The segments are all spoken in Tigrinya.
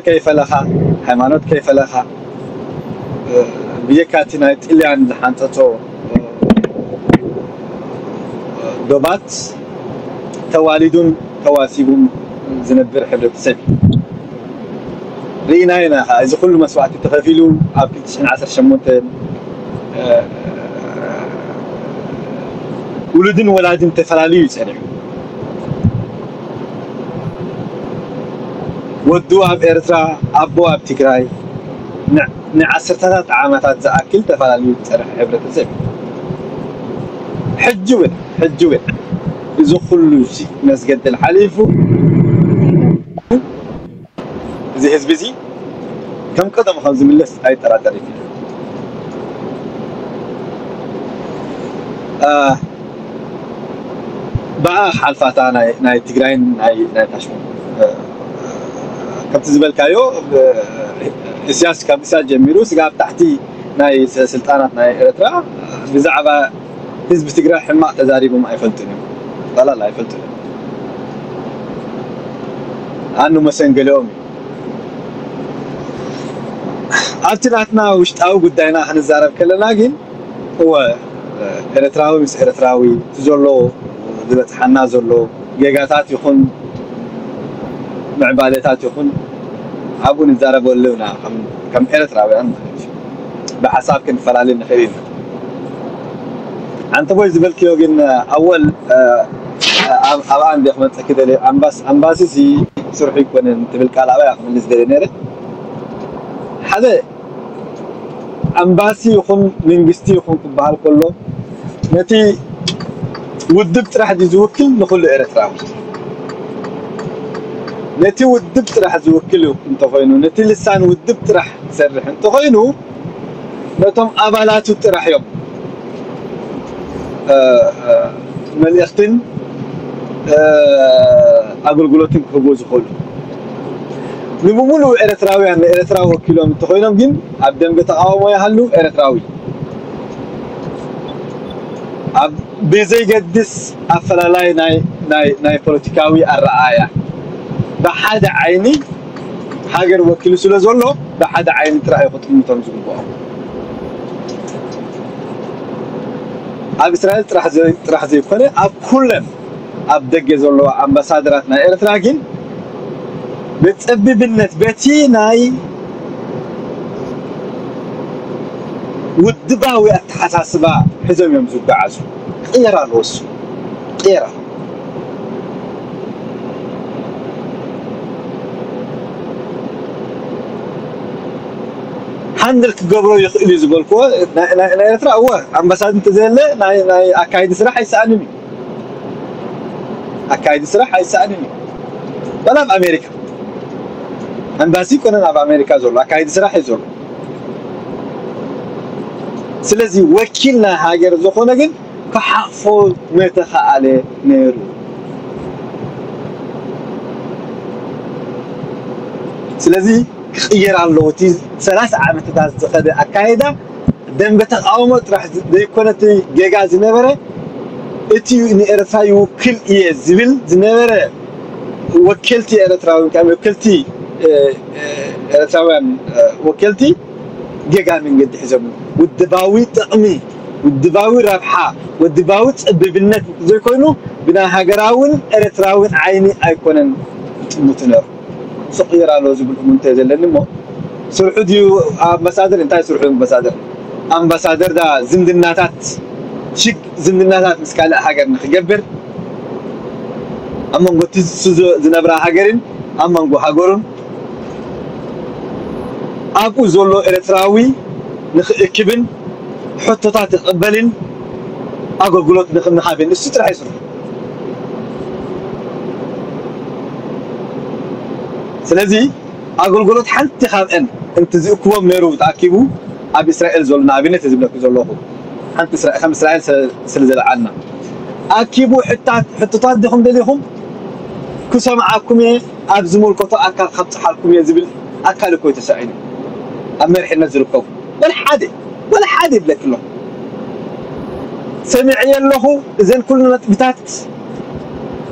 ከይፈለኻ፣ ሃይማኖት ከይፈለኻ፣ ብጀካ እቲ ናይ ጥልያን ዝሓንጸጾ ዶባት ተዋሊዱን ተዋሲቡን ዝነብር ሕብረተሰብ እዩ። ርኢና ኢና ከዓ እዚ ኩሉ መስዋእቲ ተኸፊሉ ኣብ ክልተ ሽሕን ዓሰርተ ሸሞንተን ውሉድን ወላድን ተፈላልዩ እዩ ጸኒሑ። ወዱ ኣብ ኤርትራ፣ ኣቦ ኣብ ትግራይ፣ ን- ንዓሰርተታት ዓመታት ዝኣክል ተፈላለዩ ዝፀንሐ ሕብረተሰብ እዩ። ሕጂ እውን ሕጂ እውን እዚ ኩሉ እዚ መስገድል ሓሊፉ፣ እዚ ህዝቢ እዚ ከም ቀደሙ ከም ዝምለስ ኣይጠራጠርን። ብኣ ሓልፋታ ናይ ናይ ትግራይን ናይ ናይ ታሽሙ ከምቲ ዝበልካዮ፣ እስያስ ካብ እስያስ ጀሚሩ ስጋብ ታሕቲ ናይ ስልጣናት ናይ ኤርትራ ብዛዕባ ህዝቢ ትግራይ ሕማቕ ተዛሪቦም ኣይፈልጡን እዮም። ላላ ኣይፈልጡን እዮም። ኣኑ መሰንገሊኦም እዩ። ኣብቲ ናትና ውሽጣዊ ጉዳይና ክንዛረብ ከለና ግን፣ እወ፣ ኤርትራዊ ምስ ኤርትራዊ እቲ ዘሎ ዝበፅሓና ዘሎ ጌጋታት ይኹን ምዕባለታት ይኹን ኣብኡ ንዛረበሉ ኢና፣ ከም ኤርትራውያን ማለት እዩ። ብሓሳብ ክንፈላለ ንኽእል ኢና። ኣንተ ቦይ ዝበልክዮ ግን ኣወል ኣብኣ እንደ ክመፀኪ ደለ ኣምባሲ ሲ ስርሑ ይኮነን ትብል ቃል ኣባይ ክምልስ ደለ ነረ ሓደ ኣምባሲ ይኹን መንግስቲ ይኹን ክበሃል ከሎ ነቲ ውድብ ጥራሕ ድዩ ዝውክል ንኹሉ ኤርትራዊ? ነቲ ውድብ ጥራሕ ዝውክል እንተኾይኑ፣ ነቲ ልሳን ውድብ ጥራሕ ዝሰርሕ እንተኾይኑ ነቶም ኣባላቱ ጥራሕ እዮም መልእኽትን ኣገልግሎትን ክህቡ ዝኽእሉ። ንብሙሉ ኤርትራውያን ንኤርትራ ወኪሎም እንተኾይኖም ግን ኣብ ደንበ ተቃውሞ ይሃሉ ኤርትራዊ ኣብ ብዘይገድስ ኣፈላላይ ናይ ናይ ናይ ፖለቲካዊ ኣረኣያ ብሓደ ዓይኒ ሃገር ወኪሉ ስለ ዘሎ ብሓደ ዓይኒ ጥራሕ እዩ ክጥምቶም ዝግብኦ። ኣብ እስራኤል ጥራሕ ዘይ- ጥራሕ ዘይኮነ ኣብ ኩለን ኣብ ደገ ዘለዋ ኣምባሳደራት ናይ ኤርትራ ግን ብጸቢብነት በቲ ናይ ውድባዊ ኣተሓሳስባ ሒዞም እዮም ዝጓዓዙ። ቅየር ኣለዎ እሱ ቅየር ኣለዎ። ሃንድል ክገብሮ ይኽእል እዩ ዝበልክዎ ናይ ኤርትራ እወ ኣምባሳድ እንተዘየለ ናይ ኣካይዲ ስራሕ ኣይሰኣንን እዩ። ኣካይዲ ስራሕ ኣይሰኣንን እዩ። ዋላ ኣብ ኣሜሪካ ኣምባሲ ይኮነን ኣብ ኣሜሪካ ዘሎ ኣካይዲ ስራሕ እዩ ዘሎ። ስለዚ ወኪል ናይ ሃገር ዝኾነ ግን ክሓቕፎ ምተኸኣለ ነይሩ። ስለዚ ክቕየር ኣለዎ። እቲ ሰላሳ ዓመትታት ዝኸደ ኣካይዳ ደንበ ተቃውሞ ጥራሕ ዘይኮነ እቲ ጌጋ ዝነበረ እቲ ንኤርትራ ይውክል እየ ዝብል ዝነበረ ወከልቲ ኤርትራዊ ወከልቲ ኤርትራውያን ወከልቲ ጌጋ መንገዲ ሒዞም ውድባዊ ጥቕሚ ውድባዊ ረብሓ ውድባዊ ጸቢብነት ዘይኮይኑ ብናይ ሃገራውን ኤርትራውን ዓይኒ ኣይኮነን ይጥምቱ ነሩ። ስቕ ይር ኣሎ ዝብል እሙንተ ዘለኒ እሞ ስርሑ ድዩ ኣምባሳደር እንታይ ስርሑ ኣምባሳደር ኣምባሳደር ዳ ዝምድናታት ሽግ ዝምድናታት ምስ ካልእ ሃገር ንክገብር ኣብ መንጎ እቲ ዝነብራ ሃገርን ኣብ መንጎ ሃገሩን ኣብኡ ዘሎ ኤርትራዊ ንክእክብን ሕቶታት ክቕበልን ኣገልግሎት ንክንሃብን እሱ ጥራሕ ይስርሑ። ስለዚ ኣገልግሎት ሓንቲ ካብአን እንት ዝእክቦም ነይሩ ተኣኪቡ ኣብ እስራኤል ዘሎ ንኣብነት ዝብለኩ ዘለኹ ሓንቲ እስራኤል ከም እስራኤል ስለ ዝለዓልና ኣኪቡ ሕታት ሕቶታት ዲኹም ደሊኹም ክሰምዓኩም እየ ኣብ ዝመልከቶ ኣካል ካብፅሓልኩም እየ ዝብል ኣካል እኮ ተሳዒኑ ኣብ መሪሕነት ዝርከቡ ወላ ሓደ ወላ ሓደ ይብለክ ኣለኹ ሰሚዐ ኣለኹ እዘን ኩሉ ነጥብታት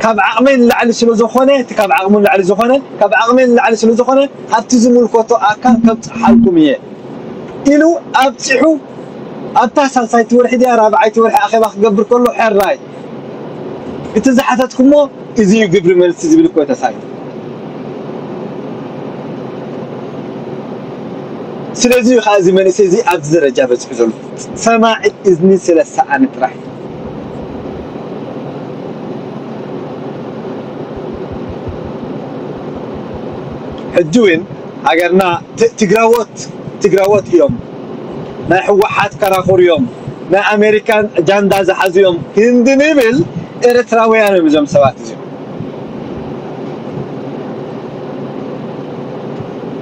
ካብ ዓቕመይ ንላዕሊ ስለ ዝኾነ እቲ ካብ ዓቕሙ ንላዕሊ ዝኾነ ካብ ዓቕመይ ንላዕሊ ስለ ዝኾነ ኣብቲ ዝምልከቶ ኣካል ከብፅሓልኩም እየ ኢሉ ኣብፂሑ ኣብታ ሳልሳይቲ ወርሒ ድያ ራብዓይቲ ወርሒ ኣኼባ ክገብር ከሎ ሕራይ እቲ ዝሓተትኩሞ እዚ እዩ ግብሪ መልሲ ዝብል እኮ ተሳኢሉ። ስለዚ እዩ ከዓ እዚ መንእሰይ እዚ ኣብዚ ደረጃ በፂሑ ዘሎ ሰማዒ እዝኒ ስለ ሰኣነ ጥራሕ። ሕጂ እውን ሃገርና ትግራዎት ትግራዎት እዮም፣ ናይ ህወሓት ከራኹር እዮም፣ ናይ ኣሜሪካን ጃንዳ ዝሓዙ እዮም ክንዲ ንብል ኤርትራውያን እዮም እዞም ሰባት እዚኦም።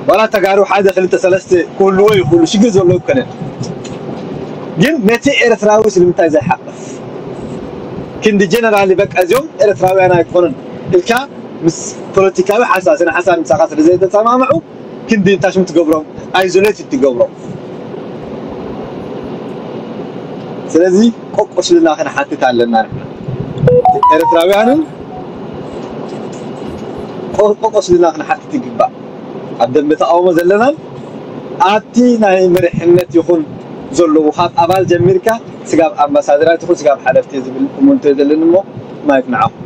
ዋላ ተጋሩ ሓደ ክልተ ሰለስተ ክህልዎ ይኽእሉ፣ ሽግር ዘለዎ ይኮነን። ግን ነቲ ኤርትራዊ ስለምንታይ ዘይሓቅፍ ክንዲ ጀነራል በቃ እዚኦም ኤርትራውያን ኣይኮኑን ኢልካ ምስ ፖለቲካዊ ሓሳብ ስነ ሓሳብ ምሳኻ ስለ ዘይተሰማምዑ ክንዲ እንታሽም ትገብሮም ኣይዞሌት ትገብሮም። ስለዚ ቆቆስልና ክንሓትት ኣለና ንሕና ኤርትራውያንን ቆቆስልና ክንሓትት ይግባእ። ኣብ ደንበ ተቃውሞ ዘለናን ኣብቲ ናይ መሪሕነት ይኹን ዘለዉ ካብ ኣባል ጀሚርካ ስጋብ ኣምባሳደራት ይኹን ስጋብ ሓለፍቲ ዝብል እሙንቶ ዘለኒ እሞ ማይክ ንዓኹም።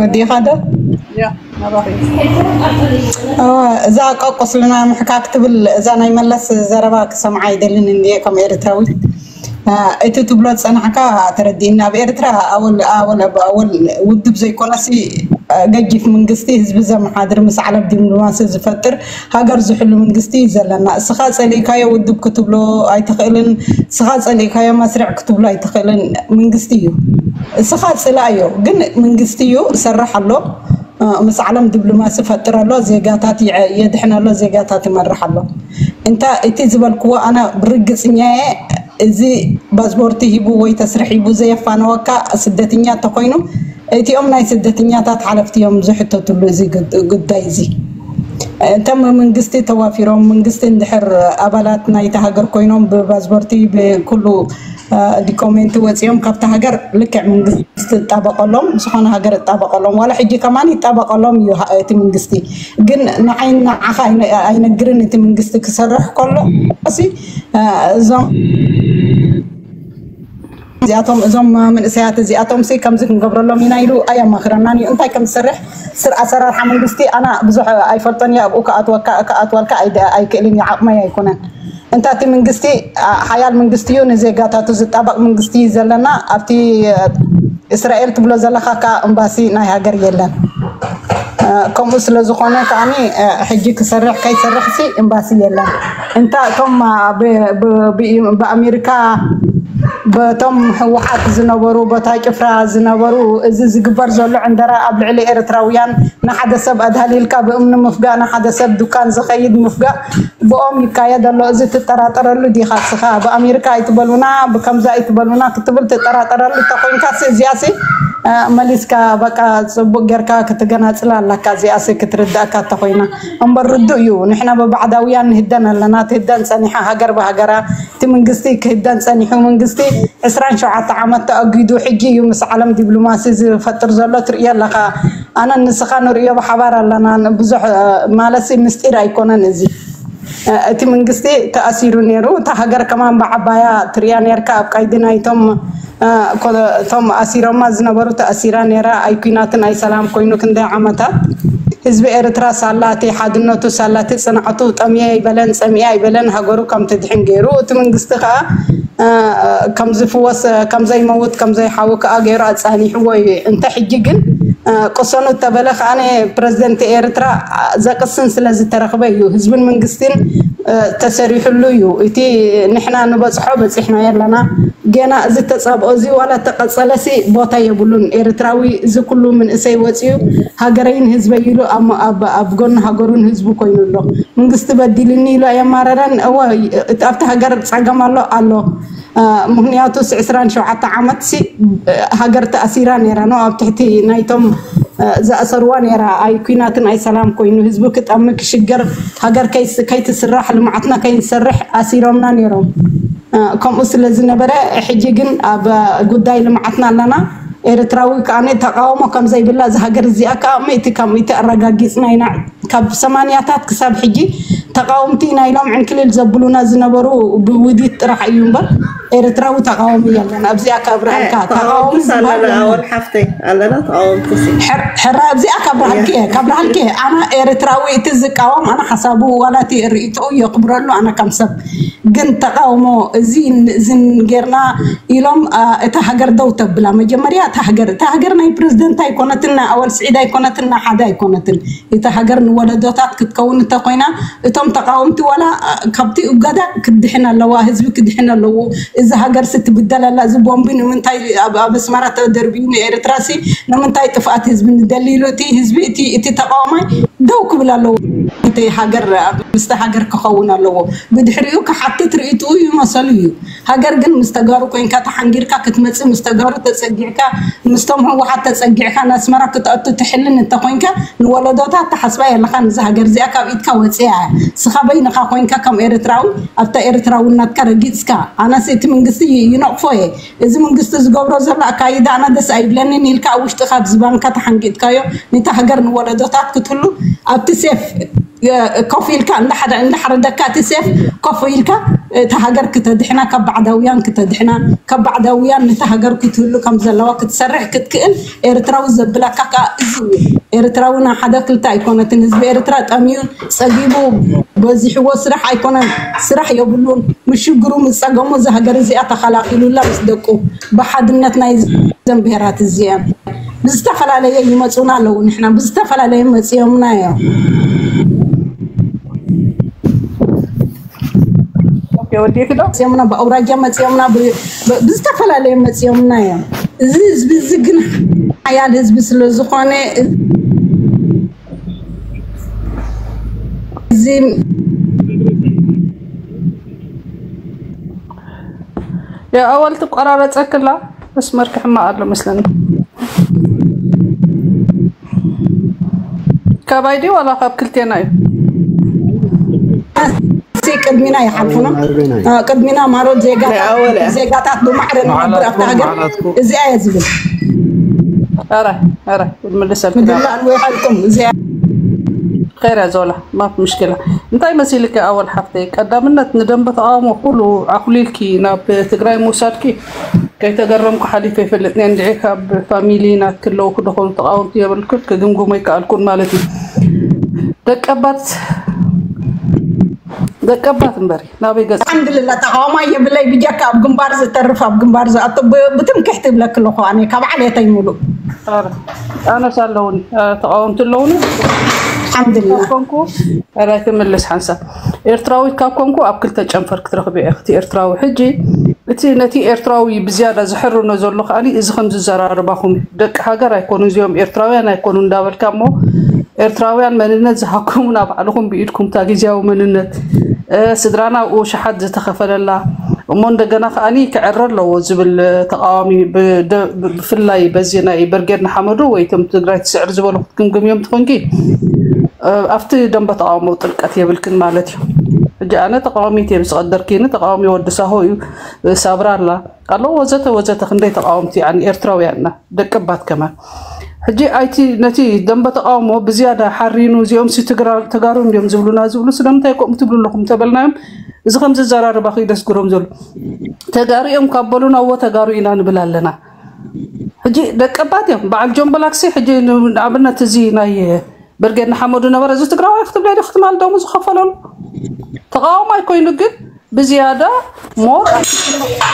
ወዲኻ ዶ? እዛ ቀቁስልና ምሕካክ ትብል እዛ ናይ መለስ ዘረባ ክሰምዓ ኣይደልን እንድየ ከም ኤርትራዊ። እቲ ትብሎ ዝጸናሕካ ተረዲእኒ። ኣብ ኤርትራ ኣወል ኣወል ኣወል ውድብ ዘይኮነሲ ገጂፍ መንግስቲ ህዝቢ ዘመሓድር ምስ ዓለም ዲፕሎማሲ ዝፈጥር ሃገር ዝሕሉ መንግስቲ እዩ ዘለና። እስኻ ጸሊእካዮ ውድብ ክትብሎ ኣይትኽእልን፣ እስኻ ጸሊእካዮ መስርዕ ክትብሎ ኣይትኽእልን። መንግስቲ እዩ። እስኻ ጽላእዮ ግን መንግስቲ እዩ፣ ሰርሕ ኣሎ። ምስ ዓለም ዲፕሎማሲ ፈጥር ኣሎ፣ ዜጋታት የድሕን ኣሎ፣ ዜጋታት ይመርሕ ኣሎ። እንታ እቲ ዝበልክዎ ኣነ ብርግጽኛየ እዚ ፓስፖርቲ ሂቡ ወይ ተስርሕ ሂቡ ዘየፋነወካ ስደተኛ ተኮይኑ እቲኦም ናይ ስደተኛታት ሓለፍቲ እዮም ዝሕተትሉ እዚ ጉዳይ እዚ። እቶም መንግስቲ ተዋፊሮም መንግስቲ እንድሕር ኣባላት ናይቲ ሃገር ኮይኖም ብፓስፖርቲ ብኩሉ ዲኮሜንቲ ወፂኦም ካብቲ ሃገር ልክዕ መንግስቲ ዝጣበቀሎም ዝኾነ ሃገር ይጣበቀሎም ዋላ ሕጂ ከማን ይጣበቀሎም እዩ እቲ መንግስቲ ግን ንዓይ ንዓኻ ኣይነግርን እቲ መንግስቲ ክሰርሕ ከሎ ሲ እዞም እዚኣቶም እዞም መንእሰያት እዚኣቶም ሲ ከምዚ ክንገብረሎም ኢና ኢሉ ኣየማኽረናን እዩ እንታይ ከም ዝሰርሕ ስር ኣሰራርሓ መንግስቲ ኣና ብዙሕ ኣይፈልጦን እየ ኣብኡ ክኣትወካ ክኣትወልካ ኣይክእልን እዩ ዓቕመይ ኣይኮነን እንታ እቲ መንግስቲ ሓያል መንግስቲ እዩ ንዜጋታቱ ዝጣበቕ መንግስቲ እዩ ዘለና ኣብቲ እስራኤል ትብሎ ዘለኻ ከዓ እምባሲ ናይ ሃገር የለን ከምኡ ስለ ዝኾነ ከዓኒ ሕጂ ክሰርሕ ከይሰርሕ ሲ እምባሲ የለን እንታ እቶም ብኣሜሪካ በቶም ህወሓት ዝነበሩ በታ ጭፍራ ዝነበሩ እዚ ዝግበር ዘሎ ዕንደራ ኣብ ልዕሊ ኤርትራውያን ንሓደ ሰብ ኣድሃሊልካ ብእምኒ ምፍጋእ ንሓደ ሰብ ዱካን ዝኸይድ ምፍጋእ ብኦም ይካየድ ኣሎ እዚ ትጠራጠረሉ ዲኻ ስኻ ብኣሜሪካ ኣይትበሉና ብከምዛ ኣይትበሉና ክትብል ትጠራጠረሉ ተኮይንካ እዚኣሲ መሊስካ በቃ ፅቡቅ ጌርካ ክትገናፅላ ኣለካ እዚኣሲ ክትርዳእካ ተኮይና እምበር ርዱእ እዩ ንሕና ብባዕዳውያን ንህደን ኣለና ትህደን ፀኒሓ ሃገር ብሃገራ እቲ መንግስቲ ክህደን ፀኒሑ መንግስቲ ዕስራን ሸውዓተ ዓመት ተኣጊዱ ሕጂ እዩ ምስ ዓለም ዲፕሎማሲ ዝፈጥር ዘሎ ትርእዮ ኣለኻ ኣነ ንስኻ ንርእዮ ብሓባር ኣለና ብዙሕ ማለት ምስጢር ኣይኮነን እዚ እቲ መንግስቲ ተኣሲሩ ነይሩ እታ ሃገር ከማን ብዓባያ ትርእያ ነርካ ኣብ ቀይዲ ናይቶም እቶም ኣሲሮማ ዝነበሩ ተኣሲራ ነይራ ኣይ ኩናትን ኣይ ሰላም ኮይኑ ክንደይ ዓመታት ህዝቢ ኤርትራ ሳላ እቲ ሓድነቱ ሳላ እቲ ፅንዓቱ ጠምየ ኣይበለን ፀሚየ ኣይበለን ሃገሩ ከም ትድሕን ገይሩ እቲ መንግስቲ ከዓ ከም ዝፍወስ ከም ዘይመውት ከም ዘይሓዊ ከዓ ገይሩ ኣፃኒሕዎ እዩ እንተ ሕጂ ግን ቅሰኑ እተበለ ከዓ ፕረዚደንት ኤርትራ ዘቅስን ስለ ዝተረክበ እዩ ህዝብን መንግስትን ተሰሪሕሉ እዩ እቲ ንሕና ንበፅሖ በፂሕና የለና ገና እዚ ተፃብኦ እዚ ዋላ ተቀፀለሲ ቦታ የብሉን ኤርትራዊ እዚ ኩሉ ምንእሰይ ወፂኡ ሃገረይን ህዝበይ ኢሉ ኣብ ጎኒ ሃገሩን ህዝቡ ኮይኑ ኣሎ መንግስቲ በዲልኒ ኢሉ ኣየማረረን እወ ኣብቲ ሃገር ፀገም ኣሎ ኣሎ ምክንያቱስ ዕስራን ሸውዓተ ዓመት ሲ ሃገር ተኣሲራ ነይራ ነው ኣብ ትሕቲ ናይቶም ዝኣሰርዋ ነይራ ኣይ ኩናትን ኣይ ሰላም ኮይኑ ህዝቡ ክጠሚ ክሽገር ሃገር ከይትስራሕ ልምዓትና ከይንሰርሕ ኣሲሮምና ነይሮም ከምኡ ስለ ዝነበረ ሕጂ ግን ኣብ ጉዳይ ልምዓትና ኣለና ኤርትራዊ ከኣ ተቃውሞ ከም ዘይብላ እዛ ሃገር እዚኣ ከኣ ሚእቲ ካብ ሚእቲ ኣረጋጊጽና ኢና። ካብ ሰማንያታት ክሳብ ሕጂ ተቃወምቲ ኢና ኢሎም ዕንክሊል ዘብሉና ዝነበሩ ብውዲት ጥራሕ እዩ እምበር ኤርትራዊ ተቃዋሚ የለን። ኣብዚኣ ከብርሃልካ ተቃዋሚ ተቃወምቲ ዝበሃል ኣለና የለን። ኣወል ሓፍተይ ኣለና ተቃወምቲ ሲ ሕር- ሕራ ኣብዚኣ ከብርሃልኪ እየ፣ ከብርሃልኪ እየ። ኣነ ኤርትራዊ እቲ ዝቃወም ኣነ ሓሳቡ ዋላ እቲ ርእይትኡ የኽብረሉ ኣነ ከም ሰብ ግን ተቃውሞ እዚ ን- እዝን ጌርና ኢሎም አ፣ እታ ሃገር ደው ተብላ መጀመርያ እታ ሃገር እታ ሃገር ናይ ፕሬዝደንት ኣይኮነትን ናይ ኣወል ስዒድ ኣይኮነትን ናይ ሓደ ኣይኮነትን እታ ሃገር ንወለዶታት ክትከውን እንተኮይና እቶም ተቃወምቲ ዋላ አ፣ ካብቲ እገዳ ክድሕን ኣለዋ ህዝቢ ክድሕን ኣለዎ እዚ ሃገር ሲ ትብደል ኣላ እዚ ቦምቢ ንምንታይ ኣብ ኣብ ኣስመራ ተደርቢዩ ንኤርትራ ሲ ንምንታይ ጥፍኣት ህዝቢ ንደሊ ኢሉ እቲ ህዝቢ እቲ እቲ ተቃዋማይ ደው ክብል ኣለዎ እቲ ሃገር ኣብ ምስቲ ሃገር ክኸውን ኣለዎ ብድሕሪኡ ክሓትት ርእይትኡ ይመሰሉ እዩ ሃገር ግን ምስ ተጋሩ ኮይንካ ተሓንጊርካ ክትመጽእ ምስ ተጋሩ ተጸጊዕካ ምስቶም ህወሓት ተጸጊዕካ ንኣስመራ ክትኣቱ ትሕልን እንተኮይንካ ንወለዶታት ተሓስባ የለኻን እዛ ሃገር እዚኣ ካብ ኢድካ ወፂኣ እያ ስኻ በይንኻ ኮይንካ ከም ኤርትራዊ ኣብታ ኤርትራውነትካ ረጊፅካ ኣነስ እቲ መንግስቲ ይነቕፎ እየ እዚ መንግስቲ ዝገብሮ ዘሎ ኣካይዳ ኣነ ደስ ኣይብለንን ኢልካ ኣብ ውሽጥኻ ኣብ ዝባንካ ተሓንጊጥካዮ ነታ ሃገር ንወለዶታት ክትህሉ ኣብቲ ሴፍ ኮፍ ኢልካ እንዳሓረደካ እቲ ሴፍ ኮፍ ኢልካ እታ ሃገር ክተድሕና ካብ ባዕዳውያን ክተድሕና ካብ ባዕዳውያን ነታ ሃገር ክትህሉ ከም ዘለዋ ክትሰርሕ ክትክእል ኤርትራዊ ዘብላካ ከዓ እዚ እዩ ኤርትራዊ ናብ ሓደ ክልተ ኣይኮነትን ህዝቢ ኤርትራ ጠምዩ ፀጊቡ በዚሕዎ ስራሕ ኣይኮነን ስራሕ የብሉን ምስ ሽግሩ ምስ ፀገሙ እዛ ሃገር እዚኣ ተኸላኺሉላ ምስ ደቁ ብሓድነት ናይ ዘን ብሄራት እዚአን ብዝተፈላለየ ይመፁና ኣለዉ ንሕና ብዝተፈላለየ መፅዮምና እዮም ወዲእኪ ዶ? መፅዮምና ብኣውራጃ መፅዮምና ብዝተፈላለየ መፅዮምና እዮም እዚ ህዝቢ እዚ ግን ሓያል ህዝቢ ስለዝኾነ እዚ የኣወል ትቆራረፀክላ መስመር ክሕማቕ ኣሎ መስለኒ። ካባይ ድዩ ዋላ ካብ ክልቴና እዩ? ቅድሚና ይሓልፉና ቅድሚና ማሮት ዜጋታት ብማዕረ ንነብር ኣብታ ሃገር እዚኣ እየ ዝብል ረ ረ ምልሰልኩም እዚኣ ኸይረ ዞላ ማፍ ምሽክላ እንታይ መሲልከ ኣወል ሓፍተይ ቀዳምነት ንደንበ ተቃውሞ ኩሉ ዓኩሊልኪ ናብ ትግራይ ምውሳድኪ ከይተገረምኩ ሓሊፈ ይፈልጥ እየ እንድዒ ካብ ፋሚሊ ናትኪ ኣለውኩ ዶ ኮኑ ተቃወምቲ የብልኩን ክግምግሞ ኣይከኣልኩን ማለት እዩ ደቀባት ደቀባት እምበሪ ናበይ ገጽ ኣልሓምድልላ ተቃዋማይ የብለይ ብጀካ ኣብ ግንባር ዝተርፍ ኣብ ግንባር ዝኣቱ ብትምክሕቲ ይብለኪ ኣለኹ ኣነ ካብ ዓሌተይ ሙሉእ ኣነስ ኣለውኒ ተቃወምቲ ኣለውኒ ሓምድላ ኮንኩ ራይ ክምልስ ሓንሳብ ኤርትራዊት ካብ ኮንኩ ኣብ ክልተ ጨንፈር ክትረኽቢ ኢኺ እቲ ኤርትራዊ ሕጂ እቲ ነቲ ኤርትራዊ ብዝያዳ ዝሕርኖ ዘሎ ከኣኒ እዚ ከም ዝዘራርባኹም እዩ ደቂ ሃገር ኣይኮኑ እዚኦም ኤርትራውያን ኣይኮኑ እንዳበልካ እሞ ኤርትራውያን መንነት ዝሃኩምና ባዕልኹም ብኢድኩም እታ ግዝያዊ መንነት ስድራና ኣብኡ ሸሓት ዝተኸፈለላ እሞ እንደገና ከኣኒ ክዕረ ኣለዎ ዝብል ተቃዋሚ ብፍላይ በዚ ናይ በርጌድ ንሓመዱ ወይ እቶም ትግራይ ትስዕር ዝበሉ ክትግምግምዮም ትኾንኪ ኣብቲ ደንበ ተቃውሞ ጥልቀት የብልክን ማለት እዩ ሕጂ ኣነ ተቃዋሚት እየ ዝቀደርኪኒ ተቃዋሚ ወዲ ሳሆ እዩ ሳብራ ኣላ ኣሎ ወዘተ ወዘተ ክንደይ ተቃወምቲ ኣን ኤርትራውያንና ደቀባት ከማን ሕጂ ኣይቲ ነቲ ደንበ ተቃውሞ ብዝያዳ ሓሪኑ እዚኦም ሲ ተጋሩ እንዲዮም ዝብሉና ዝብሉ ስለምንታይ ከምኡ ትብሉ ኣለኹም ተበልናዮም እዚ ከም ዝዘራርባ ክይደስግሮም ዘሎ ተጋሩ እዮም ካብ በሉና እዎ ተጋሩ ኢና ንብል ኣለና ሕጂ ደቀባት እዮም በዓል ጆን በላክሲ ሕጂ ንኣብነት እዚ ናይ ብርጌድ ንሓመዱ ነበረ እዚ ትግራዋይ ክትብለ ዶ ክትማል ደሙ ዝኸፈለሉ ተቃውሞ ኣይኮይኑ ግን ብዝያዳ ሞር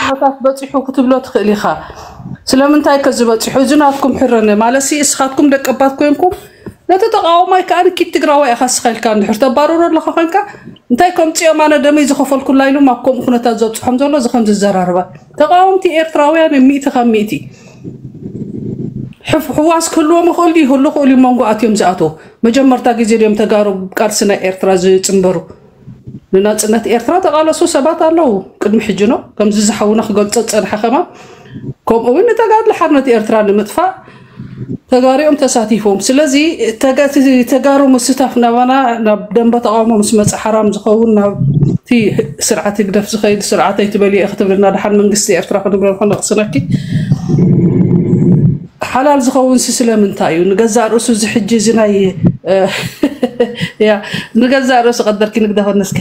ኩነታት በፂሑ ክትብሎ ትኽእል ኢኻ ስለምንታይ ከ ዝበፂሑ እዚ ናትኩም ሕረነ ማለት ሲ እስኻትኩም ደቀባት ኮንኩም ነቲ ተቃውማይ ከዓ ንኪድ ትግራዋይ ኢኻ ስኻ ኢልካ እንድሕር ተባረሮ ኣለኻ ኮንካ እንታይ ከምፅኦም ኣነ ደመይ ዝኸፈልኩላ ኢሉ ኣብ ከምኡ ኩነታት ዘብፅሖም ዘሎ እዚ ከም ዝዘራርባ ተቃወምቲ ኤርትራውያን ሚእቲ ካብ ሚእቲ ሕዋስ ክህልዎም ይኽእል ድዩ ይህሉ ክእሉ መንጎ ኣትዮም ዝኣተው መጀመርታ ግዜ ድዮም ተጋሩ ቃልሲ ናይ ኤርትራ ዝፅንበሩ ንናፅነት ኤርትራ ተቃለሱ ሰባት ኣለዉ ቅድሚ ሕጂ ነው ከምዚ ዝሓውና ክገልፆ ዝፀንሐ ከማን ከምኡ እውን ንተጋድሎ ሓርነት ኤርትራ ንምጥፋእ ተጋሪኦም ተሳቲፎም ስለዚ ተጋሩ ምስታፍ ናባና ናብ ደንበ ተቃውሞ ምስ መፀ ሓራም ዝኸውን ናብቲ ስርዓት ህግደፍ ዝኸይድ ስርዓት ኣይትበልየ ክትብልና ድሓን መንግስቲ ኤርትራ ክንብሎ ንክነቕስነኪ ሓላል ዝኸውን ሲ ስለምንታይ እዩ? ንገዛእ ርእሱ እዚ ሕጂ እዚ ናይ እ፣ ያ ንገዛእ ርእሱ ቀደርኪ ንግዳ ኾነስኪ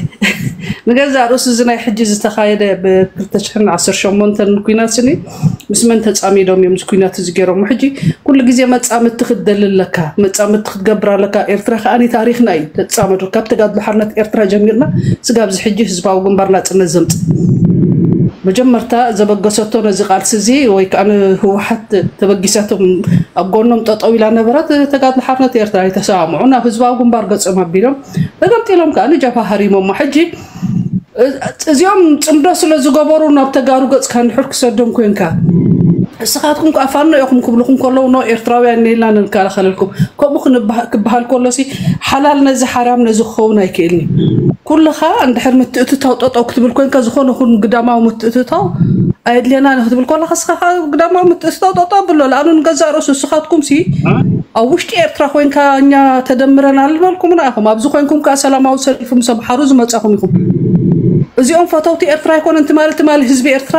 ንገዛእ ርእሱ እዚ ናይ ሕጂ ዝተኻየደ ብ ክልተ ሽሕን ዓሰርተ ሸሞንተን ኩናት ስኒ ምስ መን ተጻሚዶም እዮም እዚ ኩናት እዚ ገይሮም? ሕጂ ኩሉ ግዜ መጻምድቲ ክትደሊ ኣለካ፣ መጻምድቲ ክትገብር ኣለካ። ኤርትራ ከኣ ታሪኽና እዩ ተጻመዱ። ካብ ተጋድሎ ሓርነት ኤርትራ ጀሚርና ስጋብ እዚ ሕጂ ህዝባዊ ግንባር ናጽነት ዘምጽእ መጀመርታ ዘበገሰቶ ነዚ ቃልሲ እዚ ወይ ከዓ ንህወሓት ተበጊሳቶም ኣብ ጎኖም ጠጠው ኢላ ነበረት። ተጋድሎ ሓርነት ኤርትራ ኣይተሰማምዑ ናብ ህዝባዊ ግንባር ገጾም ኣቢሎም ተገምጢሎም ከዓ ንጀብሃ ሃሪሞሞ። ሕጂ እ- እዚኦም ጽምዶ ስለ ዝገበሩ ናብ ተጋሩ ገጽካ እንድሕር ክሰዶም ኮንካ እስኻትኩም ከዓ ፋኖ ኢኹም ክብልኹም ከለዉ ኖ ኤርትራውያን ኔላ ንከላኸለልኩም ከምኡ ክንበሃ- ክበሃል ከሎሲ ሓላል ነዚ ሓራም ነዚ ክኸውን ኣይክእልን እዩ። ኩልኻ እንድሕር ምትእትታው ጠጠው ክትብል ኮንካ ዝኾነ ኹን ግዳማዊ ምትእትታው ኣየድልየና ንክትብል ከለካ እስኻ ከዓ ግዳማዊ ምትእትታው ጠጠው ኣብሎ ለኣኑ ንገዛእ ርእሱ እስኻትኩም ሲ ኣብ ውሽጢ ኤርትራ ኮይንካ እኛ ተደምረን ኣልበልኩምና ኢኹም ኣብዚ ኮይንኩም ከዓ ሰላማዊ ሰልፊ ምስ ኣምሓሩ ዝመጻኹም ኢኹም። እዚኦም ፈተውቲ ኤርትራ ኣይኮነን ትማሊ ትማሊ ህዝቢ ኤርትራ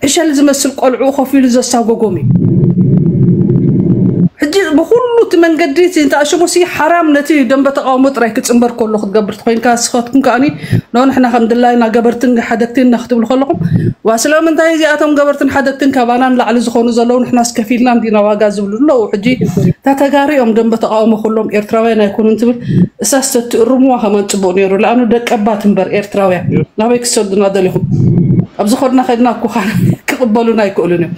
ዕሸል ዝመስል ቆልዑ ኮፍ ኢሉ ዘሳጎጎም እዩ። ሕጂ ብኩሉ እቲ መንገዲ እቲ እንተኣሽሙ ሲ ሓራም ነቲ ደንበ ተቃውሞ ጥራይ ክጽንበር ከሎ ክትገብር ተኮይንካ ስኸትኩም ከኣኒ ኖ ንሕና ከም ድላይና ገበርትን ሓደግትን ኢና ክትብሉ ከለኹም ዋ ስለምንታይ እዚኣቶም ገበርትን ሓደግትን ካባና ንላዕሊ ዝኾኑ ዘለዉ ንሕና ስከፊልና እንዲና ዋጋ ዝብሉ ኣለዉ። ሕጂ እታ ተጋሪኦም ደንበ ተቃውሞ ኩሎም ኤርትራውያን ኣይኮኑን ትብል እሳስ ተትእርምዋ ከማን ጽቡቅ ነይሩ። ለኣኑ ደቀባት እምበር ኤርትራውያን ናበይ ክሰዱና ደሊኹም? ኣብዚ ኸድና ኸድና እኮ ኻን ክቕበሉና ኣይክእሉን እዮም።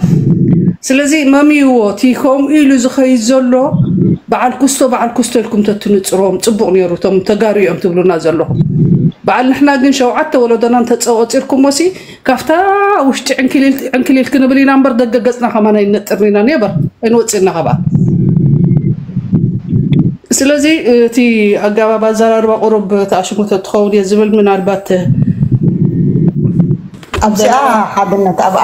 ስለዚ መምይዎ እቲ ከምኡ ኢሉ ዝኸይድ ዘሎ በዓል ኩስቶ በዓል ኩስቶ ኢልኩም ተትንጽሮም ጽቡቕ ነይሩ። እቶም ተጋሩ እዮም ትብሉና ዘለኹም። በዓል ንሕና ግን ሸውዓተ ወለዶና እንተጸወጺርኩሞ ሲ ካብታ ውሽጢ ዕንክሊል ዕንክሊል ክንብል ኢና እምበር ደገ ገጽና ከማን ኣይንነጥርን ኢና። ኔበር ኣይንወጽእና ካብኣ። ስለዚ እቲ ኣገባብ ኣዘራርባ ቁሩብ ተኣሽሙ ተትኸውን እየ ዝብል ምናልባት ኣብዚኣ ሓድነት ኣብኣ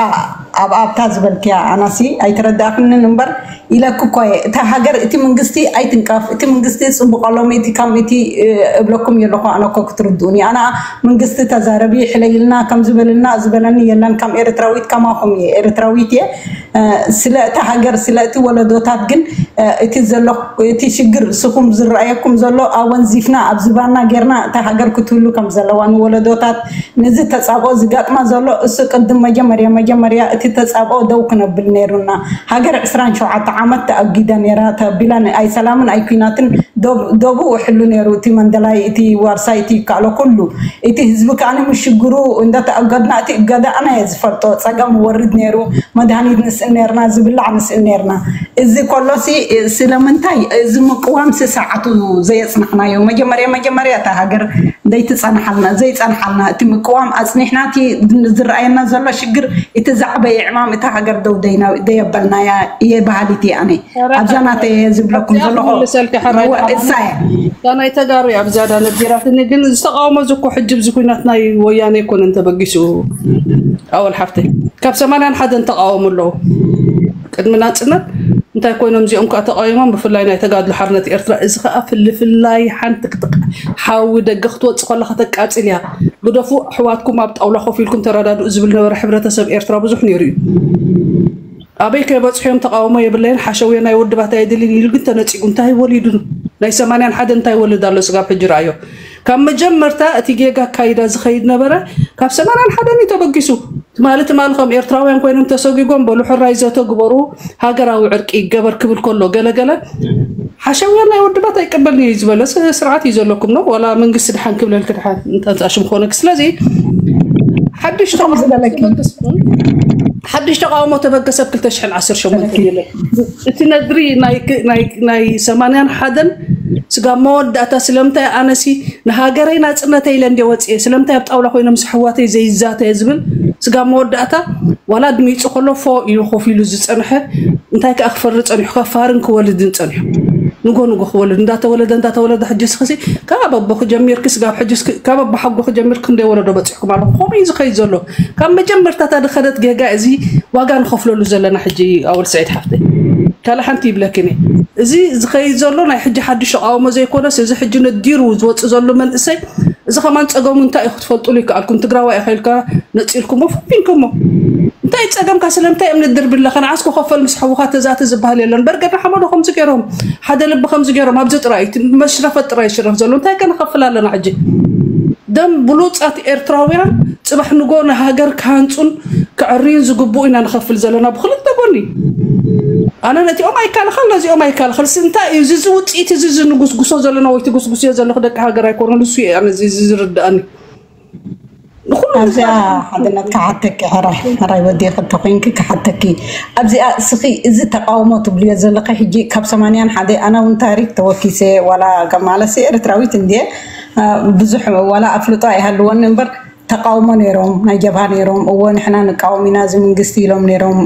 ኣብኣ ኣብታ ዝበልክያ ኣናሲ ኣይተረዳእክንን እምበር ኢለክ እኮ እየ እታ ሃገር እቲ መንግስቲ ኣይትንቀፍ እቲ መንግስቲ ጽቡቕ ኣሎም እቲ ከም እቲ እብለኩም የለኹ ኣነ እኮ ክትርድኡኒ ኣና መንግስቲ ተዛረቢ ሕለይልና ከም ዝበልና ዝበለኒ የለን ከም ኤርትራዊት ከማኹም እየ ኤርትራዊት እየ ስለ እቲ ሃገር ስለ እቲ ወለዶታት ግን እቲ ዘሎ እቲ ሽግር ስኹም ዝረኣየኩም ዘሎ ኣወንዚፍና ኣብ ዝባና ጌርና እታ ሃገር ክትህሉ ከም ዘለዋ ንወለዶታት ነዚ ተጻብኦ ዝጋጥማ ዘሎ እሱ ቅድም መጀመርያ መጀመርያ እቲ ተጻብኦ ደው ክነብል ነይሩና ሃገር ዕስራን ሸውዓተ ዓመት ተኣጊዳ ነይራ ተቢላ ኣይ ሰላምን ኣይ ኩናትን ደቡ ውሕሉ ነይሩ እቲ መንደላይ እቲ ዋርሳይ እቲ ይከኣሎ ኩሉ እቲ ህዝቢ ከኣ ንምሽግሩ እንዳተኣገድና እቲ እገዳ ኣነ እየ ዝፈልጦ ጸገም ወርድ ነይሩ መድሃኒት ንስእል ነርና ዝብላዕ ንስእል ነርና እዚ ኮሎሲ ስለምንታይ እዚ ምቅዋም ስሰዓቱ ዘየጽናሕናዮ መጀመርያ መጀመርያ እታ ሃገር ዘይትጸንሓልና ዘይጸንሓልና እቲ ምቅዋም ኣጽኒሕና እቲ ዝረኣየና ዘሎ ሽግር እቲ ዛዕበየ ዕማም እታ ሃገር ደው ደይና ደየበልናያ እየ በሃሊት እየ ኣነ ኣብዛ ናተይ እየ ዝብለኩም ዘለኹ እሳ እያ እታ ናይ ተጋሩ እያ ብዝያዳ ነጊራትኒ ግን ዝተቃወሞ እዚ እኮ ሕጂ ብዚ ኩናት ናይ ወያነ ኣይኮነን ተበጊሱ ኣወል ሓፍተይ ካብ ሰማንያን ሓደን ተቃወሙ ኣለዉ ቅድሚ ናፅነት እንታይ ኮይኖም እዚኦም ከዓ ተቃዊሞም ብፍላይ ናይ ተጋድሎ ሓርነት ኤርትራ እዚ ከዓ ፍልፍላይ ሓንቲ ክትቅ ሓዊ ደገ ክትወፅእ ከለካ ተቃፅል እያ ግደፉ ኣሕዋትኩም ኣብ ጣውላ ኮፍ ኢልኩም ተረዳድኡ ዝብል ነበረ ሕብረተሰብ ኤርትራ ብዙሕ ነይሩ እዩ ኣበይ ከይበፅሑ እዮም ተቃውሞ የብለይን ሓሸውየ ናይ ውድባት ኣየድልን ኢሉ ግን ተነፂጉ እንታይ ወሊዱ ናይ ሰማንያን ሓደ እንታይ ይወልድ ኣሎ ስጋብ ሕጂ ረኣዮ ካብ መጀመርታ እቲ ጌጋ ኣካይዳ ዝኸይድ ነበረ ካብ ሰማንያን ሓደን እዩ ተበጊሱ ትማሊ ትማሊ ከም ኤርትራውያን ኮይኖም ተሰጒጎም በሉ ሕራይ ዘተ ግበሩ ሃገራዊ ዕርቂ ይገበር ክብል ከሎ ገለገለ ሓሸውያ ናይ ውድባት ኣይቀበልን እዩ ዝበለ ስርዓት እዩ ዘለኩም ነው ዋላ መንግስቲ ድሓን ክብለልክ ድሓን እንተንፃሽም ኮነክ ስለዚ ሓድሽ ተቃውሞ ተበገሰ ሓድሽ ተቃውሞ ተበገሰ ክልተ ሽሕን ዓሰርተ ሸሞንተን የለን እቲ ነድሪ ናይ ሰማንያን ሓደን ስጋብ መወዳእታ ስለምንታይ ኣነሲ ንሃገረይ ናፅነተይ ኢለ እንደ ወፅየ ስለምንታይ ኣብ ጣውላ ኮይኖም ኣሕዋተይ ዘይዛተየ ዝብል ስጋብ መወዳእታ ዋላ ድሚፁ ከሎ ፎ ኢሉ ኮፍ ኢሉ ዝፀንሐ እንታይ ከዓ ክፈሪ ፀኒሑ ከፋርን ክወልድን ፀኒሑ ንጎ ንጎ ክወልድ እንዳተወለደ እንዳተወለደ ሕጂ ስክሲ ካብ ኣቦ ክጀሚርክ ስጋብ ሕጂ ካብ ኣቦ ሓጎ ክጀሚር ክንደይ ወለዶ በፂሕኩም ኣለኹም ከምኡ እዩ ዝኸይድ ዘሎ ካብ መጀመርታ እታ ድኸደት ጌጋ እዚ ዋጋ ንኸፍለሉ ዘለና ሕጂ ኣወል ስዒድ ሓፍተይ ካልእ ሓንቲ ይብለክን እየ እዚ ዝኸይድ ዘሎ ናይ ሕጂ ሓድሽ ተቃውሞ ዘይኮነስ እዚ ሕጂ ነዲሩ ዝወፅእ ዘሎ መንእሰይ እዚ ከማን ፀገሙ እንታይ እዩ ክትፈልጡሉ ይከኣልኩም ትግራዋይ ኢኻ ኢልካ ነፂልኩሞ ፈፊንኩሞ እንታይ ጸገምካ? ስለምንታይ እዮም ንድርቢ ኣለኻ? ንዓስ ክኸፈል ምስ ሓውኻ ተዛተ ዝበሃል የለን። በርገና ሓመዶ ከምዚ ገይሮም፣ ሓደ ልቢ ከምዚ ገይሮም፣ ኣብዚ ጥራይ እቲ መሽረፈት ጥራይ ይሽረፍ ዘሎ። እንታይ ከ ንኸፍል ኣለና ሕጂ? ደም ብሉጻት ኤርትራውያን ጽባሕ ንጎ ንሃገር ክሃንጹን ክዕርዩን ዝግብኡ ኢና ንኸፍል ዘለና ብኽልተ ጎኒ። ኣነ ነቲኦም ኣይካልኸል፣ ነዚኦም ኣይካልኸል። ስንታይ እዩ እዚ ውጽኢት እዚ ዝንጉስጉሶ ዘለና ወይ ትጉስጉስዮ ዘለኹ ደቂ ሃገር ኣይኮነን። እሱ እዩ ኣነ እዚ እዚ ዝርድኣኒ። ንኹሉ ኣብዚኣ ሓድነት ክሓተኪ ሕራይ ሕራይ ወዲኺ እንተኮይንኪ ክሓተኪ ኣብዚኣ እስኺ እዚ ተቃውሞ ትብልዮ ዘለኺ ሕጂ ካብ ሰማንያን ሓደ ኣነ እውን ታሪክ ተወኪሰ ዋላ ማለሲ ኤርትራዊት እንድየ ብዙሕ ዋላ ኣፍልጦ ኣይሃልወኒ እምበር ተቃውሞ ነይሮም ናይ ጀብሃ ነይሮም እዎ ንሕና ንቃወም ኢና እዚ መንግስቲ ኢሎም ነይሮም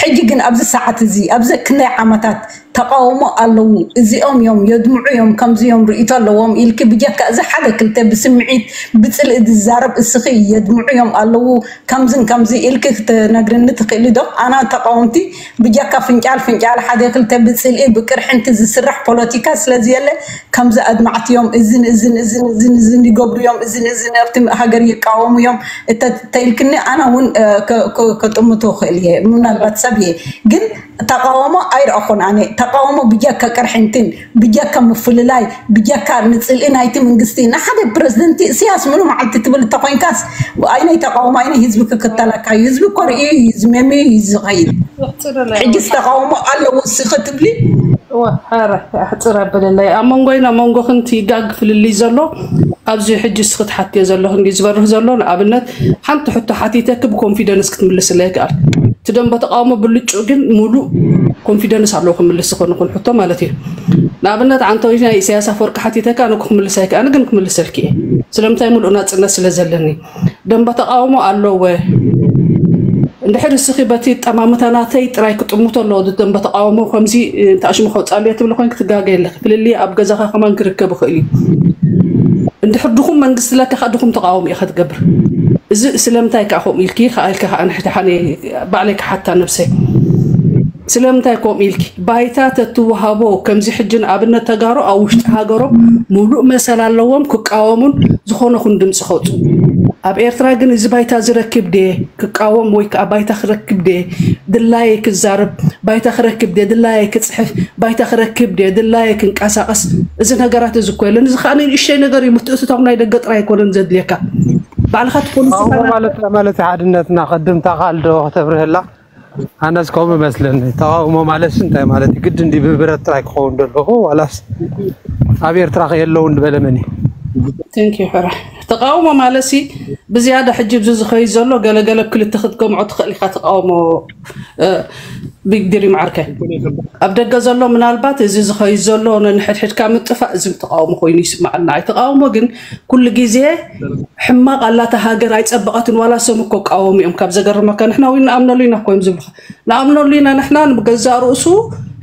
ሕጂ ግን ኣብዚ ሰዓት እዚ ኣብዚ ክንደይ ዓመታት ተቃውሞ ኣለዉ እዚኦም እዮም የድምዑ እዮም ከምዚ እዮም ርእይቶ ኣለዎም ኢልኪ ብጀካ እዚ ሓደ ክልተ ብስምዒት ብፅልኢ ዝዛረብ እስኺ የድምዑ እዮም ኣለዉ ከምዝን ከምዚ ኢልኪ ክትነግርኒ ትኽእሊ ዶ ኣና ተቃወምቲ ብጀካ ፍንጫል ፍንጫል ሓደ ክልተ ብፅልኢ ብቅርሕንቲ ዝስራሕ ፖለቲካ ስለዝየለ ከምዚ ኣድማዕቲ እዮም እዝን እዝን እዝን እዝን እዝን ይገብሩ እዮም እዝን እዝን ኣብቲ ሃገር ይቃወሙ እዮም እተ ተኢልክኒ ኣና እውን ከጥምቶ ክእል እየ ምናልባት ሰብ እየ ግን ተቃውሞ ኣይረኣኹን ኣነ ተቃውሞ ብጀካ ቅርሕንትን ብጀካ ምፍልላይ ብጀካ ንፅልኢ ናይቲ መንግስቲ ንሓደ ፕረዚደንቲ እስያስ ምኑ መዓልቲ ትብል እንተኮይንካስ ኣይነይ ተቃውሞ ኣይነይ ህዝቢ ክክተለካ እዩ ህዝቢ እኮ ርእዩ እዩ ዝመምዩ እዩ ዝኸይድ ሕጅስ ተቃውሞ ኣለዎ እስኺ ትብሊ ሕፅር ኣብለለይ ኣብ መንጎይና መንጎ ክንቲ ጋግ ፍልልይ ዘሎ ኣብዚ ሕጂ እስኺ ትሓትዮ ዘለኹ እንዲ ዝበርህ ዘሎ ንኣብነት ሓንቲ ሕቶ ሓቲተኪ ብኮንፊደንስ ክትምልስለይ ይከኣል እቲ ደንበ ተቃውሞ ብልጩ ግን ሙሉእ ኮንፊደንስ ኣለዎ ክምልስ ዝኾነ ኩን ሕቶ ማለት እዩ ንኣብነት ዓንተዊት ናይ ኢሳያስ ኣፈወርቂ ሓቲተካ ኣነ ክምልስ ኣይከኣነ ግን ክምልሰልኪ እየ ስለምንታይ ሙሉእ ናፅነት ስለ ዘለኒ ደንበ ተቃውሞ ኣለወ እንድሕር እስኺ በቲ ጠማምታ ናተይ ጥራይ ክጥምቶ ኣለዎ ደንበ ተቃውሞ ከምዚ ተኣሽሙ ከውፃሉ እየ ትብሊ ኮይን ክትጋገ የለኺ ፍልልይ ኣብ ገዛኻ ከማን ክርከብ ይኽእል እዩ እንድሕር ድኹም መንግስቲ ለካ ከዓ ድኹም ተቃውሞ ኢኻ ትገብር እዚ ስለምንታይ ከዓ ከምኡ ኢልኪ ከዓ ኢልካ ከዓ ንሕቲ ሓነ ባዕለይ ክሓታ ነብሰይ ስለምንታይ ከምኡ ኢልኪ ባይታ ተትወሃቦ ከምዚ ሕጂ ንኣብነት ተጋሩ ኣብ ውሽጢ ሃገሮም ሙሉእ መሰል ኣለዎም ክቃወሙን ዝኾነ ኹን ድምፂ ከውፅኡ ኣብ ኤርትራ ግን እዚ ባይታ ዝረክብ ድየ ክቃወም ወይ ከዓ ባይታ ክረክብ ድየ ድላየ ክዛረብ ባይታ ክረክብ ድየ ድላየ ክፅሕፍ ባይታ ክረክብ ድየ ድላየ ክንቀሳቀስ እዚ ነገራት እዚ እኮ የለን እዚ ከዓ ንእሸይ ነገር እዩ ምትእትታው ናይ ደገ ጥራይ ኣይኮነን ዘድልየካ ባዕልካ ትፖሊሲ ማለት ማለት ሓድነትና ቅድም ታኻል ዶ ከተብርህላ ኣነስ ከምኡ መስለኒ ተቃውሞ ማለት እንታይ ማለት ግድ እንዲ ብብረት ጥራይ ክኸውን ደለኹ ዋላስ ኣብ ኤርትራ ከየለውን ዝበለ መን እዩ ተቃውሞ ማለት ሲ ብዝያዳ ሕጂ ብዚ ዝኸይድ ዘሎ ገለገለ ክልተ ክትገምዖ ትኽእል ኢካ ተቃውሞ ቢግድሪ ማዓርከ ኣብ ደገ ዘሎ ምናልባት እዚ ዝኸይድ ዘሎ ነንሕድሕድካ ምጥፋእ እዚ ተቃውሞ ኮይኑ ይስማዓልና ኣይ ተቃውሞ ግን ኩሉ ግዜ ሕማቕ ኣላታ ሃገር ኣይጸበቐትን ዋላ ሰም እኮ ቃወሙ እዮም ካብ ዘገርመካ ንሕና እውን ንኣምነሉ ኢና እኮ እዮም ዝብሉኻ ንኣምነሉ ኢና ንሕና ንገዛእ ርእሱ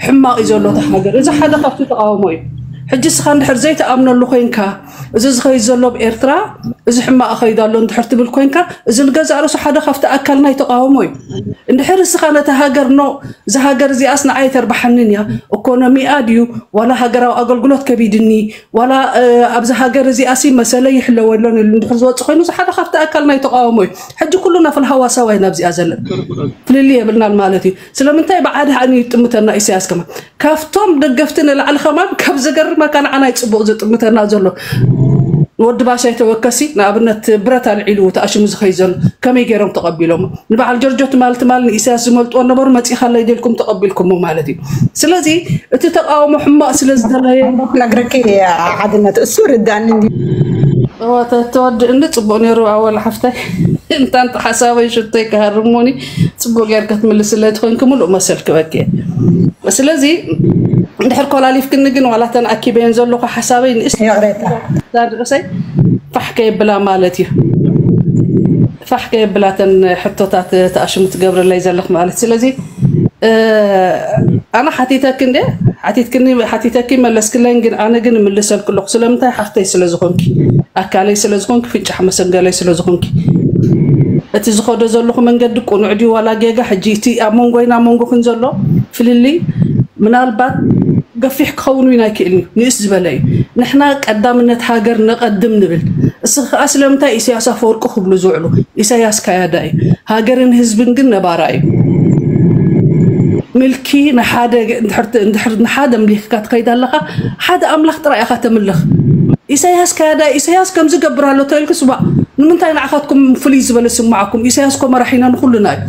ሕማቕ እዩ ዘሎ እታ ሃገር እዚ ሓደ ካብቲ ተቃውሞ እዩ ሕጂ እስኻ እንድሕር ዘይተኣምነሉ ኮይንካ እዚ ዝኸይድ ዘሎ ኣብ ኤርትራ እዚ ሕማቕ ኸይድ ኣሎ እንድሕር ትብል ኮይንካ እዚ ንገዛእ ርእሱ ሓደ ካብቲ ኣካል ናይ ተቃውሞ እዩ እንድሕር እስኻ ነቲ ሃገር ኖ እዛ ሃገር እዚኣስ ንዓይ ተርባሓንን እያ እኮኖሚኣ ድዩ ዋላ ሃገራዊ ኣገልግሎት ከቢድኒ ዋላ ኣብዚ ሃገር እዚኣሲ መሰለ ይሕለወ ኣሎን ኢሉ እንድሕር ዝወፅእ ኮይኑ እዚ ሓደ ካብቲ ኣካል ናይ ተቃውሞ እዩ ሕጂ ኩሉና ፍልሃዋ ሰብኣይ ናብዚኣ ዘለን ፍልልይ የብልናን ማለት እዩ ስለምንታይ ብዓዲ ሓኒ ይጥምተና ኢሳያስ ከማ ካብቶም ደገፍቲ ንላዕሊ ከማን ካብ ዘገርመካ ንዓና ይፅቡቅ ዝጥምተና ዘሎ ወዲ ባሻይ ተወከሲ ንኣብነት ብረት ኣልዒሉ ተኣሽሙ ዝኸይ ዘሎ ከመይ ገይሮም ተቐቢሎሞ ንበዓል ጆርጆ ትማል ትማል ንኢሳያስ ዝመልጥዎ ነበሩ መፂኻለይ ደልኩም ተቐቢልኩሞ ማለት እዩ ስለዚ እቲ ተቃውሞ ሕማቕ ስለ ዝደለየ ነግረኪ ሓድነት እሱ ርዳኒ ተወድእኒ ፅቡቅ ነይሩ ኣወል ሓፍታይ እንታንቲ ሓሳበይ ሽቶይ ክሃርሙኒ ፅቡቅ ጌር ክትምልስለይ ትኾንኪ ሙሉእ መሰል ክበኪ ስለዚ እንድሕር ኮላሊፍክኒ ግን ዋላ ተን ኣኪበየን ዘለኹ ሓሳበይ ንእስ ርእሰይ ፋሕ ከየብላ ማለት እዩ ፋሕ ከየብላ ተን ሕቶታት ተኣሽሙ ትገብርለይ ዘለኽ ማለት ስለዚ ኣነ ሓቲተኪ እንደ ሓቲትክኒ ሓቲተኪ መለስክለይን ግን ኣነ ግን እምልሰልኪ ኣለኹ ስለምንታይ ሓፍተይ ስለ ዝኾንኪ ኣካለይ ስለ ዝኾንኪ ፍንጫሕ መሰንገለይ ስለ ዝኾንኪ እቲ ዝኸዶ ዘለኹ መንገዲ ቁኑዕ ድዩ ዋላ ጌጋ ሕጂ እቲ ኣብ መንጎይና መንጎኽን ዘሎ ፍልልይ ምናልባት ገፊሕ ክኸውን እውን ኣይክእልን እዩ። ንእስ ዝበለ እዩ። ንሕና ቀዳምነት ሃገር ነቐድም ንብል። እስ ከዓ ስለምንታይ ኢሳያስ ኣፈወርቂ ክብሉ ዝውዕሉ? ኢሳያስ ካያዳ እዩ። ሃገርን ህዝብን ግን ነባራ እዩ። ምልኪ ንሓደ ንድሕር ንሓደ ምሊክካ ትኸይድ ኣለኻ። ሓደ ኣምላኽ ጥራይ ኢኻ ተምልኽ። ኢሳያስ ካያዳ፣ ኢሳያስ ከምዚ ገብር ኣሎ ተልክስ ባ ንምንታይ ንዓኻትኩም ፍልይ ዝበለ ስምዓኩም? ኢሳያስ ኮ መራሒና ንኩሉና እዩ።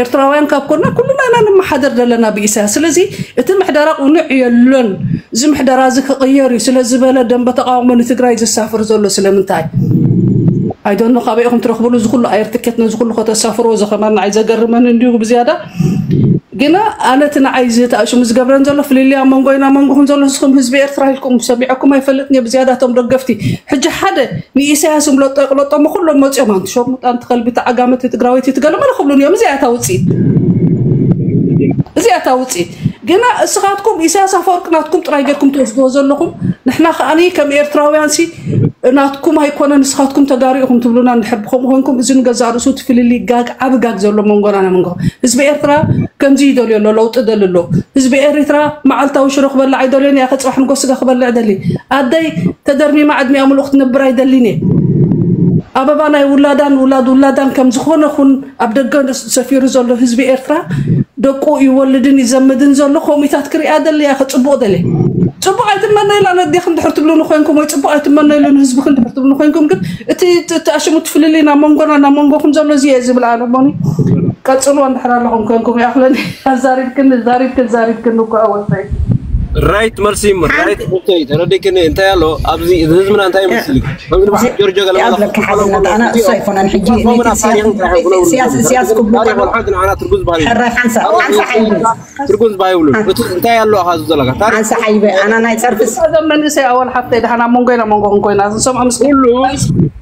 ኤርትራውያን ካብ ኮና ኩሉና ኢና ንመሓደር ዘለና ብኢሳያስ። ስለዚ እቲ ምሕደራ ቁኑዕ የሎን። እዚ ምሕደራ እዚ ክቕየር እዩ ስለ ዝበለ ደንበ ተቃውሞ ንትግራይ ዘሳፍር ዘሎ ስለምንታይ? ኣይዶኖ ካበይ ኢኹም ትረኽብሉ እዚ ኩሉ ኣየር ትኬት ነዚ ኩሉ ከተሳፍርዎ ዘኸማና ኣይዘገርመን እንዲሁ ብዝያዳ ግና ኣነ እቲ ንዓይ ዝተኣሽሙ ዝገብረን ዘሎ ፍልልያ መንጎይና መንጎኹም ዘሎ ንስኹም ህዝቢ ኤርትራ ኢልኩም ሰሚዐኩም ኣይፈልጥን እየ ብዝያዳ እቶም ደገፍቲ ሕጂ ሓደ ንኢሳያስ እምለጦ ይቕለጦሞ ኩሎም መፂኦም ኣንቲ ሸርሙጣ ኣንቲ ከልቢ ተዓጋመቲ ትግራወይቲ ትገለመለ ክብሉን እዮም እዚኣ እታ ውፅኢት እዚኣ እታ ውፅኢት ግና እስኻትኩም ኢሳያስ ኣፈወርቂ ናትኩም ጥራይ ጌርኩም ትወስድዎ ዘለኹም ንሕና ከዓኒ ከም ኤርትራውያን ሲ ናትኩም ኣይኮነ ንስኻትኩም ተጋሩ ኢኹም ትብሉና እንድሕር ብከምኡ ኮንኩም እዚ ንገዛእ ርእሱ እቲ ፍልልይ ጋግ ዓቢ ጋግ ዘሎ መንጎና ናይ መንጎ ህዝቢ ኤርትራ ከምዚ ይደልዮ ኣሎ ለውጢ ደሊ ኣሎ ህዝቢ ኤርትራ መዓልታዊ ሽሮ ክበልዕ ኣይደልዮን እያ ከፅባሕ ንጎ ስጋ ክበልዕ ደሊ ኣደይ ተደርሚማ ዕድሚያ ሙሉእ ክትነብር ኣይደልን እየ ኣበባ ናይ ውላዳን ውላድ ውላዳን ከም ዝኾነ ኹን ኣብ ደገ ሰፊሩ ዘሎ ህዝቢ ኤርትራ ደቁ ይወልድን ይዘምድን ዘሎ ኮሚታት ክሪኣ ደልያ ክፅቡቕ ደለ ፅቡቕ ኣይትመነይላ ነዴኽን ድሕር ትብሉ ንኮይንኩም ወይ ፅቡቕ ኣይትመነይሉ ንህዝብክን ድሕር ትብሉ ንኮይንኩም ግን እቲ ተኣሽሙ ትፍልልይ ናብ መንጎና ናብ መንጎኹም ዘሎ እዚ እየ ዝብል ኣነ ሞኒ ቀፅልዎ እንድሕር ኣለኹም ኮንኩም ይኣኽለኒ ኣዛሪብክን ዛሪብክን ዛሪብክን እኮ ኣወሳይ ራይት መልሲ እሞ ራይት ተረዲክኒ እንታይ ኣሎ ኣብዚ ህዝብና እንታይ ይመስል ጆርጆ ገለ ያብለካ ሓዝነት ኣነ እሱ ኣይኮነን ሕጂ ስያስ ስያስ ክቡቅ ሕራይ ሓንሳ ሓንሳ ሓይሉ ትርጉም ዝባ ይብሉ እቲ እንታይ ኣሎ ኣብዚ ዘለካ ሓንሳ ሓይበ ኣና ናይ ጸርፍስ መንእሰይ ኣወል ሓፍተይ ድሓና መንጎይና መንጎ ኮይና ዝሰምዖ ምስ ኩሉ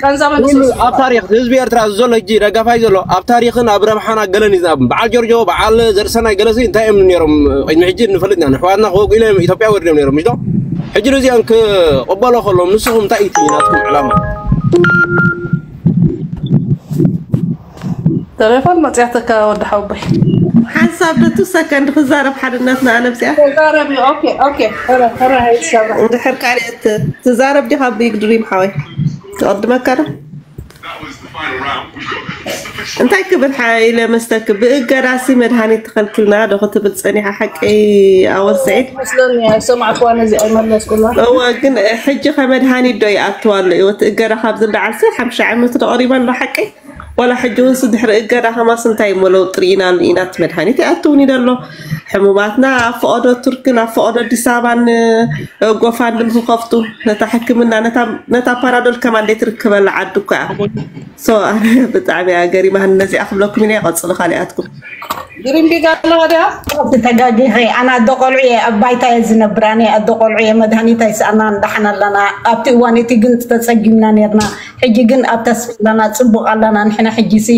ቀንዛ መንእሰይ ኣብ ታሪኽ ህዝቢ ኤርትራ ዘሎ ሕጂ ደጋፋይ ዘሎ ኣብ ታሪኽን ኣብ ረብሓና ገለን ይዛብ በዓል ጆርጆ በዓል ዘርእሰናይ ገለሲ እንታይ እዮም ነይሮም ቅድሚ ሕጂ ንፈልጥ ኢና ንሕዋትና ክወጉ ኢሎም ኢትዮጵያ ወሪዶም ነይሮም ምሽዶ ሕጂ ነዚኦም ክቕበሎ ከሎም ንስኹም እንታይ እዩ ናትኩም ዕላማ ተሌፎን መፅያተካ ወዲ ሓውበይ ሓንሳብ ንቱ ሰከንድ ክዛረብ ሓድነትና ኣነብዚኣ ተዛረቢ ኦኬ ኦኬ ሕረ ሕረ ሃይሰራ እንድሕር ካልኦት ትዛረብ ዲኻ ቢግ ድሪም ሓወይ ትቐድመካ ዶ እንታይ ክብል ሓይለ መስተክ ብእገዳሲ መድሃኒት ተኸልክልና ዶ ክትብል ጸኒሓ ሓቂ ኣወል ሰዒድ መስለኒ ሰማዕኳ ነዚ ኣይመለስኩላ እወ ግን ሕጂ ከመድሃኒት ዶ ይኣትዋ ኣሎ እዩ እቲ እገዳ ካብ ዝለዓልሲ ሓምሻ ዓመት ዶ ቀሪባ ኣሎ ሓቂ ዋላ ሕጂ እውን ስድሕሪ እገዳ ከማስ እንታይ እሞ ለውጢ ርኢናሉ ኢና እቲ መድሃኒት ይኣትውኒ ደሎ ሕሙማትና ኣብ ፈቐዶ ቱርክን ኣብ ፈቐዶ ኣዲስ ኣበባን ጎፋንድም ክኸፍቱ ነታ ሕክምና ነታ ፓራዶል ከማን ደይትርከበላ ዓዲ እኮ እያ so ኣነ ብጣዕሚ እያ ገሪማኒ ነዚኣ ክብለኩም ኢለ ይቐፅሉ ካሊኣትኩም ግሪንቢግ ኣለዋ ድያ ተጋጊኸ ኣነ ኣደ ቆልዑ እየ ኣብ ባይታ እየ ዝነብር ኣነ ኣደ ቆልዑ እየ መድሃኒት ኣይሰኣናን ዳሓን ኣለና ኣብቲ እዋን እቲ ግን ተፀጊምና ነርና ሕጂ ግን ኣብ ተስፋ ኣለና ፅቡቅ ኣለና ንሕና ሕጂ ሲ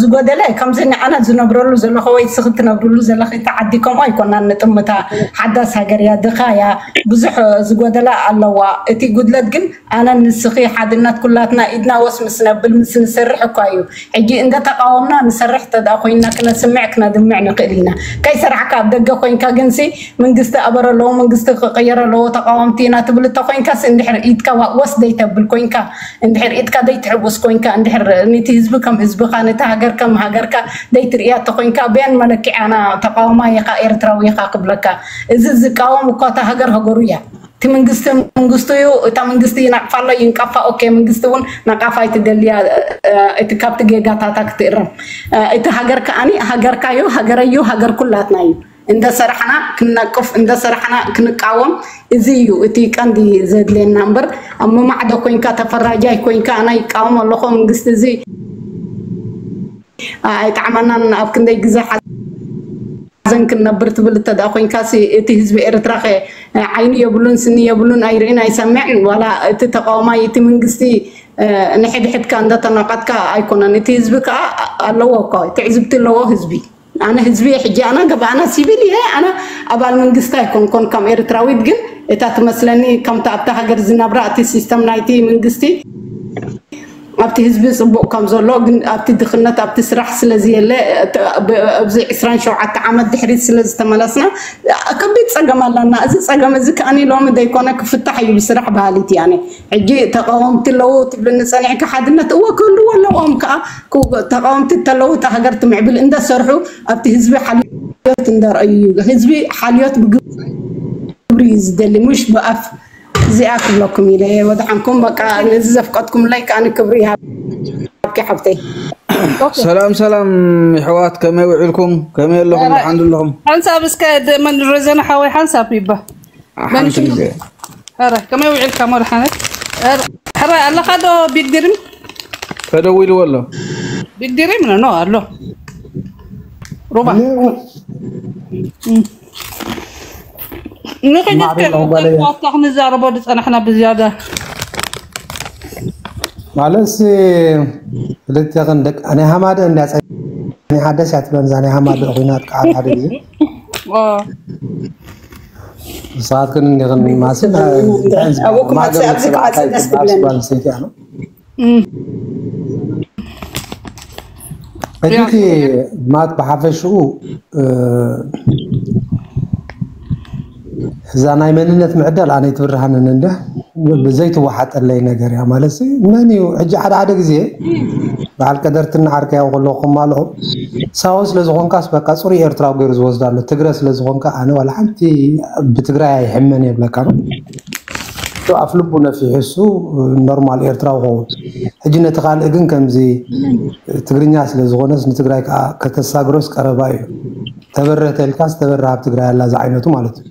ዝጎደለ ከምዚ ንዓና ዝነብረሉ ዘለኹ ወይ ስኺ ትነብርሉ ዘለኺ ተዓዲ ከምኡ ኣይኮናን ንጥምታ ሓዳስ ሃገር እያ ድኻ እያ ብዙሕ ዝጎደላ ኣለዋ እቲ ጉድለት ግን ኣነ ንስኺ ሓድነት ኩላትና ኢድና ወስ ምስ ነብል ምስ ንሰርሕ እኳ እዩ ሕጂ እንደ ተቃወምና ንሰርሕ ተዳ ኮይና ክነስምዕ ክነድምዕ ንክእል ኢና ከይሰራሕካ ኣብ ደገ ኮይንካ ግንሲ መንግስቲ ኣበር ኣለዎ መንግስቲ ክቅየር ኣለዎ ተቃወምቲ ኢና ትብል እተ ኮይንካ ሲ እንድሕር ኢድካ ወስ ደይተብል ኮይንካ እንድሕር ኢድካ ደይትሕውስ ኮይንካ እንድሕር ንቲ ህዝቢ ከም ህዝብካ ንቲ ሃገር ከም ሃገርካ ደይትርእያ እተ ኮይንካ በያን መለክዕ ኣና ተቃውማ ኢኻ ኤርትራዊ ኢኻ ክብለካ እዚ ዝቃወም እኳ እታ ሃገር ሃገሩ እያ እቲ መንግስቲ መንግስቱ እዩ እታ መንግስቲ ይናቅፋ ኣሎ ይንቀፋ ኦኬ መንግስቲ እውን ነቃፋ ኣይትደልያ እቲ ካብቲ ጌጋታታ ክትእረም እቲ ሃገር ከዓኒ ሃገርካ እዩ ሃገረ እዩ ሃገር ኩላትና እዩ እንደ ሰራሕና ክንነቅፍ እንደ ሰራሕና ክንቃወም እዚ እዩ እቲ ቀንዲ ዘድልየና እምበር ኣብ መማዕዶ ኮይንካ ተፈራጃይ ኮይንካ ኣና ይቃወም ኣለኹ መንግስቲ እዚ ኣይጣዕመናን ኣብ ክንደይ ግዜ ሓዘን ክንነብር ትብል እተደኣ ኮይንካ እቲ ህዝቢ ኤርትራ ከ ዓይኒ የብሉን ስኒ የብሉን ኣይርእን ኣይሰምዕን ዋላ እቲ ተቃዋማይ እቲ መንግስቲ ንሕድሕድካ እንዳተናቀጥካ ኣይኮነን እቲ ህዝቢ ከዓ ኣለዎ እኮ ትዕዝብቲ ኣለዎ ህዝቢ ኣነ ህዝቢ ሕጂ ኣነ ገባኣና ሲቪል እየ ኣነ ኣባል መንግስቲ ኣይኮንኮን ከም ኤርትራዊት ግን እታ ትመስለኒ ከምቲ ኣብታ ሃገር ዝነብራ እቲ ሲስተም ናይቲ መንግስቲ ኣብቲ ህዝቢ ጽቡቕ ከም ዘሎ፣ ግን ኣብቲ ድኽነት፣ ኣብቲ ስራሕ ስለ ዝየለ፣ እቲ ብ-፣ ኣብዚ ዕስራን ሸውዓተ ዓመት ድሕሪት ስለ ዝተመለስና፣ ከቢድ ጸገም ኣለና። እዚ ጸገም እዚ ከኣኒ ሎሚ ዘይኮነ ክፍታሕ እዩ ብስራሕ በሃሊት እየ ኣነ። ሕጂ ተቃወምቲ ኣለዉ ትብልኒ ጸኒሕካ፣ ሓድነት እወ ክህልዎ ኣለዎም ከኣ። ክው-፣ ተቃወምቲ እንተለዉ እታ ሃገር ትምዕብል እንደሰርሑ ኣብቲ ህዝቢ ሓልዮት እንደርኣዩ እዩ። ህዝቢ ሓልዮት ብግብሪ እዩ ዝደሊ፣ ምሽ ብኣፍ። እዚኣ ክብለኩም ኢለ እየ ወድሓንኩም። በቃ ነዚ ዘፍቀድኩምለይ ከኣ ክብሪ ይሃብኪ ሓብተይ። ኦኬ። ሰላም ሰላም የሕዋት፣ ከመይ ውዒልኩም? ከመይ ኣለኹም? ደሓን ዶ ኣለኹም? ሓንሳብ እስከ ደ-፣ መን ረዘነ ሓወይ ሓንሳብ ይባ። ሓንቲ ግዜ። ኧረ ከመይ ውዒልካ መድሓነት? ኧረ፣ ሕራይ ኣለኻ ዶ ቢግ ድሪም? ተደዊልዎ ኣሎ። ቢግ ድሪም ነው፣ ነው ኣሎ። ሩባ። እም። ንኽጅት ማዕበል ነው በለ። ከዋታ ክንዛረቦ ዝጸናሕና ብዝያዳ። ማለት ሲ ክልቴኽን ደቂ፣ ናይ ሃማደ እንድያ ጸኒሓ ደስ እያ ትብለኒ እዛ ናይ ሃማደ ኹናት ከዓ ሓደ ግዜ። ኦ። ንስኻትክን እንዲኽን ማስን፣ እንታይ ዝበሃል? ኣቦኩም ማዕበል ኣብዚ ክዓ በዓልቲ ደስ ትብለኒ። ጓል ኣንስተይቲ እያ ነው። እም። እቲ ያ። እቲ ማት ብሓፈሽኡ፣ እ፣ እዛ ናይ መንነት ምዕዳል ኣነ ኣይትብርሃንን እንደ ብዘይትወሓጠለይ ነገር እያ። ማለት ሲ መን እዩ ሕጂ ሓደ ሓደ ግዜ በዓል ቀደርትና ዓርከይ ያው ከለኹ ከማልኦ ሳሆ ስለ ዝኾንካስ በቃ ጽሩይ ኤርትራዊ ገይሩ ዝወስድ ኣሎ። ትግረ ስለ ዝኾንካ ኣነ ዋላ ሓንቲ ብትግራይ ኣይሕመን የብለካ ነው። ኣፍ ልቡ ነፊሑ እሱ ኖርማል ኤርትራዊ ኸውን። ሕጂ ነቲ ካልእ ግን ከምዚ ትግርኛ ስለ ዝኾነስ ንትግራይ ከዓ ከተሳግሮስ ቀረባ እዩ። ተበረህ ተልካስ ተበረህ ኣብ ትግራይ ኣላ ዝዓይነቱ ማለት እዩ።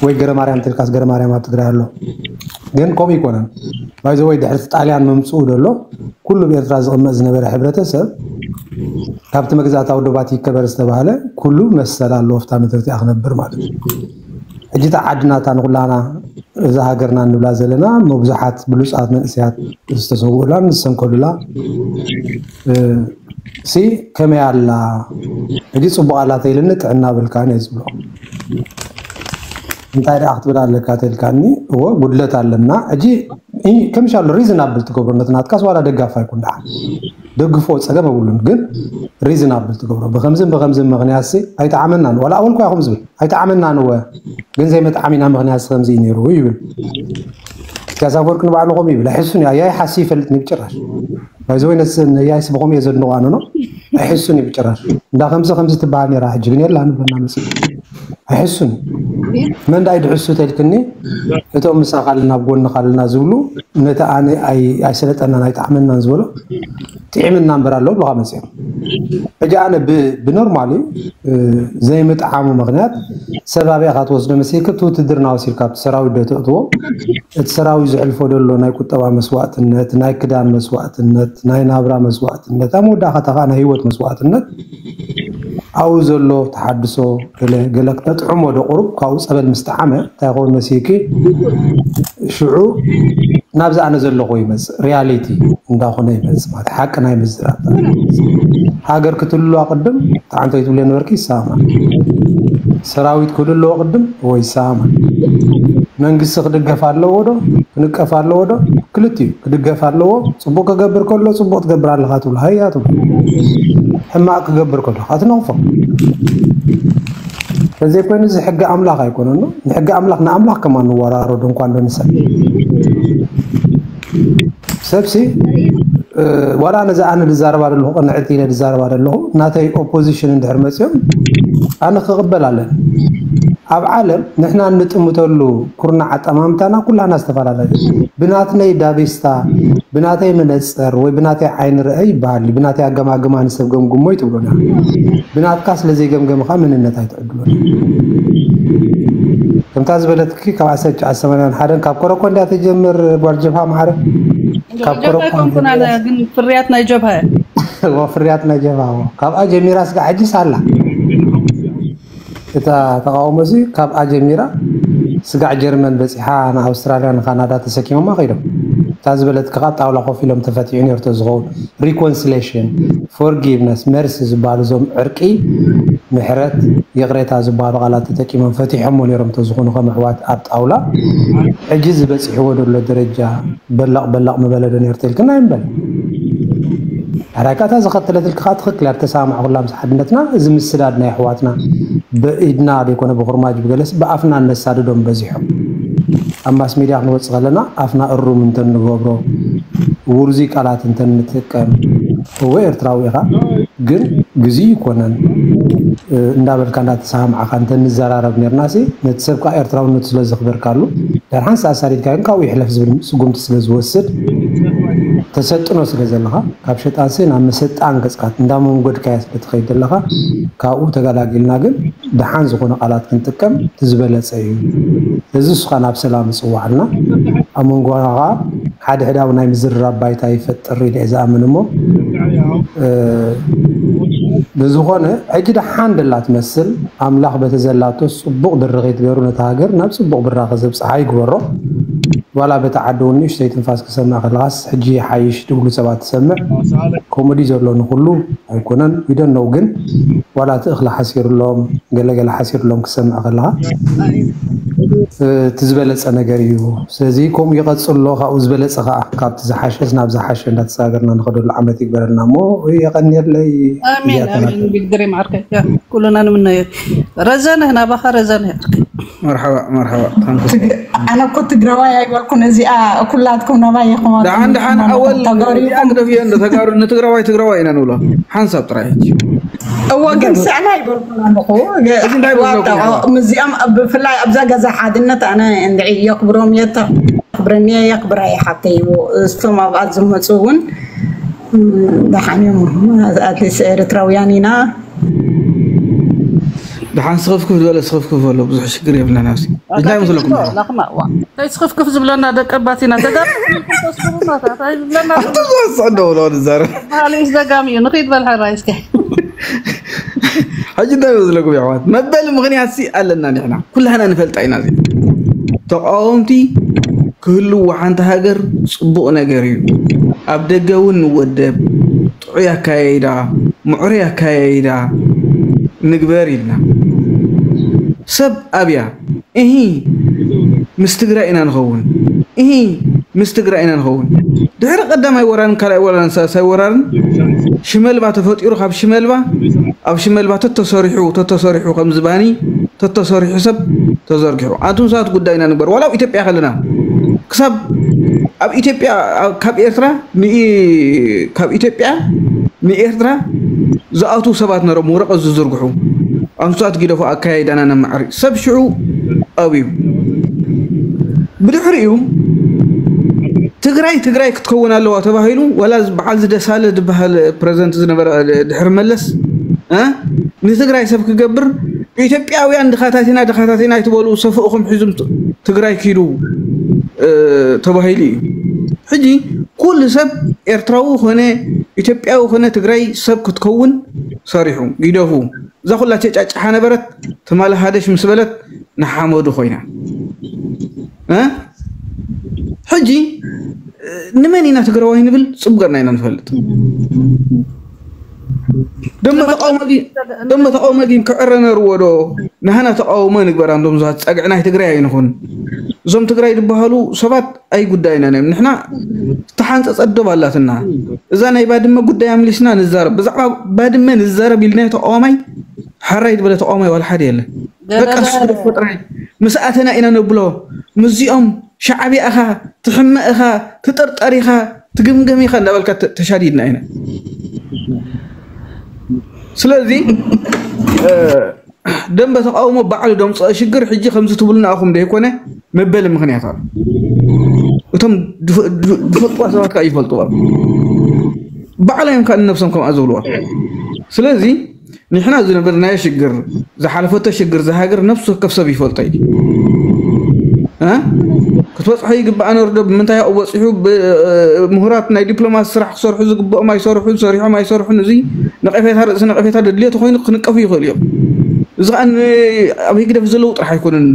ወይ ገረ ማርያም ተልካስ ገረ ማርያም ኣብ ትግራይ ኣሎ። ግን ከምኡ ይኮነን። ባይዘ ወይ ድሕሪ ጣልያን መምፅኡ ደሎ ኩሉ ብኤርትራ ዝቕመጥ ዝነበረ ሕብረተሰብ ካብቲ መግዛእታዊ ዶባት ይከበር ዝተባህለ ኩሉ መሰል ኣለዎ ኣብታ ምድሪ እቲኣ ክነብር ማለት እዩ። ሕጂ እታ ዓዲ ናታ ንኩላና እዛ ሃገርና እንብላ ዘለና መብዙሓት ብሉፃት መንእሰያት ዝተሰውኡላን ዝሰንከሉላ፣ እ፣ ሲ ከመይ ኣላ? ሕጂ ጽቡቕ ኣላ ተይልኒ ጥዕና ብልካን እየ ዝብሎ። እንታይ ደኣ ክትብል ኣለካ ተልካኒ? እወ ጉድለት ኣለና። ሕጂ ኢ-፣ ከምሻሉ ሪዝናብል ትገብሮ ነቲ ናትካስ ዋላ ደጋፍ ኣይኩን ደኣ። ደግፎ ጸገም የብሉን፣ ግን ሪዝናብል ትገብሮ። ብኸምዝን ብኸምዝን ምኽንያት ሲ ኣይጠዓመናን። ዋላ ኣወል እኳ ይኹም ዝብል ኣይጠዓመናን እወ፣ ግን ዘይመጥዓሚና ምኽንያት ሲ ከምዚ እዩ ነይሩ ይብል። ኢሳያስ ኣፈወርቂ ንባዕሉ ከምኡ ይብል። ኣይሕሱን እዩ። ኣያይ ሓሲ ይፈልጥ ንብጭራሽ። ባይዘ ወይ ነስ-፣ ነያይስ ብኸምኡ እየ ዘድንቖ ኣነ ነው። ኣይሕሱን እዩ ብጭራሽ። እንዳ ከምዚ ከምዚ ትበሃል ነይራ፣ ሕጂ ግን የላ ንብለና መጽእ። ኣይሕሱን እዩ። መን ዳኣ ይድሕሱ ተልክኒ? እቶም ምሳኻ ኣለና፣ ኣብ ጎንኻ ኣለና ዝብሉ፣ ነቲ ኣነ ኣይ-፣ ኣይሰለጠናን ኣይጠዓመናን ዝበሎ፣ ጥዒምና እምበር ኣሎ ብሎኻ መጽኦም። ሕጂ ኣነ ብ-፣ ብኖርማሊ፣ እ፣ ዘይምጥዓሙ ምኽንያት ሰብ ኣበይ ኢኻ ትወስዶ መሲልካ፣ እቲ ውትድርና ወሲድካ ኣብቲ ሰራዊት ዶ ተእትዎ? እቲ ሰራዊት ዘሕልፎ ዘሎ ናይ ቁጠባ መስዋእትነት፣ ናይ ክዳን መስዋእትነት፣ ናይ ናብራ መስዋእትነት፣ ኣብ መወዳእታ ከዓ ናይ ህይወት መስዋእትነት ኣብኡ ዘሎ ተሓድሶ ገለ ገለ ክተጥዕሞ ዶ ቁሩብ ካብኡ ጸበል ምስ ጠዓመ እንታይ ይኸውን መሲልኪ? ሽዑ ናብዚ ኣነ ዘለኹ ይመጽእ፣ ሪያሊቲ እንዳኾነ ይመጽእ ማለት ሓቂ ናይ ምዝራብ። ሃገር ክትህልዋ ቅድም፣ ጣዕንተይ ትብልዮ ነበርኪ፣ ይሰማማዕ። ሰራዊት ክህሉ ኣለዎ ቅድም፣ ወይ ይሰማማዕ። መንግስቲ ክድገፍ ኣለዎ ዶ? ክንቀፍ ኣለዎ ዶ? ክልቲኡ ክድገፍ ኣለዎ። ጽቡቕ ክገብር ከሎ ጽቡቕ ትገብር ኣለኻ ትብሎ፣ ሃያ ትብሎ። ሕማቕ ክገብር ከሎ ኣትነቕፎ። ተዘይኮይኑ እዚ ሕጊ ኣምላኽ ኣይኮነን። ንሕጊ ኣምላኽ ንኣምላኽ ከማን ንወራረዶ እንኳን ዶ ንሰብ። ሰብሲ፣ እ፣ ዋላ ነዚ ኣነ ዝዛረባ ዘለኹ፣ ቅንዕቲ ኢለ ዝዛረባ ዘለኹ፣ ናተይ ኦፖዚሽን እንድሕር መጽዮም፣ ኣነ ክቕበል ኣለኒ። ኣብ ዓለም ንሕና እንጥምተሉ ኩርናዕ ኣጠማምታና ኩላና ዝተፈላለየ። ብናትነይ ዳቤስታ፣ ብናተይ መነጽር ወይ ብናተይ ዓይኒ ርአይ ይበሃል። ብናተይ ኣገማግማ ንሰብ ገምግሞ ይትብሉና። ብናትካ ስለ ዘይገምገምኻ መንነት ኣይትዕድሎን። ከምታ ዝበለትኪ ካብ ዓሰርተ ትሽዓተ ሰማንያን ሓደን ካብ ኮረኮ እንድያ ትጀምር ጓል ጀብሃ ማዕረ። ካብ ጀብሃ ኮረኮ ኣይኮንኩን ኣነ፣ ግን ፍርያት ናይ ጀብሃ እየ። እዎ፣ ፍርያት ናይ ጀብሃ፣ እዎ። ካብኣ ጀሚራ ስጋዕ ሕጂስ ኣላ። እታ ተቃውሞ እዚ ካብኣ ጀሚራ ስጋዕ ጀርመን በጺሓ ንኣውስትራልያ ንካናዳ ተሰኪሞማ ከይዶም። እታ ዝበለትካ ካብ ጣውላ ኮፍ ኢሎም ተፈቲሑ ነርቶ ዝኸውን reconciliation፣ forgiveness፣ mercy ዝበሃሉ እዞም ዕርቂ፣ ምሕረት፣ ይቕሬታ ዝበሃሉ ቃላት ተጠቂሞም ፈቲሖሞ ነይሮም ተዝኾኑ ከም ኣሕዋት ኣብ ጣውላ። ሕጂ ዝበፂሕዎ ዘሎ ደረጃ በላቕ በላቕ ምበለ ዶ ነርቶ ኢልክና ይንበል። ኣራይ ካታ ዝኸተለትልካ ትኽክል እያ፣ ተሰማማዕኩላ ምስ ሓድነትና። እዚ ምስዳድ ናይ ኣሕዋትና ብኢድና ዘይኮነ ብኹርማጅ ብገለስ ብኣፍና እነሳድዶም በዚሖም። ኣብ ማስ ሚድያ ክንወፅእ ከለና ኣፍና እሩም እንተንገብሮ፣ ውርዙይ ቃላት እንተንጥቀም፣ እወ ኤርትራዊ ኢኻ፣ ግን ግዜ ይኮነን እንዳበልካ እንዳተሰማማዕካ እንተንዘራረብ ነርና ሲ፣ ነቲ ሰብ ከዓ ኤርትራውነቱ ስለ ዘኽበርካሉ፣ ድሕር ሓንሳእ ኣሳዲድካ ግን ካብኡ ይሕለፍ ዝብል ስጉምቲ ስለ ዝወስድ፣ ተሰጥኖ ስለ ዘለኻ፣ ካብ ሸጣን ሲ ናብ መሰጣን ገጽካ እንዳመንጎድካያ ስለ ትኸይድ ዘለኻ፣ ካብኡ ተገላጊልና ግን ደሓን ዝኾነ ቃላት ክንጥቀም እቲ ዝበለጸ እዩ። እዚ እሱኻ ናብ ሰላም ይጽዋዓልና። ኣብ መንጎኻ ሓደ ሕዳዊ ናይ ምዝርራብ ባይታ ይፈጥር ኢለ እየ ዝኣምን እሞ፣ እ፣ ብዝኾነ ሕጂ ደሓን ደላ ትመስል። ኣምላኽ በቲ ዘላቶ ጽቡቕ ድርኺት ገይሩ ነታ ሃገር ናብ ጽቡቕ ብራኸ ዘብጽሓ ይግበሮ። ዋላ በቲ ዓዲ እውን ንእሽተይ ትንፋስ ክሰምዕ ከለኻስ ሕጂ ይሓይሽ ትብሉ ሰባት ትሰምዕ። ከምኡ ድዩ ዘሎ ንኹሉ? ኣይኮነን። We don't know፣ ግን ዋላ እቲ እኽሊ ሓሲርሎም፣ ገለገለ ሓሲርሎም ክሰምዕ ከለኻ፣ እ፣ እቲ ዝበለጸ ነገር እዩ። ስለዚ ከምኡ ይቐጽሎ፣ ካብኡ ዝበለጸ ኸኣ ካብቲ ዝሓሸስ ናብ ዝሓሸ እንዳተሰጋገርና ንኸደሉ ዓመት ይግበረልና እሞ የቐንየለይ። ኣሜን፣ እዚኣተን ኣሜን። ናተን። ብግድሪ ማርከ ኩሉና ንምነዮ። ረዘነ ናባኻ ረዘነ። መርሓባ፣ መርሓባ። ታንክስ። ትግ-፣ ኣነ እኮ ትግራዋይ ኣይበልኩን። እዚኣ ኩላትኩም ናባይ ኢኹም። ደሓን፣ ደሓን፣ ኣወል ተጋሩ እዚኣ ኢኹም። ግደፍዮ እንዶ፣ ተጋሩ፣ ንትግራዋይ ትግራዋይ ኢና ንብሎ። ሓንሳብ ጥራይ ሕጂ። እወ፣ ግን ስዕላ ኣይበልኩን ኣለኹ። እዚ እንታይ በለኩም ዋጣ፣ ኢኹም? ምስዚኦም ብፍላይ ኣብዛ ገዛ ሓድነት ኣነ እንድዒ የኽብሮም እየ፣ የኽብረኒ እየ፣ የኽብራ እየ ሓብተይ። እቶም ኣብኣ ዝመፁ እውን፣ ም፣ ደሓን እዮም። ኣትሊስት ኤርትራውያን ኢና። ደሓን ስኽፍክፍ ዝበለ ስኽፍክፍ በሎ፣ ብዙሕ ሽግር የብልናን ኣብዚ። እንታይ መስለኩም? ላኽማ፣ ዋ። እንታይ ስኽፍክፍ ዝብለና ደቂ ኣባት ኢና፣ ተጋሩ ተስብሩና፣ እንታይ ዝብለና? ኣቶም ዝወስዕ ደውሎ ንዛረብ። ባህሊ ደጋሚ እዩ፣ ንኺድ በል ሕራይ እስከ። ሕጂ እንታይ መስለኩም የሕዋት? መበሊ ምኽንያት ሲ ኣለና ንሕና። ኩላህና ንፈልጣ ኢና እዚ። ተቃወምቲ ክህልዉ ሓንቲ ሃገር ጽቡቕ ነገር እዩ። ኣብ ደገ እውን ንወደብ፣ ጥዑይ ኣካያይዳ፣ ምዕሩይ ኣካያይዳ ንግበር ኢልና። ሰብ ኣብያ፣ እሂ፣ ምስ ትግራይ ኢና ንኸውን። እሂ፣ ምስ ትግራይ ኢና ንኸውን። ድሕሪ ቀዳማይ ወራርን ካልኣይ ወራርን ሳልሳይ ወራርን ሽመልባ ተፈጢሩ፣ ካብ ሽመልባ፣ ኣብ ሽመልባ ተተሰሪሑ፣ ተተሰሪሑ ከም ዝባኒ ተተሰሪሑ ሰብ ተዘርጊሑ። ኣንቱም ሰባት ጉዳይና ንግበር። ዋላ ኣብ ኢትዮጵያ ከለና ክሳብ ኣብ ኢትዮጵያ፣ ኣብ፣ ካብ ኤርትራ ንኢ-፣ ካብ ኢትዮጵያ ንኤርትራ ዝኣትዉ ሰባት ነሮም ወረቐት ዝዝርግሑ። ኣንቱም ሰባት ግደፉ፣ ኣካያይዳና ነማዕሪ። ሰብ ሽዑ ኣብዩ። ብድሕሪኡ ትግራይ ትግራይ ክትከውን ኣለዋ ተባሂሉ፣ ዋላ በዓል ዝደሳለ ዝበሃል ፕረዚደንት ዝነበረ ድሕሪ መለስ፣ እ? ንትግራይ ሰብ ክገብር ኢትዮጵያውያን ድኻታት ኢና፣ ድኻታት ኢና ኣይትበሉ፣ ሰፍእኹም ሒዙም ት-፣ ትግራይ ኪዱ፣ እ፣ ተባሂሉ እዩ። ሕጂ ኩሉ ሰብ ኤርትራዊ ኾነ ኢትዮጵያዊ ኾነ ትግራይ ሰብ ክትከውን ሰሪሑ፣ ግደፉ። እዛ ኩላ ጨጫጭሓ ነበረት፣ ትማሊ ሃደሽ ምስ በለት ንሓመዱ ኮይና። እ? ሕጂ፣ እ፣ ንመን ኢና ትግራዋይ ንብል? ጽቡቕ ጌርና ኢና ንፈልጥ። ደሞ ተቃውሞ ግን፣ ደሞ ተቃውሞ ግን ክዕረ ነርዎ ዶ? ንሃና ተቃውሞ ንግበር፣ ኣንዶም ዛት ጸግዒ ናይ ትግራይ ኣይንኹን። እዞም ትግራይ ዝበሃሉ ሰባት ኣይጉዳይናን እዮም። ንሕና ዝተሓንጸጸት ዶብ ኣላትና። እዛ ናይ ባድመ ጉዳይ ኣምሊስና ንዛረብ። ብዛዕባ ባድመ ንዛረብ ኢልናዮ ተቃዋማይ፣ ሕራይ ዝበለ ተቃዋማይ ዋላ ሓደ የለን። በቃ እሱ ደፎ ጥራይ። ምስ ኣተና ኢና ነብሎ። ምስዚኦም ሻዕብያ ኢኻ፣ ትሕመ ኢኻ፣ ትጥርጠር ኢኻ፣ ትግምገም ኢኻ እንዳበልካ ተ-፣ ተሻዲድና ኢና። ስለዚ፣ እ፣ ደንበ ተቃውሞ ባዕሉ ደምፅኦ ሽግር ሕጂ ከምዚ ትብሉና ኢኹም ዘይኮነ መበሊ ምኽንያት ኣሎ። እቶም ድፍ-፣ ድፍ-፣ ድፈልጥዋ ሰባት ከዓ ይፈልጥዋ። ባዕሎም እዮም ከዓ ንነብሶም ከምኣ ዝብልዋ። ስለዚ ንሕና ዝነበርናዮ ሽግር፣ ዝሓለፈቶ ሽግር፣ ዝሃገር ነፍሲ ወከፍ ሰብ ይፈልጦ እዩ። እ? ክትበፅሖ ይግባእ ነሩ ዶ? ብምንታይ ኣብኡ በፂሑ? ብ-፣ ምሁራት ናይ ዲፕሎማሲ ስራሕ ክሰርሑ ዝግብኦም ኣይሰርሑን፣ ሰሪሖም ኣይሰርሑን። እዚ ነቐፌታ ርእሲ ነቐፌታ ደድልዮ ተኾይኑ ክንቀፉ ይኽእሉ እዮም። እዚ ከዓ ኣብ ህግደፍ ዘለዉ ጥራሕ ኣይኮነን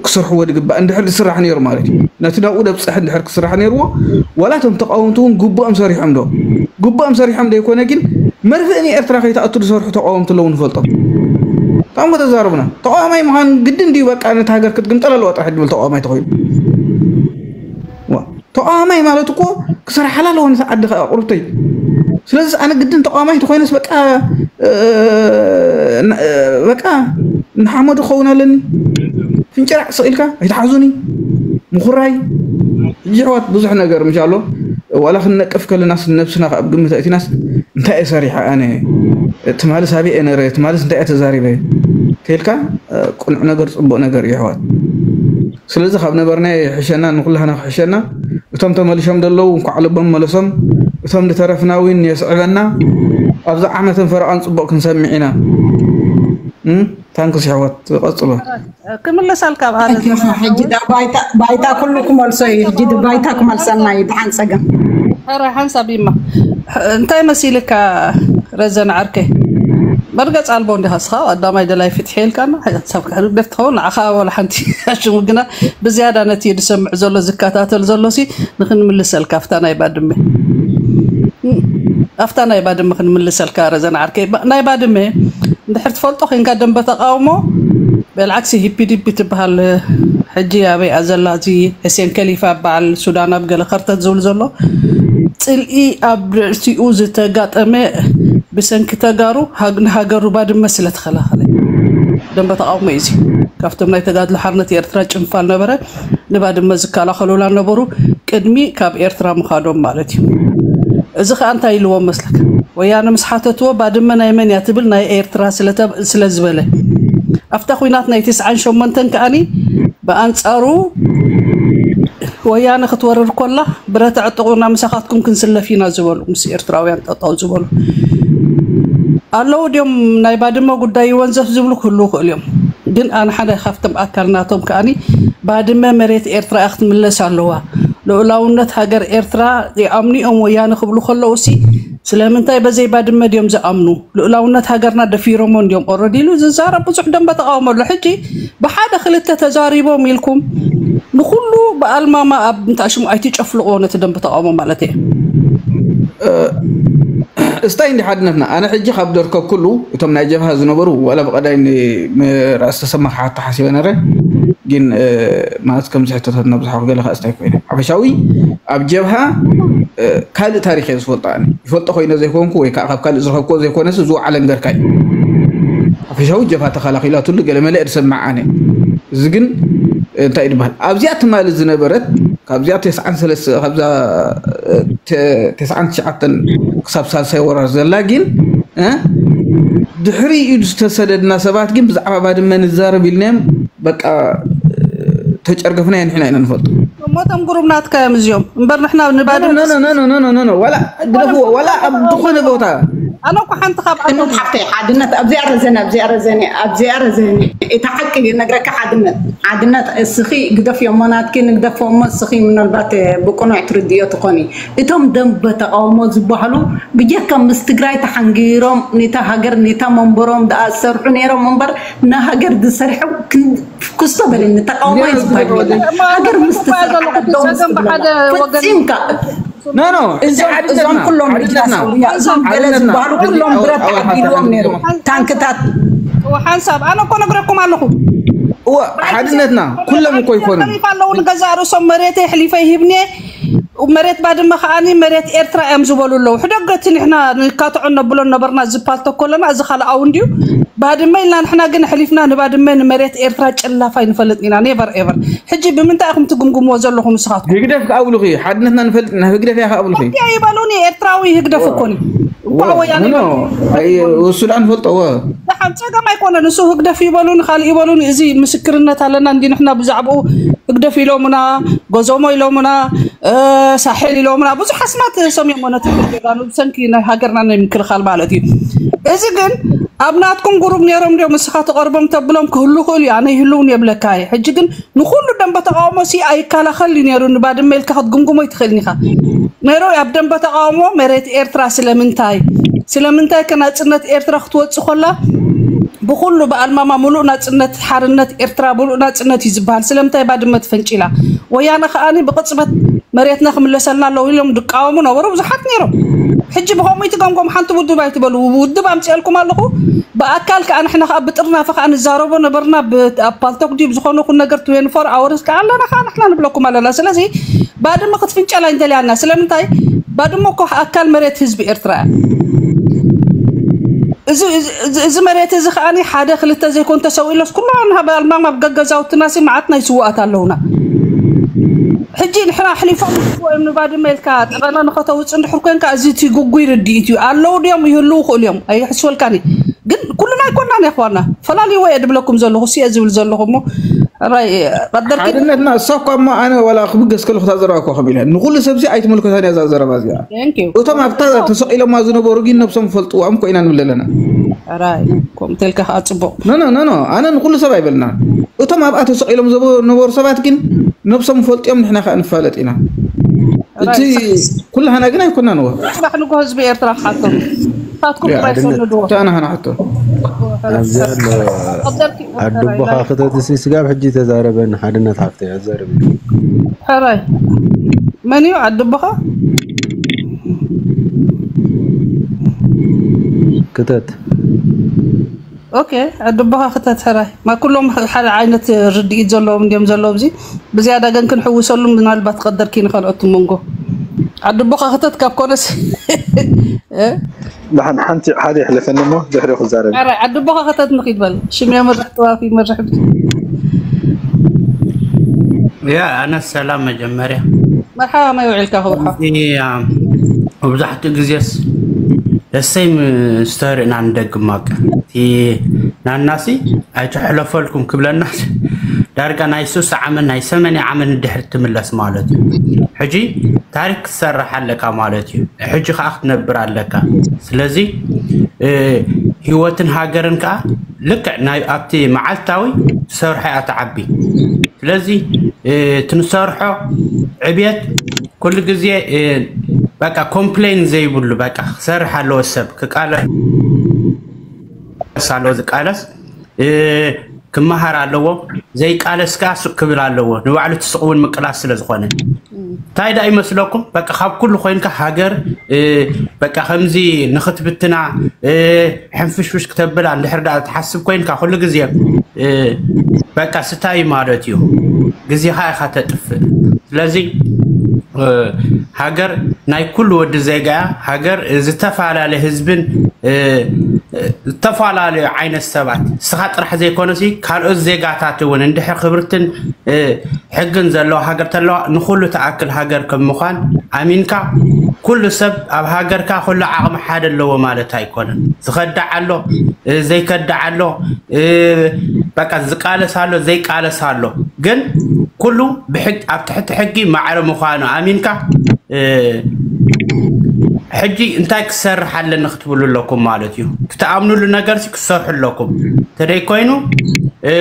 ክሰርሕዎ ዝግባእ፣ እንድሕር ዝስራሕ ነይሩ ማለት እዩ። ነቲ ናብኡ ደብፅሕ እንድሕር ክስራሕ ነይርዎ፣ ዋላ እቶም ተቃወምቲ እውን ግቡኦም ሰሪሖም ዶ? ግቡኦም ሰሪሖም ዘይኮነ ግን መርፍእ ንኤርትራ ከይትኣቱ ዝሰርሑ ተቃወምቲ ኣለዉ ንፈልጦም። እቶም ከተዛረቡና ተቃዋማይ ምዃን ግድን ድዩ? በቃ ነቲ ሃገር ክትግምጠል ኣለዋ ጥራሕ ድብል ተቃዋማይ ተኮይኑ ተቃዋማይ ማለት እኮ ክሰርሓላ ኣለዎ ነቲ ዓዲ ከዓ ቁርብተይ። ስለዚ ኣነ ግድን ተቃዋማይ ተኮይነስ በቃ በቃ ንሓመዱ ክኸውን ኣለኒ። ፍንጭራዕ ስቕ ኢልካ ኣይትሓዙኒ። ምኹራይ ሕጂ ኣሕዋት ብዙሕ ነገር ምሻሎ ዋላ ክንነቅፍ ከለናስ ነብስና ካብ ግምት ኣእቲናስ እንታይ እየ ሰሪሐ ኣነ? ትማልስ ኣበይ እየ ነረ? ትማልስ እንታይ እየ ተዛሪበ? ተልካ ቁኑዕ ነገር ፅቡቅ ነገር እዩ ኣሕዋት። ስለዚ ካብ ነበርና ይሕሸና፣ ንኩላህና ክሕሸና። እቶም ተመሊሾም ዘለዉ እንኳዕ ልቦም መለሶም። እቶም ዝተረፍና እውን የስዕበና። ኣብዛ ዓመትን ፈረቓን ጽቡቕ ክንሰምዕ ኢና። ታንክስ ኣሕዋት ቀጽሎ። ክምለሳልካ ኣብ ኣረ ሕጂ ባይታ ኩሉ ክመልሶ እዩ። ሕጂ ባይታ ክመልሰና እዩ። ድሓን ጸገም ሕራይ ሓንሳብ ይማ እንታይ መሲልካ ረዘን ዓርከይ መርገጽ ኣልቦ እንዲኻ ስኻ ቀዳማይ ደላይ ፍትሒ ኢልካና ሰብ ክሕልፍ ትኸውን ንዓኻ ወላ ሓንቲ ሽሙ ግና ብዝያዳ ነቲ ዝሰምዕ ዘሎ ዝከታተል ዘሎ ሲ ንክንምልሰልካ ኣብታ ናይ ባድመ ኣብታ ናይ ባድመ ክንምልሰልካ ረዘን ዓርከይ ናይ ባድመ እንድሕር ትፈልጦ ኮንካ ደንበ ተቃውሞ ብልዓክሲ ሂፒዲፒ ትበሃል ሕጂ ኣበይ እያ ዘላ እዚ ሕሴን ከሊፋ በዓል ሱዳን ኣብ ገለ ከርተት ዝብል ዘሎ ፅልኢ ኣብ ርእሲኡ ዝተጋጠመ ብሰንኪ ተጋሩ ንሃገሩ ባድመ ስለ ተኸላኸለ ደንበ ተቃውሞ እዩ እዚ ካብቶም ናይ ተጋድሎ ሓርነት ኤርትራ ጭንፋል ነበረ ንባድመ ዝከላኸሉላ ነበሩ ቅድሚ ካብ ኤርትራ ምኻዶም ማለት እዩ እዚ ከዓ እንታይ ኢልዎም መስለካ ወያነ ምስ ሓተትዎ ባድመ ናይ መን እያ ትብል ናይ ኤርትራ ስለ ዝበለ ኣብታ ኹናት ናይ ትስዓን ሸሞንተን ከዓኒ ብኣንፃሩ ወያነ ክትወርር ኮላ ብረት ኣዕጥቑና ምሳኻትኩም ክንስለፍ ኢና ዝበሉ ምስ ኤርትራውያን ጠጠው ዝበሉ ኣለዉ ድዮም ናይ ባድመ ጉዳይ ይወንዘፍ ዝብሉ ክህልዉ ክእሉ እዮም ግን ኣነ ሓደ ካብቶም ኣካል ናቶም ከዓኒ ባድመ መሬት ኤርትራ እያ ክትምለስ ኣለዋ ልኡላውነት ሃገር ኤርትራ ይኣምኑ እዮም ወያነ ክብሉ ከለዉ ሲ ስለምንታይ በዘይ ባድመ ድዮም ዝኣምኑ ልኡላውነት ሃገርና ደፊሮሞ እንዲዮም ኦረዲ ኢሉ ዝዛረብ ብዙሕ ደንበ ተቃውሞ ኣሎ ሕጂ ብሓደ ክልተ ተዛሪቦም ኢልኩም ንኩሉ ብኣልማማ ኣብ እንታይ ሽሙ ኣይትጨፍልቆ ነቲ ደንበ ተቃውሞ ማለት እየ እስታይ እንዲ ሓድነትና ኣነ ሕጂ ካብ ደርከብኩሉ እቶም ናይ ጀብሃ ዝነበሩ ዋላ ብቀዳይ ራእሲ ተሰማ ክሓቶ ሓሲበ ነረ ግን ማለት ከምዚ ሕቶታት ነብዝሓ ክገለ ከዓ እስታይ ኮይነ ሓፈሻዊ ኣብ ጀብሃ ካልእ ታሪክ እየ ዝፈልጦ ኣነ ይፈልጦ ኮይነ ዘይኮንኩ ወይ ከዓ ካብ ካልእ ዝረከብኩዎ ዘይኮነስ ዝወዓለ እንገርካ እዩ ሓፈሻዊ ጀብሃ ተኸላኺላትሉ ገለ መለ እየ ዝሰምዕ ኣነ እዚ ግን እንታይ ድበሃል ኣብዚኣ ትማሊ ዝነበረት ካብዚኣ ተስዓን ሰለስተ ካብዛ ተስዓን ትሽዓተን ክሳብ ሳልሳይ ወራር ዘላ ግን ድሕሪ ኢዱ ዝተሰደድና ሰባት ግን ብዛዕባ ባድመ ንዛረብ ኢልናዮም በቃ ተጨርገፍና የንሕና ኢና ንፈልጡ እሞቶም ጉሩብ ናትካ እዮም እዚኦም እምበር ንሕና ንባድመ ዋላ ግደፍዎ ዋላ ኣብ ዝኾነ ቦታ ኣነ እኮ ሓንቲ ካብ ሓድነት ሓፍተይ ሓድነት ኣብዚኣ ረዘነ ኣብዚኣ ረዘነ ኣብዚኣ ረዘነ እታ ሓቂ ነግረካ ሓድነት ሓድነት እስኺ ግደፍዮ እሞ ናትኪ ንግደፎ እሞ እስኺ ምናልባት ብቅኑዕ ትርድዮ ትኾኒ እቶም ደንበ ተቃውሞ ዝበሃሉ ብጀካ ምስ ትግራይ ተሓንጊሮም ኔታ ሃገር ኔታ መንበሮም ደኣ ዝሰርሑ ነይሮም እምበር ንሃገር ዝሰርሑ ክስቶ በለኒ ተቃውሞ እዩ ዝበሃል የለን ሃገር ምስ ትሰርሕ ደው ምስ ትብለላ ፈጺምካ ኖ ኖ እዞም እዞም ኩሎም መኪና ሰውያ እዞም ገለ ዝበሃሉ ኩሎም ብረት ተዓዲልዎም ነይሩ ታንክታት ሓንሳብ ኣነ እኮ ነግረኩም ኣለኹ እወ ሓድነትና ኩሎም እኮ ይኮኑ ኣለዉ ንገዛእ ርእሶም መሬተይ ኣሕሊፈ ይህብኒ መሬት ባድመ ከዓኒ መሬት ኤርትራ እዮም ዝበሉ ኣለዉ ሕደገ እቲ ንሕና ንካትዖ ነብሎ ነበርና ዝፓልቶ ኮለና እዚ ካልኣዊ እንድዩ ባድመ ኢልና ንሕና ግን ኣሕሊፍና ንባድመ ንመሬት ኤርትራ ጨላፍ ኣይንፈልጥ ኢና never ever ሕጂ ብምንታይ ኢኹም ትግምግምዎ ዘለኹም ንስኻትኩም ህግደፍ ክኣብሉኺ ሓድነትና ንፈልጥ ኢና ህግደፍ እያ ክኣብሉኺ እያ ይበሉኒ ኤርትራዊ ህግደፍ እኮ እዩ እንኳዕ ወያነ እሱ ደኣ ንፈልጦ እወ ደሓን ጸገም ኣይኮነን እሱ ህግደፍ ይበሉኒ ካልእ ይበሉኒ እዚ ምስክርነት ኣለና እንዲ ንሕና ብዛዕባኡ ህግደፍ ኢሎምና ጎዞሞ ኢሎምና ሳሕል ኢሎምና ብዙሕ ኣስማት ሰሚሞ ነቲ ጀጋኑ ብሰንኪ ናይ ሃገርና ናይ ምክልኻል ማለት እዩ እዚ ግን ኣብ ናትኩም ጉሩብ ነይሮም ድዮም ንስኻ ተቐርቦም ተብሎም ክህሉ ክእሉ እዩ ኣነ ይህልውን የብለካ እየ ሕጂ ግን ንኹሉ ደንበ ተቃውሞ ሲ ኣይከላኸል እዩ ነይሩ ንባድመ ኢልካ ክትግምግሞ ይትኽእልን ኢኻ ነይሮ ኣብ ደንበ ተቃውሞ መሬት ኤርትራ ስለምንታይ ስለምንታይ ከ ናጽነት ኤርትራ ክትወጽእ ኮላ ብኹሉ ብኣልማማ ሙሉእ ናጽነት ሓርነት ኤርትራ ሙሉእ ናጽነት እዩ ዝበሃል። ስለምንታይ ባድመ ትፈንጭ ኢላ? ወያነ ከኣኒ ብቕጽበት መሬትና ክምለሰልና ኣለዎ ኢሎም ድቃወሙ ነበሩ ብዙሓት ነይሮም። ሕጂ ብኸምኡ ይትገምገሙ ሓንቲ ውድብ ኣይትበሉ። ውድብ ኣምፅኤልኩም ኣለኹ። ብኣካል ከዓ ንሕና ከዓ ብጥርናፈ ከዓ ንዛረቦ ነበርና። ብ-፣ ኣብ ፓልቶክ ድዩ ብዝኾነ ኩን ነገር ትዌንቲ ፎር ኣወርስ ከዓ ኣለና ከዓ ንሕና ንብለኩም ኣለና። ስለዚ ባድመ ክትፍንጨላ እንተልያና ስለምንታይ? ባድመ እኮ ኣካል መሬት ህዝቢ ኤርትራ እያ። እዚ እዚ- እዚ- እዚ መሬት እዚ ከዓኒ ሓደ ክልተ ዘይኮን ተሰው ኢሎስ ኩሉ ኣንሃ ባልማማ ኣብ ገገዛውትና ሲ መዓት ናይ ስዋኣት ኣለውና። ሕጂ ንሕና ኣሕሊፎም ይህብዎ እዮም ንባድመ ኢልካ ጠቐነ ንኸተውፅእ እንድሕር ኮንካ እዚ እቲ ግጉይ ርድኢት እዩ። ኣለዉ ድዮም ይህልዉ ክእሉ እዮም ኣይሕስወልካኒ። ግን ኩልና ኣይኮናን የኽዋና ፈላልይዎ እየ ድብለኩም ዘለኹ እሱ እየ ዝብል ዘለኹ እሞ ራይ ቀደርኪ ሓድነትና እሳ እኳ እሞ ኣነ ዋላ ክብገስ ከለኹ እታ ዘረባ እኳ ከም ኢለ ንኩሉ ሰብሲ ኣይትምልከታን እያ እዛ ዘረባ እዚኣ። Thank you። እቶም ኣብታ ተሰቂሎማ ዝነበሩ ግን ነብሶም ፈልጥዎም ኮይና ንብል ኣለና። ራይ ከምኡ ተልካ ከዓ ፅቡቅ። ኖ ኖ ኖ ኖ ኣነ ንኩሉ ሰብ ኣይበልና። እቶም ኣብኣ ተሰቂሎም ዝነበሩ ሰባት ግን ነብሶም ፈልጥዮም ንሕና ከዓ ንፋለጥ ኢና። እቲ ኩላህና ግን ኣይኮናን ወ ጽባሕ ንጎ ህዝቢ ኤርትራ ክሓቶም ንሳትኩም ያ፣ ጥራይ ሓድነት። ሰንድዎ። እታ ኣና ሃና ሓቶ ኣብዚ ኣሎ ቀደርኪ ኣድቦኻ ክተትሲ ስጋብ ሕጂ ተዛረበን ሓድነት ሓፍተይ ኣዛረቢ። ሕራይ መን እዩ ኣድቦኻ? ክተት ኦኬ ኣድቦኻ ክተት ሕራይ ማ ኩሎም ሓደ ዓይነት ርድኢት ዘለዎም እንዲዮም ዘለዉ ኣብዚ ብዝያዳ ግን ክንሕውሰሉ ምናልባት ቀደርኪ ንኸልኦት መንጎ ኣድቦኻ ክተት ካብ ኮነስ እ? ደሓን ሓንቲ ሓደ ይሕለፈኒ እሞ ድሕሪኡ ክዛረብ። ሕራይ ኣድቦኻ ክተት ንኺድ በል ሽም የምርሕ ጥዋፍ ይመርሕ ያ ኣነ ሰላም መጀመርያ መርሓባ መይ ውዒልካ ክብርሓ እዚ ያ፣ መብዛሕትኡ ግዜስ ደሰይ ምስ ተርእና ንደግም ማቀ እቲ ናናሲ ኣይትሕለፈልኩም ክብለና ዳርጋ ናይ ሱሳ ዓመት ናይ ሰመንያ ዓመት ንድሕር ትምለስ ማለት እዩ። ሕጂ ታሪክ ክትሰርሕ ኣለካ ማለት እዩ። ሕጂ ከዓ ክትነብር ኣለካ። ስለዚ እ፣ ህይወትን ሃገርን ከዓ ልክዕ ናይ ኣብቲ መዓልታዊ ትሰርሖ እያ ትዓቢ። ስለዚ እ፣ ትንሰርሖ ዕብየት ኩሉ ግዜ እ፣ በቃ ኮምፕሌን ዘይብሉ በቃ ክሰርሕ ኣለዎ ሰብ ክቃለስ ኣለዎ ዝቃለስ እ፣ ክመሃር ኣለዎ ዘይቃለስ ከዓ ሱቅ ክብል ኣለዎ ንባዕሉ እቲ ሱቅ እውን ምቅላስ ስለ ዝኾነ እንታይ ደኣ ይመስለኩም በቃ ካብ ኩሉ ኮይንካ ሃገር እ፣ በቃ ከምዚ ንክትብትና እ፣ ሕንፍሽፍሽ ክተብላ እንድሕር ደኣ ትሓስብ ኮይንካ ኩሉ ግዜ እ፣ በቃ ስታይ ማለት እዩ ግዜኻ ኢኻ ተጥፍእ ስለዚ እ፣ ሃገር ናይ ኩሉ ወዲ ዜጋ እያ ሃገር ዝተፈላለየ ህዝብን እ፣ እ፣ ዝተፈላለዩ ዓይነት ሰባት እስኻ ጥራሕ ዘይኮነሲ ካልኦት ዜጋታት እውን እንድሕር ክብርትን እ፣ ሕግን ዘለዋ ሃገር ተለዋ ንኩሉ ትኣክል ሃገር ከም ምዃን ኣሚንካ ኩሉ ሰብ ኣብ ሃገርካ ኩሉ ዓቕሚ ሓደ ኣለዎ ማለት ኣይኮነን። ዝኸዳዕ ኣሎ እ፣ ዘይከዳዕ ኣሎ እ፣ በቃ ዝቃለስ ኣሎ ዘይቃለስ ኣሎ ግን ኩሉ ብሕግ ኣብ ትሕቲ ሕጊ ማዕረ ምዃኑ ኣሚንካ እ፣ ሕጂ እንታይ ክሰርሕ ኣለኒ ክትብሉ ኣለኩም ማለት እዩ። ክትኣምኑሉ ነገር ሲ ክትሰርሑ ኣለኩም። ተደይ ኮይኑ እ፣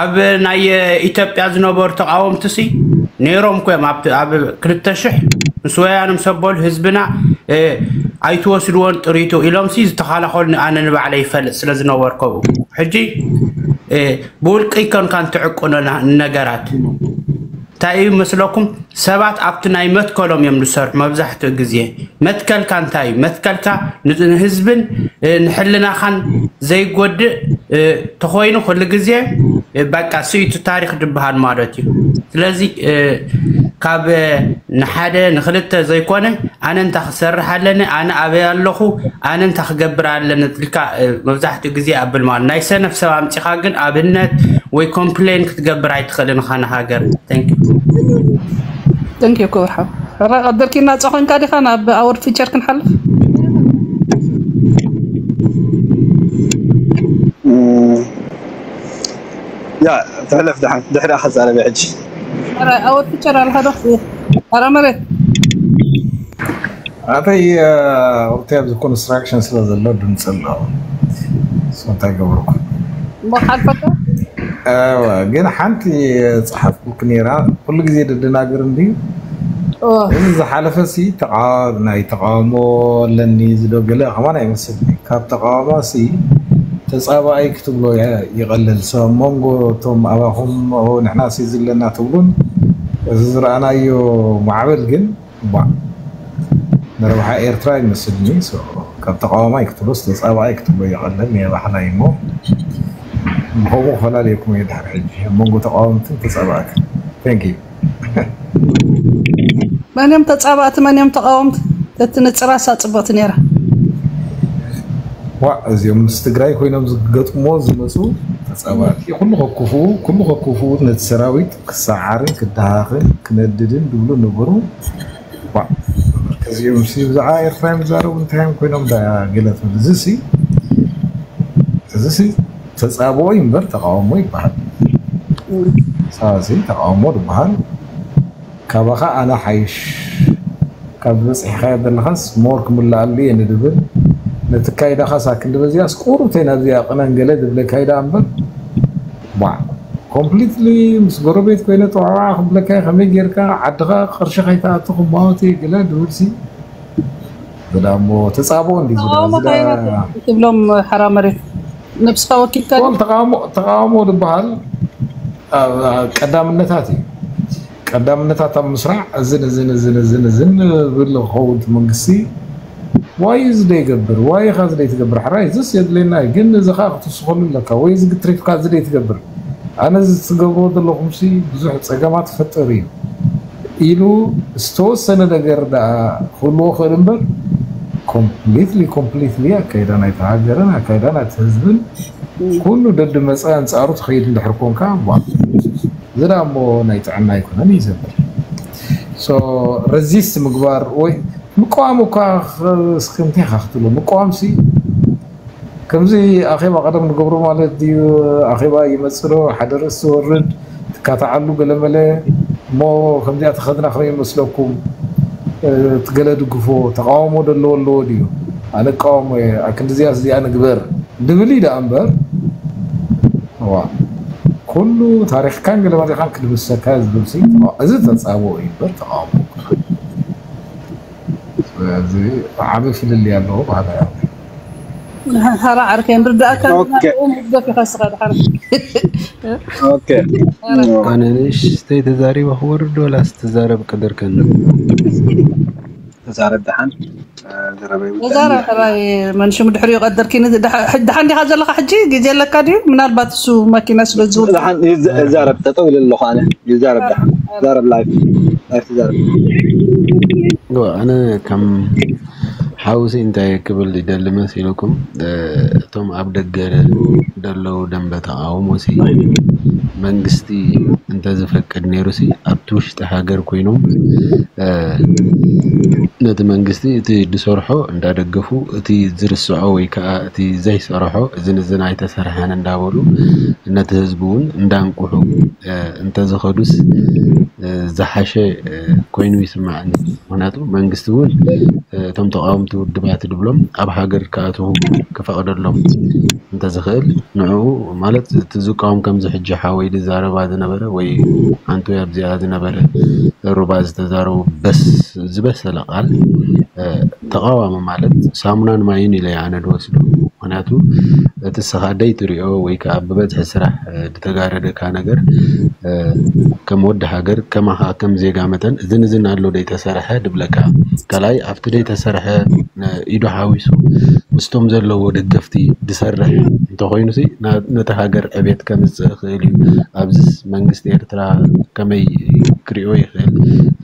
ኣብ ናይ ኢትዮጵያ ዝነበሩ ተቃወምቲ ሲ ነይሮም ኮም ኣብ ኣብ ክልተ ሽሕ ምስ ወያነ ምስ ኣበሉ ህዝብና እ፣ ኣይትወስድዎን ጥሪቱ ኢሎም ሲ ዝተኸላኸሉኒ ኣነ ንባዕለይ ይፈልጥ ስለ ዝነበርኩ ሕጂ እ፣ ብውልቂ ይኮንካ እንትዕቁኖ ና- ነገራት እንታይ እዩ መስለኩም ሰባት ኣብቲ ናይ መትከሎም እዮም ዝሰርሑ መብዛሕትኡ ግዜ መትከልካ እንታይ እዩ መትከልካ ን- ንህዝብን እ፣ ንሕልናኻን ዘይጎድእ እ፣ ተኾይኑ ኩሉ ግዜ እ፣ በቃ ስኢቱ ታሪክ ድበሃል ማለት እዩ ስለዚ እ፣ ካብ እ፣ ንሓደ ንክልተ ዘይኮነ ኣነ እንታ ክሰርሕ ኣለኒ ኣነ ኣበይ ኣለኹ ኣነ እንታ ክገብር ኣለኒ ትልካ እ፣ መብዛሕትኡ ግዜ ኣብል ማለት ናይ ሰነፍ ሰብ ኣምፂኻ ግን ኣብነት ወይ ኮምፕሌን ክትገብር ኣይትኽእልን ኻነ ሃገር Thank you. Thank you ክብርሓ ሕራ ቀደርኪ እናፀ ኮንካ ዲኻ ናብ ኣወር ፊቸር ክንሓልፍ ያ ትሕለፍ ድሓን ድሕሪኣ ክዛረብ ሕጂ ኣወር ፊቸር ኣልሃዶ ኣረ መሬት ኣተይ ወቅቲ ኣብዚ ኮንስትራክሽን ስለ ዘሎ ድምፂ ኣሎ እንታይ ገበርኩ እሞ ሓልፈካ ግን ሓንቲ ፀሓፍኩልክ ነራ ኩሉ ግዜ ደደናግር እንድዩ እዚ ዝሓለፈ ሲ ናይ ተቃውሞ ኣለኒ ዝዶ ገለ ከማን ኣይመስልኒ ካብ ተቃውሞ ሲ ተጻባኣይ ክትብሎ የ- ይቐልል። ሰ መንጎ እቶም ኣባኹም "ኦ፣ ንሕና ሲ ዘለና" ትብሉን እዚ ዝረኣናዮ ማዕበል ግን ቧዕ፣ ንረብሓ ኤርትራ ይመስልኒ። ሶ፣ ካብ ተቃዋማይ ክትብሎስ ተጻባኣይ ክትብሎ ይቐልል። ናይ ባሕላይ እሞ ብኸምኡ ክፈላልየኩም እየ ድሕሪ ሕጂ ኣብ መንጎ ተቃወምትን ተጻባእትን። Thank you። መን እዮም ተጻባእቲ፣ መን እዮም ተቃወምቲ? ተትንጽራሳ ጽብቕቲ ነይራ። ዋ፣ እዚኦም ምስ ትግራይ ኮይኖም ዝገጥሞ ዝመፁ ተጻባእቲ፣ ኩሉ ከኩፉ፣ ኩሉ ከኩፉ፣ ነቲ ሰራዊት ክሰዓርን ክደሃኽን ክነድድን ድብሉ ነበሩ። ዋ፣ እዚኦም ሲ ብዛዕባ ኤርትራ እዮም ዝዛረቡ፣ እንታይ እዮም ኮይኖም ዳ ገለ ትብል? እዚ ሲ፣ እዚ ሲ ተጻብኦ እዩ እምበር ተቃውሞ ይበሃል። ሳዚ ተቃውሞ ዝበሃል ካባኻ ኣነ ሓይሽ፣ ካብ በፂሕኻዮ ዘለኻስ ሞር ክምልኣሉ እየ ንድብል፣ ነቲ ካይዳኻስ ኣክንዲ በዚኣስ ቁሩብተይ ናብዚኣ ቅነን ገለ ድብለካ እዩ ደኣ እምበር፣ ቧዕ፣ ኮምፕሊትሊ ምስ ጎረቤት ኮይነ ጥዋዕዋዕ ክብለካ እየ፣ ከመይ ጌርካ ዓድኻ ቅርሺ ከይትኣቱ ክማወት እየ ገለ ድብልሲ፣ ዝዳ እሞ ተጻብኦ እንዲ ዝዳ ተቃውሞ ዝዳ ካይናት ትብሎም ሓራ መሬት ነብስኻ ወኪልካ ድዩ? ወል ተቃውሞ ተቃውሞ ዝበሃል ኣብ ቀዳምነታት እዩ። ቀዳምነታት ኣብ ምስራዕ እዝን እዝን እዝን እዝን እዝን ብል ክኸውን እቲ መንግስቲ ዋይ እዚ ደይገብር፣ ዋይ ኻ እዚ ደይትገብር፣ ሕራይ እዝስ የድልየና እዩ፣ ግን እዚ ኸዓ ክትውስኸሉ ኣለካ፣ ወይ እዚ ግትሪፍካ እዚ ደይትገብር፣ ኣነ እዚ ትገብርዎ ዘለኹምሲ ብዙሕ ጸገማት ይፈጥር እዩ ኢሉ ዝተወሰነ ነገር ደኣ ክህልዎ ክእል እምበር፣ ኮምፕሊትሊ ኮምፕሊትሊ ኣካይዳ ናይቲ ሃገርን ኣካይዳ ናይቲ ህዝብን ኩሉ ደድመፀ ኣንፃሩ ትኸይድ እንድሕር ኮንካ፣ ቧ፣ እዚ ደኣ እሞ ናይ ጥዕና ኣይኮነን እዩ ዘብል። ሶ፣ ረዚስት ምግባር ወይ ምቅዋም እኳ ኽ- እስኪ እንታይ ኢኻ ክትብሎ? ምቅዋም ሲ ከምዚ ኣኼባ ቀደም ንገብሮ ማለት ድዩ? ኣኼባ ይመጽእ ዶ? ሓደ ርእሲ ትወርድ ትካታዓሉ ገለመለ እሞ ከምዚኣ ተኸድና ከመይ ይመስለኩም? እ፣ ትገለ ድግፎ ተቃውሞ ደለዎ ኣለዎ ድዩ? ኣነ እቃወሞ እየ፣ ኣክንዲዚኣ እዚኣ ንግበር ድብል እዩ ደኣ እምበር፣ እዋ፣ ኩሉ ታሪኽካን ገለመሌኻን ክድምሰካ ዝብል ሲ፣ እዚ ተጻብኦ እዩ እምበር ተቃውሞ። ስለዚ ዓቢ ፍልልይ ኣለዎ ባህላ። ሓራ ዓርከይ ንርዳእካ ኦኬ። መግደፍ ኢኻ ስኻ ድሓር ኦኬ። ኣነ ንእሽተይ ተዛሪበ ክወርድ ወላስ ትዛረብ ቅድርከኒ? ተዛረብ ደሓን። እ፣ ዘረባ ይውዳእ። ተዛረብ ሕራይ መንሽም ድሕሪኡ ቀደርኪኒ። ደሓ- ደሓን ዲኻ ዘለኻ ሕጂ? ግዜ ኣለካ ድዩ? ምናልባት እሱ ማኪና ስለ ዝውል ደሓን ይዘ- ይዛረብ፣ ጠጠው ኢለ ኣለኹ ኣነ። ይዛረብ ደሓን። ዛረብ ላይፍ። ላይፍ ትዛረብ። ዶ ኣነ ከም ሓውሲ እንታይ ክብል ይደሊ መሲልኩም? እ፣ እቶም ኣብ ደገ ደለዉ ደንበ ተቃውሞ ሲ መንግስቲ እንተዝፈቅድ ነይሩ ሲ ኣብቲ ውሽጢ ሃገር ኮይኖም፣ እ፣ ነቲ መንግስቲ እቲ ዝሰርሖ እንዳደገፉ እቲ ዝርስዖ ወይ ከዓ እቲ ዘይሰርሖ እዝን እዝን ኣይተሰርሐን እንዳበሉ ነቲ ህዝቢ እውን እንዳንቁሑ፣ እ፣ እንተዝኸዱስ፣ እ፣ ዝሓሸ፣ እ፣ ኮይኑ ይስማዓኒ። ምክንያቱ መንግስቲ እውን፣ እ፣ እቶም ተቃወምቲ ውድባት ድብሎም ኣብ ሃገር ክኣትዉ ክፈቅደሎም እንተዝኽእል ንዕኡ ማለት እቲ ዝቃወም ከምዚ ሕጂ ሓወይ ዝዛረባ ዝነበረ ወይ ኣንቱ ኣብዚኣ ዝነበረ ሩባ ዝተዛረቡ በስ ዝበሰለ ቃል፣ እ፣ ተቃዋሚ ማለት ሳሙናን ማይን ኢለ ኣነ ድወስዶ። ምክንያቱ እቲ ስኻ ደይትሪኦ ወይ ከዓ ብበዝሒ ስራሕ፣ እ፣ ዝተጋረደካ ነገር፣ እ፣ ከም ወዲ ሃገር ከማኻ ከም ዜጋ መጠን እዝን እዝን ኣሎ ደይተሰርሐ ድብለካ። ካልኣይ ኣብቲ ደይተሰርሐ፣ እ፣ ኢዱ ሓዊሱ ምስቶም ዘለዎ ደገፍቲ ድሰርሕ እንተኾይኑ ሲ ና- ነቲ ሃገር ዕቤት ከምፅእ ይኽእል እዩ። ኣብዚስ መንግስቲ ኤርትራ ከመይ ክሪኦ ይኽእል?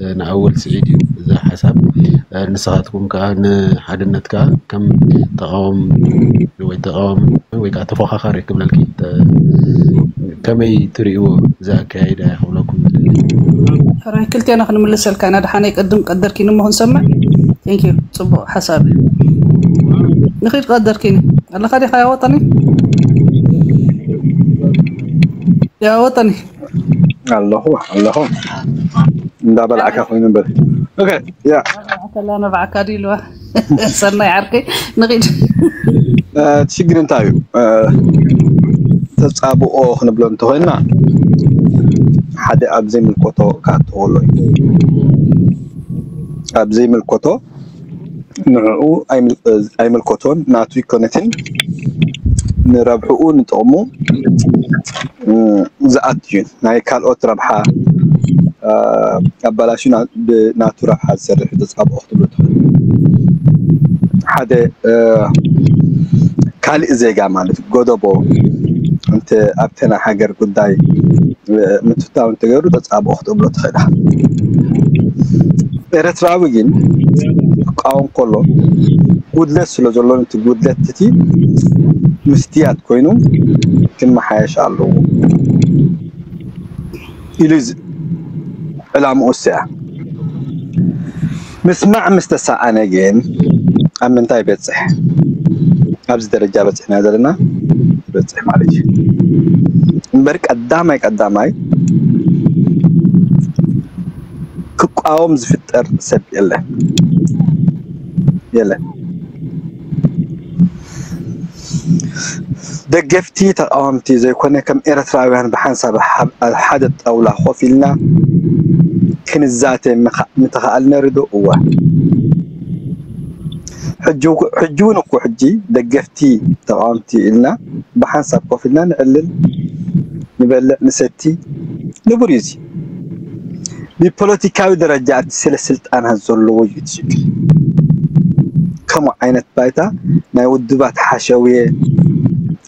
እ፣ ንኣወል ስዒድ እዩ እዚ ሓሳብ። እ፣ ንስኻትኩም ከዓ ንሓድነት ከዓ ከም ተቃወም ወይ ተቃዋሚ ወይ ከዓ ተፎኻኻሪ ክብለልኪ ተ- ከመይ ትሪእዎ እዚ ኣካያይዳ ክብለኩም ይደሊ። ሕራይ ክልቴና ክንምልሰልካ ኢና። ደሓነይ ቅድም ቀደርኪኒ እሞ ክንሰምዕ። Thank you። ጽቡቕ ሓሳብ እዩ። ንኺድ ቀደርኪኒ ኣለኻ ዲኻ? ያወጠኒ ያወጠኒ ኣለኹ ኣለኹ እንዳበላዕካ ኮይኑ እምበር። ኦኬ። ያ ከላ ነባዕካ ድዩ ኢልዋ። ሰናይ ዓርከይ ንኺድ። እ፣ እቲ ሽግር እንታይ እዩ? እ፣ ተጻብኦ ክንብሎ እንተኾይንና ሓደ ኣብ ዘይምልከቶ ክኣትዎ ኣሎ እዩ። ኣብ ዘይምልከቶ ንዕኡ ኣይምል- ኣይምልከቶን ናቱ ኣይኮነትን። ንረብሕኡ ንጥቕሙ ዝኣቱ እዩ። ናይ ካልኦት ረብሓ ኣባላሹ ብናቱ ረብሓ ዝሰርሕ ተፃብኦ ክትብሎ ትኽእል። ሓደ ካልእ ዜጋ ማለት ጎደቦ ኣብቲ ናይ ሃገር ጉዳይ ምትታው እንተገይሩ ተፃብኦ ክትብሎ ትኽእል። ኤርትራዊ ግን ክቃወም ከሎ ጉድለት ስለ ዘሎ ነቲ ጉድለት እቲ ምስትያት ኮይኑ ክመሓየሽ ኣለዎ ኢሉ ዕላምኡ እሱ እያ። ምስማዕ ምስ ተሰኣነ ግን ኣብ ምንታይ ይበጽሕ? ኣብዚ ደረጃ በጺሕና ዘለና ይበጽሕ ማለት እዩ። እምበር ቀዳማይ ቀዳማይ ክቃወም ዝፍጠር ሰብ የለን የለን። ደገፍቲ ተቃወምቲ ዘይኮነ ከም ኤርትራውያን ብሓንሳብ ኣብ ሓደ ጣውላ ኮፍ ኢልና ክንዛተ ምተኻኣልነ ርዶ እዋ ሕጂ እውን እኮ ሕጂ ደገፍቲ ተቃወምቲ ኢልና ብሓንሳብ ኮፍ ኢልና ንዕልል ንበልዕ ንሰቲ ንቡር እዩ። ብፖለቲካዊ ደረጃ ኣብቲ ስለ ስልጣናት ዘለዎ እዩ እቲ ሽግር። ከምኡ ዓይነት ባይታ ናይ ውድባት ሓሸውየ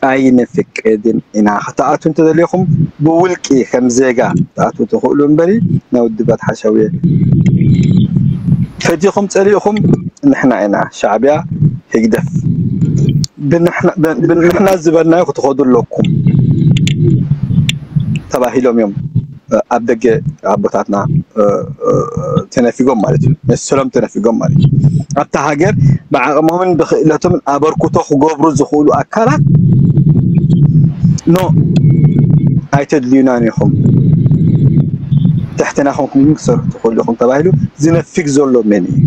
ኣይንፍቅድን ኢና። ክትኣቱ እንተደሊኹም ብውልቂ ከም ዜጋ ክትኣቱ ትኽእሉ እምበሪ ናይ ውድባት ሓሸውየ ፈቲኹም ጸሊእኹም ንሕና ኢና ሻዕብያ ህግደፍ ብንሕና ዝበልናዮ ክትኸዱ ኣለኩም ተባሂሎም እዮም ኣብ ደገ ኣቦታትና ተነፊጎም ማለት እዩ። መሰሎም ተነፊጎም ማለት እዩ። ኣብታ ሃገር ብዓቕሞምን ብክእለቶምን ኣበርክቶ ክገብሩ ዝኽእሉ ኣካላት ኖ ኣይተድልዩናን ኢኹም፣ ትሕትና ኮንኩም ክትሰርሑ ትኽእሉ ኢኹም ተባሂሉ ዝነፊግ ዘሎ መን እዩ?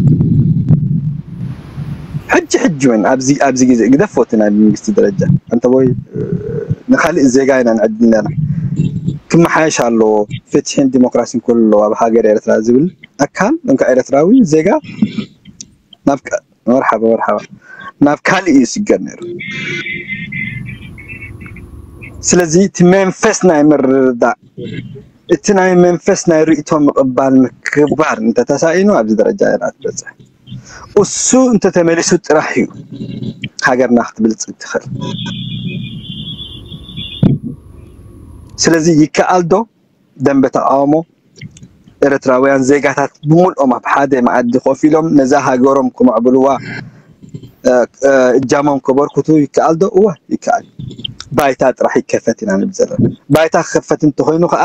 ሕጂ ሕጂ እውን ኣብዚ ኣብዚ ግዜ ግደፎ እቲ ናይ መንግስቲ ደረጃ እንተ ወይ ንካልእ ዜጋ ኢና ንዕድል ኣለና ክመሓየሽ ኣለዎ፣ ፍትሕን ዲሞክራሲን ክህሉ ኣለዎ ኣብ ሃገር ኤርትራ ዝብል ኣካል እንካ ኤርትራዊ ዜጋ ናብ መርሓባ መርሓባ ናብ ካልእ እዩ ዝስገር ነይሩ። ስለዚ እቲ መንፈስ ናይ ምርድዳእ እቲ ናይ መንፈስ ናይ ርእቶ ምቕባል ምክባር እንተተሳኢኑ ኣብዚ ደረጃ ኢና ትበፅሕ። እሱ እንተተመሊሱ ጥራሕ እዩ ሃገርና ክትብልፅግ ትኽእል። ስለዚ ይከኣል ዶ ደንበ ተቃውሞ ኤርትራውያን ዜጋታት ብምልኦም ኣብ ሓደ መኣዲ ኮፍ ኢሎም ነዛ ሃገሮም ክምዕብልዋ እጃሞም ከበርክቱ ይከኣል ዶ? እወ ይከኣል። ባይታ ጥራሕ ይከፈት ኢና ንብል ዘለና። ባይታ ክከፈት እንተኮይኑ ከዓ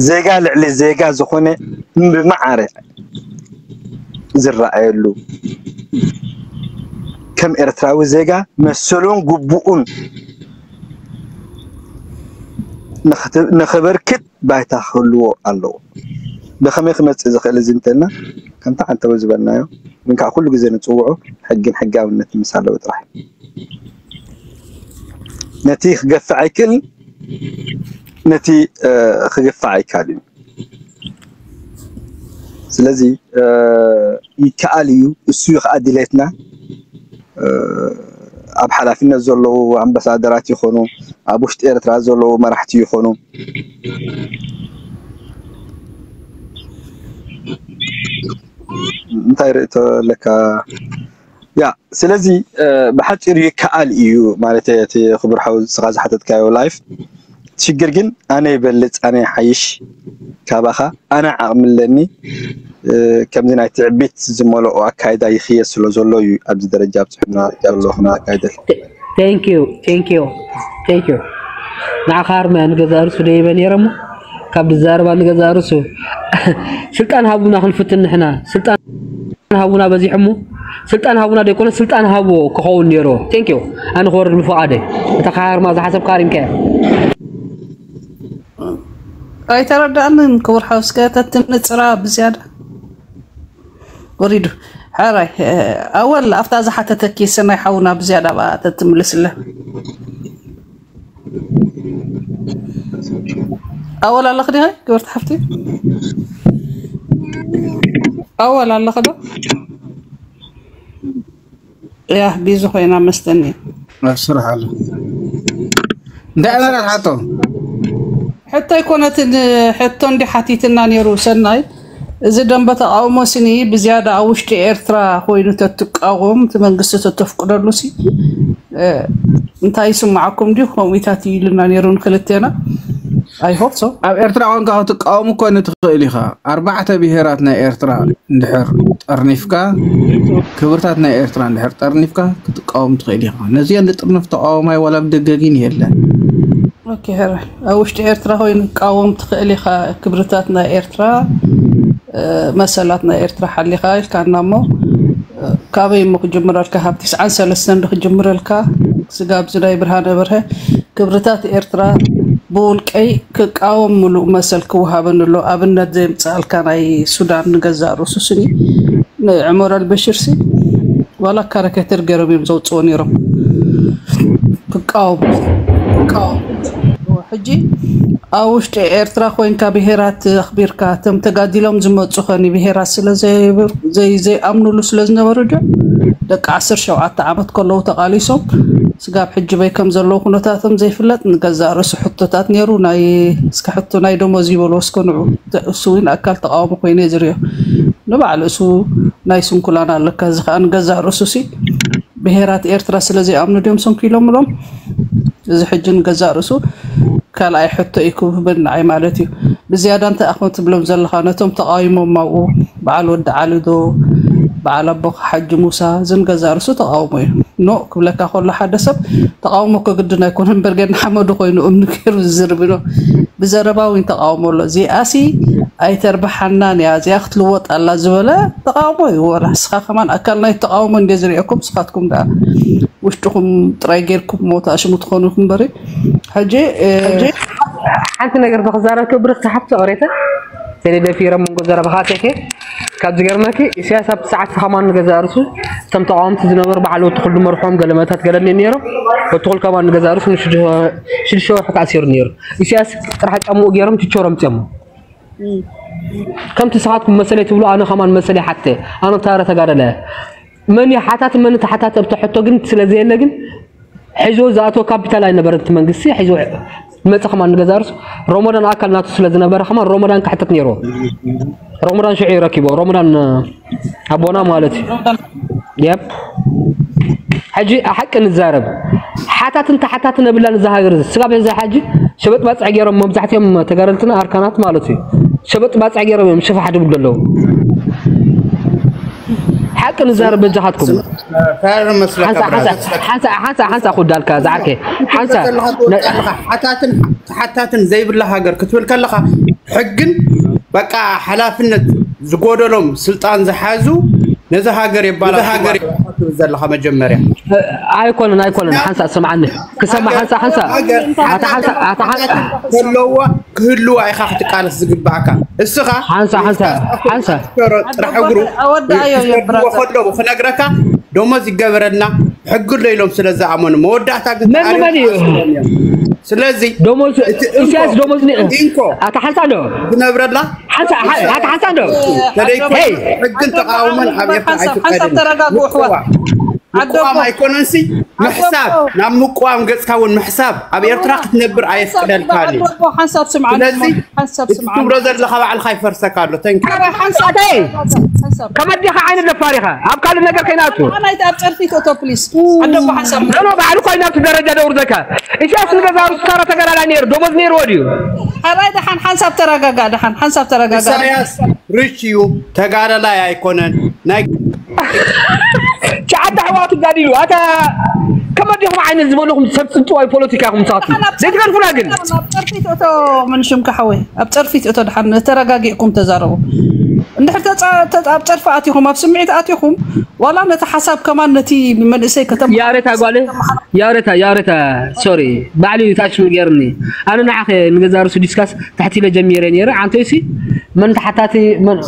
ዜጋ ልዕሊ ዜጋ ዝኾነ ብማዕረ ዝረኣየሉ ከም ኤርትራዊ ዜጋ መሰሉን ግቡኡን ንኸበርክት ባይታ ክህልዎ ኣለዎ። ብኸመይ ክመፅእ ዝኽእል እዚ እንተልና ከምቲ ዓንተቦ ዝበልናዮ ግን ከዓ ኩሉ ግዜ ንፅውዖ ሕግን ሕጋውነትን ምስ ኣለዎ ጥራሕ ነቲ ክገፍዕ ኣይክእልን ነቲ ክግፋዕ ኣይካል እዩ። ስለዚ ይከኣል እዩ። እሱ እዩ ከዓ ድሌትና። ኣብ ሓላፍነት ዘለዉ ኣምባሳደራት ይኾኑ ኣብ ውሽጢ ኤርትራ ዘለዉ መራሕቲ ይኾኑ እንታይ ርእቶ ኣለካ? ያ ስለዚ ብሓፂሩ ይከኣል እዩ ማለት እቲ ክቡር ሓው ስኻ ዝሓተትካዮ ላይፍ ሽግር ግን ኣነ ይበልፅ ኣነ ይሓይሽ ካባኻ ኣነ ዓቕሚ ኣለኒ ከምዚ ናይ ትዕቢት ዝመልኦ ኣካይዳ ይኽየ ስለ ዘሎ እዩ ኣብዚ ደረጃ ኣብፅሑና ዘሎ ክነካይደል ንዓኻ ኣርማያ ንገዛእ ርሱ ደይበ ነይረ እሞ ካብ ድዛረባ ንገዛእ ርሱ ስልጣን ሃቡና ክንፍትን ንሕና ስልጣን ሃቡና በዚሑ እሞ ስልጣን ሃቡና ደይኮነ ስልጣን ሃብዎ ክኸውን ነይርዎ ቴንኪው ኣነ ክወርድ ብፍቓደይ እታ ካርማ ዝሓሰብካ ኣሪምካያ ኣይተረዳእንን ክቡር ሓው እስከ ተትምንፅራ ብዝያዳ ወሪዱ ሕራይ ኣወል ኣብታ ዝሓተተኪ ሰናይ ሓውና ብዝያዳ ብኣ ተትምልስለ ኣወል ኣለኽ ዲኻ ክብርቲ ሓፍቲ ኣወል ኣለኽ ዶ ያ ቢዚ ኮይና መስተኒ ኣብ ስራሕ ኣሎ እንታይ ኣመራት ሓቶ? ሕቶ ኣይኮነትን። ሕቶ እንዲ ሓቲትና ነይሩ ሰናይ። እዚ ደንበ ተቃውሞ ስኒ ብዝያዳ ኣብ ውሽጢ ኤርትራ ኮይኑ ተትቃወም እቲ መንግስቲ ተተፍቅደሉ ሲ እንታይ ይስማዓኩም ድዩ? ከምኡታት ኢሉና ነይሩ ንክልቴና። I hope so። ኣብ ኤርትራ ኮንካ ክትቃወም እኮ ንትኽእል ኢኻ። ኣርባዕተ ብሄራት ናይ ኤርትራ እንድሕር ጠርኒፍካ፣ ክብርታት ናይ ኤርትራ እንድሕር ጠርኒፍካ ክትቃወም ትኽእል ኢኻ። ነዚኦ ንጥርንፍ ተቃዋማይ ዋላ ብደገጊን የለን። ኦኬ፣ ሕረ ኣብ ውሽጢ ኤርትራ ኮይኑ ቃወም ትኽእል ኢኻ። ክብርታት ናይ ኤርትራ፣ መሰላት ናይ ኤርትራ ሓሊኻ ኢልካና እሞ፣ ካበይ እሞ ክጅምረልካ? ካብ ትስዓን ሰለስተን ዶ ክጅምረልካ? ስጋብ ዝናይ ብርሃነ በርሀ ክብርታት ኤርትራ ብውልቀይ ክቃወም ምሉእ መሰል ክወሃበኒ ኣሎ። ኣብነት ዘምፅኣልካ ናይ ሱዳን ንገዛእ ርእሱ ስኒ ንዕመር ኣልበሽር ሲ ዋላ ካረከተር ገይሮም እዮም ዘውፅዎ ነይሮም። ክቃወሙ ክቃወሙ ሕጂ ኣብ ውሽጢ ኤርትራ ኮይንካ ብሄራት ኣኽቢርካ እቶም ተጋዲሎም ዝመፁ ኸኒ ብሄራት ስለ ዘይብር- ዘይ- ዘይኣምኑሉ ስለ ዝነበሩ ዶ ደቂ ዓሰርተ ሸውዓተ ዓመት ከለዉ ተቓሊሶም ስጋብ ሕጂ በይ ከም ዘለዉ ኩነታቶም ዘይፍለጥ ንገዛእ ርእሱ ሕቶታት ነይሩ። ናይ እስከ ሕቶ ናይ ደሞዝ ይበልዎ እስከ ንዑ እሱ እውን ኣካል ተቃውሞ ኮይነ ዝርዮ ንባዕሉ እሱ ናይ ስንኩላን ኣለካ። እዚ ከዓ ንገዛእ ርእሱ ሲ ብሄራት ኤርትራ ስለ ዘይኣምኑ ድዮም ሰንኪሎምሎም። እዚ ሕጂ ንገዛእ ርእሱ ካልኣይ ሕቶ እዩ ክብህበኒ ንዓይ ማለት እዩ። ብዝያዳ እንታይ ኣኾን ትብሎም ዘለኻ ነቶም ተቃዊሞም ኣብኡ በዓል ወዲ ዓሊ ዶ በዓል ኣቦኻ ሓጂ ሙሳ እዚ ንገዛእ ርእሱ ተቃውሞ እዩ። ኖ ክብለካ ከሎ ሓደ ሰብ ተቃውሞ እኮ ግድን ኣይኮነ እምበር ገና ሓመዱ ኮይኑ እምኒ ገይሩ ዝዝርብ ዶ ብዘረባ እውን ተቃውሞ ኣሎ። እዚኣሲ ኣይተርብሓናን እያ እዚኣ ክትልወጥ ኣላ ዝበለ ተቃውሞ እዩ። ወላ ንስኻ ከማን ኣካል ናይ ተቃውሞ እንደ ዝሪአኩም ንስኻትኩም ደኣ ውሽጥኹም ጥራይ ጌርኩም ሞት ኣሽሙ ትኾኑ ኢኹም እምበሪ ሕጂ እ፣ ሓንቲ ነገር ተክዛረብ ክብርክ ተሓፍቶ ቅሬተ ተደደፊረ መንጎ ዘረባኻ ቴኬ ካብ ዝገርመኪ ኢሳያስ ኣብቲ ሰዓት ከማን ንገዛእ ርእሱ እቶም ተቃወምቲ ዝነበሩ በዓል ወትኹል ድመርሖም ገለ መታት ገለ እኒ ነይሮም ወትኹል ከማን ንገዛእ ርእሱ ንሽዱሽተ ወርሒ ተኣሲሩ ነይሩ ኢሳያስ ጥራሕ ጫምኡ ገይሮም ቲቸሮም ጨሞ ከምቲ ንስኻትኩም መሰለይ ትብሉ ኣነ ከማን መሰለይ ሓተ ኣነ ብታረ ተጋደለ መን እዩ ሓታት መን ተሓታት ኣብቲ ሕቶ ግን ስለ ዘየለ ግን ሒዞ ዝኣትዎ ካፒታል ኣይነበረን እቲ መንግስቲ ሒዞ መፀ ከማን ንገዛ ርሱ ሮሞዳን ኣካል ናቱ ስለ ዝነበረ ከማን ሮሞዳን ክሕተት ነይርዎ ሮሞዳን ሽዑ ይረኪቦ ሮሞዳን ኣቦና ማለት እዩ የብ ሕጂ ሓቂ ንዛረብ ሓታትን ተሓታትን ነብላን እዛ ሃገር እዚ ስጋብ ሕዚ ሕጂ ሸበጥ ባፅዕ ገይሮም መብዛሕትኦም ተጋደልትና ኣርካናት ማለት እዩ ሸበጥ ባፅዕ ገይሮም እዮም ሽፋሕ ድብሉ ኣለዉ ሓቂ ንዛረብ በጃኻትኩም ሓንሳ ሓንሳ ሓንሳ ሓንሳ ኩዳልካ ዝዓርከ ሓንሳ ሓታትን ተሓታትን ዘይብላ ሃገር ክትብል ከለኻ ሕግን በቃ ሓላፍነት ዝጎደሎም ስልጣን ዝሓዙ ነዚ ሃገር የባላሽዋ ትብል ዘለኻ መጀመርያ። ኣይኮነን ኣይኮነን ሓንሳ ስምዓኒ ክሰማ ሓንሳ ሓንሳ ኣታ ሓንሳ ኣታ ሓንሳ ዘለዋ ክህልዋ ኢኻ ክትቃለስ ዝግባእካ እስኻ ሓንሳ ሓንሳ ሓንሳ ጥራሕ እግሩ ኣወዳኣዮ የብራዘር ከለዉ ክነግረካ ደሞዝ ይገበረልና ሕግሎ ኢሎም ስለ ዝኣመኑ መወዳእታ ግን መን መን እዩ ስለዚ ደሞዝ ኢሳያስ ደሞዝ ኢንኮ ኣታ ሓንሳ ዶ ዝነብረላ ሓንሳ ኣታ ሓንሳ ዶ ተደይኮ ሕግን ተቃውሞን ኣብ ኤርትራ ኣይፍቀድን ምቁዋም ኣይኮነንሲ ምሕሳብ ናብ ምቁዋም ገጽካ እውን ምሕሳብ ኣብ ኤርትራ ክትነብር ኣየፍቅደልካን እዩ ስለዚ እቲ ትብሎ ዘለካ ባዕልካ ይፈርሰካ ኣሎ ተንኪ ሓንሳተይ ከመዲኻ ዓይነት ደፋር ኢኻ ኣብ ካልእ ነገር ከይናቱ ኣብ ጨርፊ ቶቶ ፕሊስ ኣደቦ ሓንሳብ ኖ ባዕሉ ኮይና ኣብቲ ደረጃ ደውርዘካ ኢሳያስ ንገዛ ሩስካራ ተገላላ ነይሩ ደሞዝ ነይርዎ ድዩ ሓራይ ደሓን ሓንሳብ ተረጋጋ ደሓን ሓንሳብ ተረጋጋ ኢሳያስ ሪች እዩ ተጋዳላይ ኣይኮነን ናይ ሸዓተ ኣሕዋቱ ጋዲሉ ኣታ ከመዲኹም ዓይነት ዝበልኹም ሰብ ፅንፅዋይ ፖለቲካ ኢኹም ንስኻትኩም ዘይትገርፉና ግን ኣብ ጨርፊት እቶ ምን ሽምካ ሓወይ ኣብ ጨርፊት እቶ ድሓን ተረጋጊእኩም ተዛረቡ እንድሕር ተፃ- ተፃ- ኣብ ጨርፊ ኣቲኹም ኣብ ስምዒት ኣቲኹም ዋላ ነቲ ሓሳብ ከማን ነቲ መንእሰይ ከተማ ያሬታ ጓለ ያሬታ ያሬታ ሶሪ ባዕሉ ታሽሙ ገይርኒ ኣነ ንዓኸ ንገዛ ርሱ ዲስካስ ትሕት ኢለ ጀሚረ ነይረ ዓንተይሲ መን ተሓታቲ መን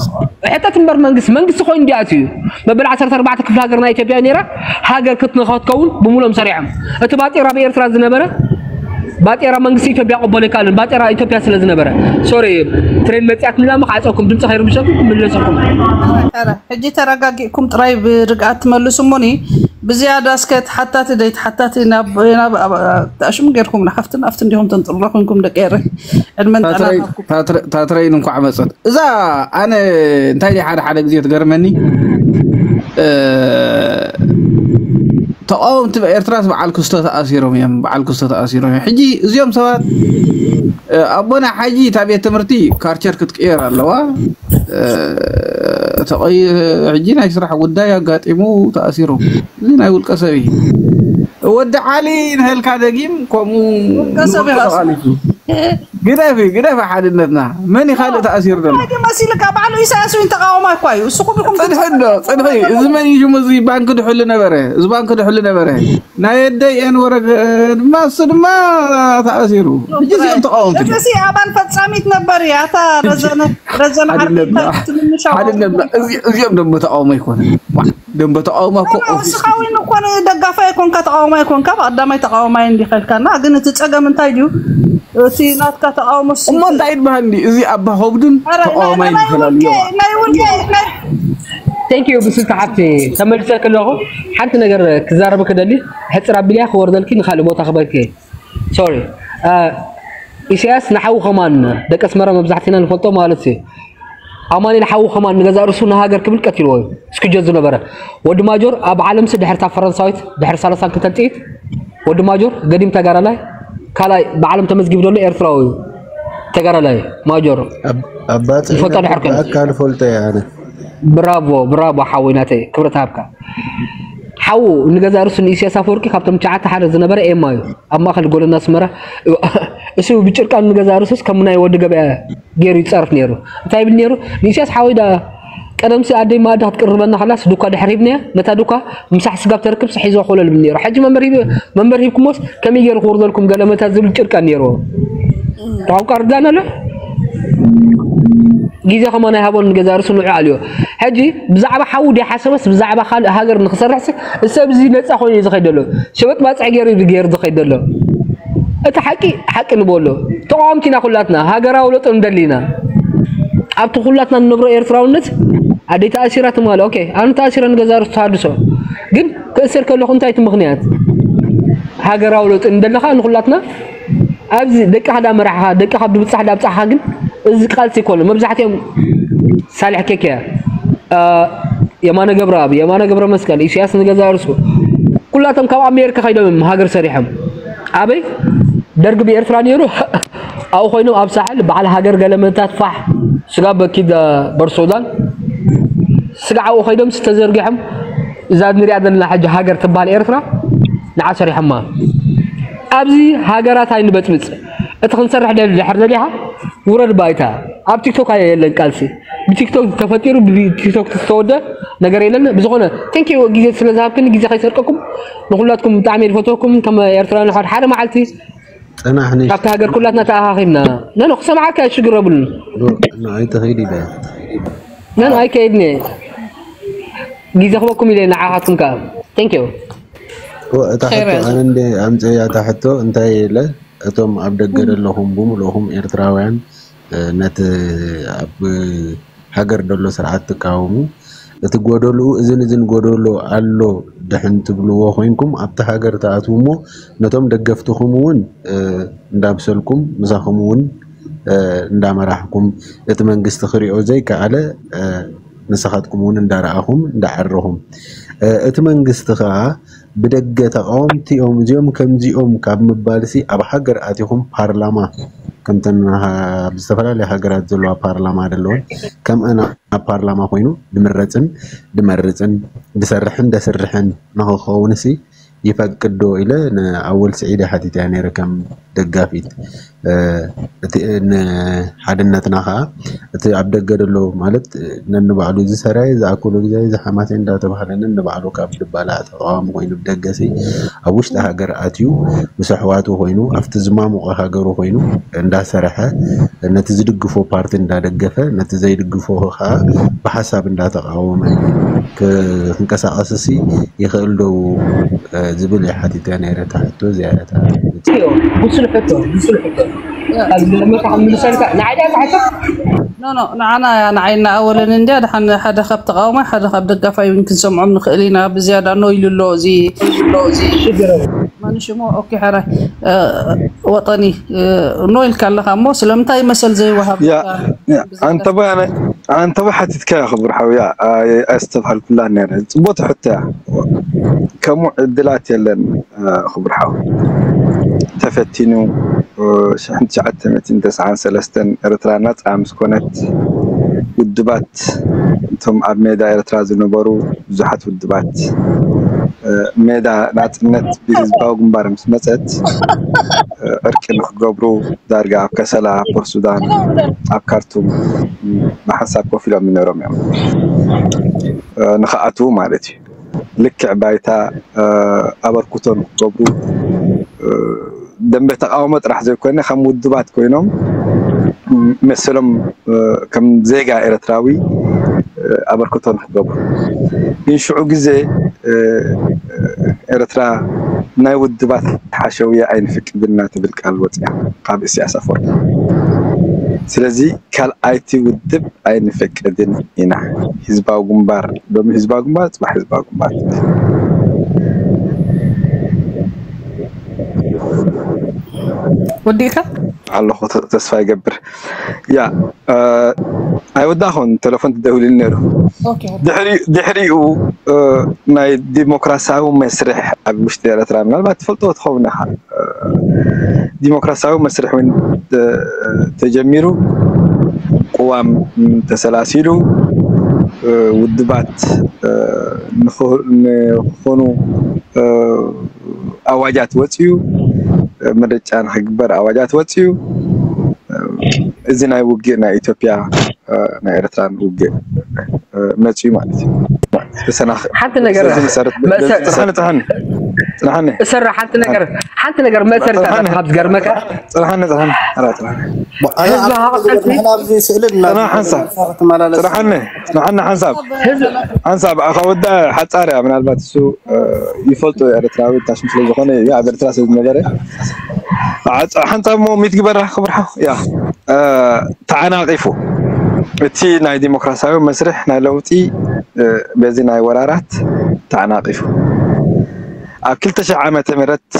ሕተት እምበር መንግስቲ መንግስቲ ኮይኑ እንዲኣት እዩ መበል ዓሰርተ ኣርባዕተ ክፍለ ሃገር ናይ ኢትዮጵያ ነይራ ሃገር ክትንኸትከውን ብምሎም ሰሪሖም እቲ ባጤራ ኣብ ኤርትራ ዝነበረ ባጤራ መንግስቲ ኢትዮጵያ ቆበሎ ይካልን ባጤራ ኢትዮጵያ ስለ ዝነበረ ሶሪ ትሬን መጽያት ንላማ ክዓጸኩም ድምፂ ከይርብሸኩም ክምለሰኩም። ኧረ ሕጂ ተረጋጊእኩም ጥራይ ብርግኣት ትመልሱ እሞኒ ብዝያዳ እስከ ተሓታቲ ደይ ተሓታቲ ናብ ናብ ኣሽሙ ጌርኩም ንሓፍትን ኣፍትን ዲኹም ተንጥርሎ ኮንኩም ደቂ ኤረ ዕድመን ጥዕና ታትረይን እንኳዕ መፀት እዛ ኣነ እንታይ ሓደ ሓደ ግዜ ትገርመኒ ተቃወምቲ ኤርትራስ በዓል ክስቶ ተኣሲሮም እዮም በዓል ክስቶ ተኣሲሮም እዮም ሕጂ እዚኦም ሰባት ኣቦና ሓጂ እታ ቤት ትምህርቲ ካርቸር ክትቅየር ኣለዋ ተቀይ ሕጂ ናይ ስራሕ ጉዳይ ኣጋጢሙ ተኣሲሮም እዚ ናይ ውልቀ ሰብ እዩ ወዲ ዓሊ ንህልካ ደጊም ከምኡ ውልቀ ሰብ እዩ ግደፊ ግደፊ ሓድነትና መን ይካልእ ተኣሲሩ ዘሎ መሲልካ ባዕሉ ኢሳያስ እውን ተቃዋማይ እኳ እዩ እሱ ኩልኩም ፅድሒ ዶ ፅድሒ እዚ መን እዩ ሽሙ እዚ ባንክ ድሕሉ ነበረ እዚ ባንክ ድሕሉ ነበረ ናይ ኣደይ ኤን ወረገ ድማ እሱ ድማ ተኣሲሩ ሕጂ እዚኦም ተቃወምቲ እዚ ኣባል ፈጻሚት ነበር እያ እታ ረዘነ ረዘነ ዓርቢ ትንንሻ እዚኦም ደሞ ተቃውሞ ይኮነ ደንበ ተቃውሞ እኮ እስኻ እውን እኮ ደጋፋይ ኣይኮንካ ተቃዋማይ ኣይኮንካ ብቀዳማይ ተቃዋማይ እንዲኸልካና ግን እቲ ፀገም እንታይ ድዩ እቲ ናትካ ተቃውሞ እሞ እንታይ ይበሃል እንዲ እዚ ኣባ ከብዱን ተቃዋማይ ይፈላለዩ Thank you ብስልቲ ሓፍቲ ተመልሰ ከለኹ ሓንቲ ነገር ክዛረብ ክደሊ ሕፅር ኣቢልያ ክወርደልኪ ንካልእ ቦታ ክበልኪ ሶሪ ኢሳያስ ንሓዉ ከማን ደቂ ኣስመራ መብዛሕትና ንፈልጦ ማለት እዩ ኣማኒኤል ሓዉ ከማን ንገዛእ ርእሱ ንሃገር ክብል ቀቲልዎ እዩ እስክጀት ዝነበረ ወዲ ማጆር ኣብ ዓለምሲ ድሕርታ ፈረንሳዊት ድሕሪ ሰላሳን ክልተን ጥይት ወዲ ማጆር ገዲም ተጋዳላይ ካልኣይ ብዓለም ተመዝጊቡ ዘሎ ኤርትራዊ እዩ ተጋዳላይ ማጆር ይፈልጦ ድሕር ከ ኣካል ፈልጦ እየ ኣነ ብራቮ ብራቮ ሓወይ ናተይ ክብረት ሃብካ ሓዉ ንገዛእ ርእሱ ንኢሳያስ ኣፈወርቂ ካብቶም ትሽዓተ ሓደ ዝነበረ ኤማ እዩ ኣብ ማእከል ጎደና ኣስመራ እሱ ብጭርቃኑ ንገዛእ ርእሱስ ከም ናይ ወዲ ገበያ ገይሩ ይጻረፍ ነይሩ እንታይ ይብል ነይሩ ንኢሳያስ ሓወይ ዳ ቀደምሲ ኣደይ ማእዳ ክትቅርበና ከላስ ዱኳ ድሕር ሂብናያ ነታ ዱኳ ምሳሕ ስጋብ ተርክብ ስሒዞ ኮለል ብል ነይሩ ሕጂ መንበር ሂብ መንበር ሂብኩሞስ ከመይ ገይሩ ክውርደልኩም ገለመታት ዝብል ጭርቃን ነይርዎ ቋንቋ ርዳን ኣሎ ግዜ ከማን ኣይሃቦን ንገዛ ርእሱ ንዑ ኣልዮ ሕጂ ብዛዕባ ሓዉ ድሓሰበስ ብዛዕባ ካልእ ሃገር ንክሰርሕስ እሰብ እዚ ነፃ ኮይኑ እዩ ዝኸይድ ዘሎ ሸበጥ ባፅዕ ገይሩ እዩ ገይሩ ዝኸይድ ዘሎ እቲ ሓቂ ሓቂ ንበሎ ተቃወምቲ ኢና ኩላትና ሃገራዊ ለውጢ ንደሊ ኢና ኣብቲ ኩላትና ንነብሮ ኤርትራውነት ኣደይ ተኣሲራ ትማሊ ኦኬ ኣነ ተኣሲረ ንገዛ ርእሱ ተሃድሶ ግን ክእሰር ከለኹ እንታይ እቲ ምኽንያት ሃገራዊ ለውጢ ንደለኻ ንኩላትና ኣብዚ ደቅኻ ዳ መራሕኻ ደቅኻ ብብጻሕ ዳ ብጻሕኻ ግን እዚ ቃልሲ ይኮነ መብዛሕትኦም ሳልሕ ኬክ እያ የማነ ገብረኣብ የማነ ገብረ መስቀል ኢሳያስ ንገዛ እርሱ ኩላቶም ካብ ኣሜሪካ ከይዶም እዮም ሃገር ሰሪሖም ኣበይ ደርጊ ብኤርትራ ነይሩ ኣብኡ ኮይኖም ኣብ ሳሕል በዓል ሃገር ገለመታት ፋሕ ስጋ በኪድ በርሶዳን ስጋ ኣብኡ ኮይዶም ዝተዘርጊሖም እዛ ንሪኣ ዘለና ሕጂ ሃገር ትበሃል ኤርትራ ንዓ ሰሪሖማ ኣብዚ ሃገራት ኣይንበጥብፅ እቲ ክንሰርሕ ደሊ ድሕር ደሊኻ ውረድ ባይታ ኣብ ቲክቶክ ኣየ የለን ቃልሲ ብቲክቶክ ተፈጢሩ ብቲክቶክ ዝተወደ ነገር የለን ብዝኾነ ቴንኪ ግዜ ስለ ዝሃብክኒ ግዜ ከይሰርቀኩም ንኩላትኩም ብጣዕሚ ዝፈትወኩም ከም ኤርትራውያን ሓደ ሓደ መዓልቲ ጽናሕ ነሽ ካብቲ ሃገር ኩላትና ተኣኻኺብና ነኖ ክሰምዓካ ሽግር የብሉን ንዓይ ተኺድ ኢለ ነን ኣይከይድኒ ግዜ ክበኩም ኢለ ንዓኻትኩም ከዓ ቴንኪዩ እታ ሕቶ ኣነ እንደ ኣምፀያ እታ ሕቶ እንታይ ኢለ እቶም ኣብ ደገ ዘለኹም ብምልእኹም ኤርትራውያን ነቲ ኣብ ሃገር ደሎ ስርዓት ትቃወሙ እቲ ጎደልኡ እዝን እዝን ጎደሎ ኣሎ ድሕን ትብልዎ ኮይንኩም ኣብቲ ሃገር ትኣትዉ እሞ ነቶም ደገፍትኹም እውን እንዳምሰልኩም ምሳኹም እውን እንዳመራሕኩም እቲ መንግስቲ ክሪኦ ዘይከኣለ ንስኻትኩም እውን እንዳረኣኹም እንዳዓረኹም እቲ መንግስቲ ከዓ ብደገ ተቃወምቲ እዮም እዚኦም ከምዚኦም ካብ ምባልሲ ኣብ ሃገር ኣቲኹም ፓርላማ ከምተን ኣብ ዝተፈላለያ ሃገራት ዘለዋ ፓርላማ ዘለወን ከምአን ኣብ ፓርላማ ኮይኑ ድምረፅን ድመርፅን ድሰርሕን ደስርሕን ንክኸውን ሲ ይፈቅድ ዶ ኢለ ንኣወል ስዒድ ሓቲተ ነይረ ከም ደጋፊት እቲ ንሓድነትና ከዓ እቲ ኣብ ደገ ዘሎ ማለት ነንባዕሉ ዝሰራየ ዝኣክሎ ግዜ ዝሓማሴ እንዳተባሃለ ነንባዕሉ ካብ ድባላ ተቃዋሚ ኮይኑ ብደገሲ ኣብ ውሽጢ ሃገር ኣትዩ ምስ ኣሕዋቱ ኮይኑ ኣብቲ ዝማሙቀ ሃገሩ ኮይኑ እንዳሰረሐ ነቲ ዝድግፎ ፓርቲ እንዳደገፈ ነቲ ዘይድግፎ ከዓ ብሓሳብ እንዳተቃወመ እዩ ክንቀሳቐስሲ ይኽእል ዶ ዝብል እየ ሓቲተ ነይረ። እታ ሕቶ እዚኣ እያ። እታ እዩ ብሱል ሕቶ ብሱል ሕቶ ካብ ዝገርመካ ክምልሰልካ ንዓይ ድያ እታ ሕቶ ኖ ኖ ንዓና እያ ንዓይና ኣወለን እንድያ ድሓን ሓደ ካብ ተቃዋማይ ሓደ ካብ ደጋፋይ እውን ክንሰምዖም ንኽእል ኢና። ብዝያዳ ኖ ኢሉ ኣሎ እዚ ሽግር ማንሽሞ ኦኬ ሕራይ ወጠኒ ኖ ኢልካ ኣለኻ እሞ ስለምንታይ መሰል ዘይወሃብ ያ ያ፣ ኣንተ ባይ ኣነ ኣንተ ባይ ሓቲትካ ክቡር ሓውያ ኣስተብሃልኩላ ነረ ጽቡቅ ሕቶ እያ። ከምኡ ዕድላት የለን ክቡር ሓው ተፈቲኑ ሽሕን ትሽዓተ ሚእትን ተስዓን ሰለስተን ኤርትራ ናጻ ምስ ኮነት ውድባት እቶም ኣብ ሜዳ ኤርትራ ዝነበሩ ብዙሓት ውድባት ሜዳ ናጽነት ብህዝባዊ ግንባር ምስ መጸት ዕርቂ ንክገብሩ ዳርጋ ኣብ ከሰላ ፖርት ሱዳን ኣብ ካርቱም ብሓንሳብ ኮፍ ኢሎም ይነሮም እዮም ንክኣትዉ ማለት እዩ። ልክዕ ባይታ ኣበርክቶ ንክገብሩ ደንበ ተቃውሞ ጥራሕ ዘይኮነ ከም ውድባት ኮይኖም መሰሎም ከም ዜጋ ኤርትራዊ ኣበርክቶ ንክገብሩ ግን ሽዑ ግዜ ኤርትራ ናይ ውድባት ሓሸውየ ኣይንፍቅድና ትብል ቃል ወፅያ ካብ እስያስ ኣፈወርቂ። ስለዚ ካልኣይቲ ውድብ ኣይንፈቅድን ኢና። ህዝባዊ ግንባር ሎሚ ህዝባዊ ግንባር ፅባሕ ህዝባዊ ግንባር ወዲእካ ኣለኹ ተስፋ ይገብር። ያ ኣይወዳኹን ቴሌፎን ትደውልኒ ነይሩ። ድሕሪኡ ናይ ዲሞክራሲያዊ መስርሕ ኣብ ውሽጢ ኤርትራ ምናልባት ትፈልጦ ትኸውን ኢኻ። ዲሞክራሲያዊ መስርሕ እውን ተጀሚሩ፣ ቅዋም ተሰላሲሉ፣ ውድባት ንክኾኑ ኣዋጃት ወፅዩ፣ ምርጫ ንክግበር ኣዋጃት ወፅዩ። እዚ ናይ ውግእ ናይ ኢትዮጵያ ናይ ኤርትራን ውግእ መፅዩ ማለት እዩ። ተሰናኺ ሓንቲ ነገር በዚ መሰረት በዚ- መሰ- ጽንሓኒ ጽንሓኒ ጽንሓኒ እሰራ ሓንቲ ነገር ሓንቲ ነገር መእሰሪት ኣላ ካብ ዝገርመካ ጽንሓኒ ጽንሓኒ ኧረ ጽንሓኒ ህዝቢ ሃቕጠልቲ ንሕና ኣብዚ ስእሊ እና ጽንሓ ሓንሳብ ትመላለስ ጽንሓኒ ጽንሓኒ ሓንሳብ ህዝቢ ሓንሳብ ኣኻ ወዳ ሓጻር እያ ምናልባት እሱ ይፈልጦ ኤርትራዊ ታሽም ስለ ዝኾነ እዩ ኣብ ኤርትራ ስለ ዝነበረ ሓንሳብ ሞ ሚት ግበራ ክብርሓ ያ ተዓናቒፉ እቲ ናይ ዲሞክራሲያዊ መስርሕ ናይ ለውጢ በዚ ናይ ወራራት ተዓናቒፉ ኣብ ክልተ ሽሕ ዓመተ ምህረት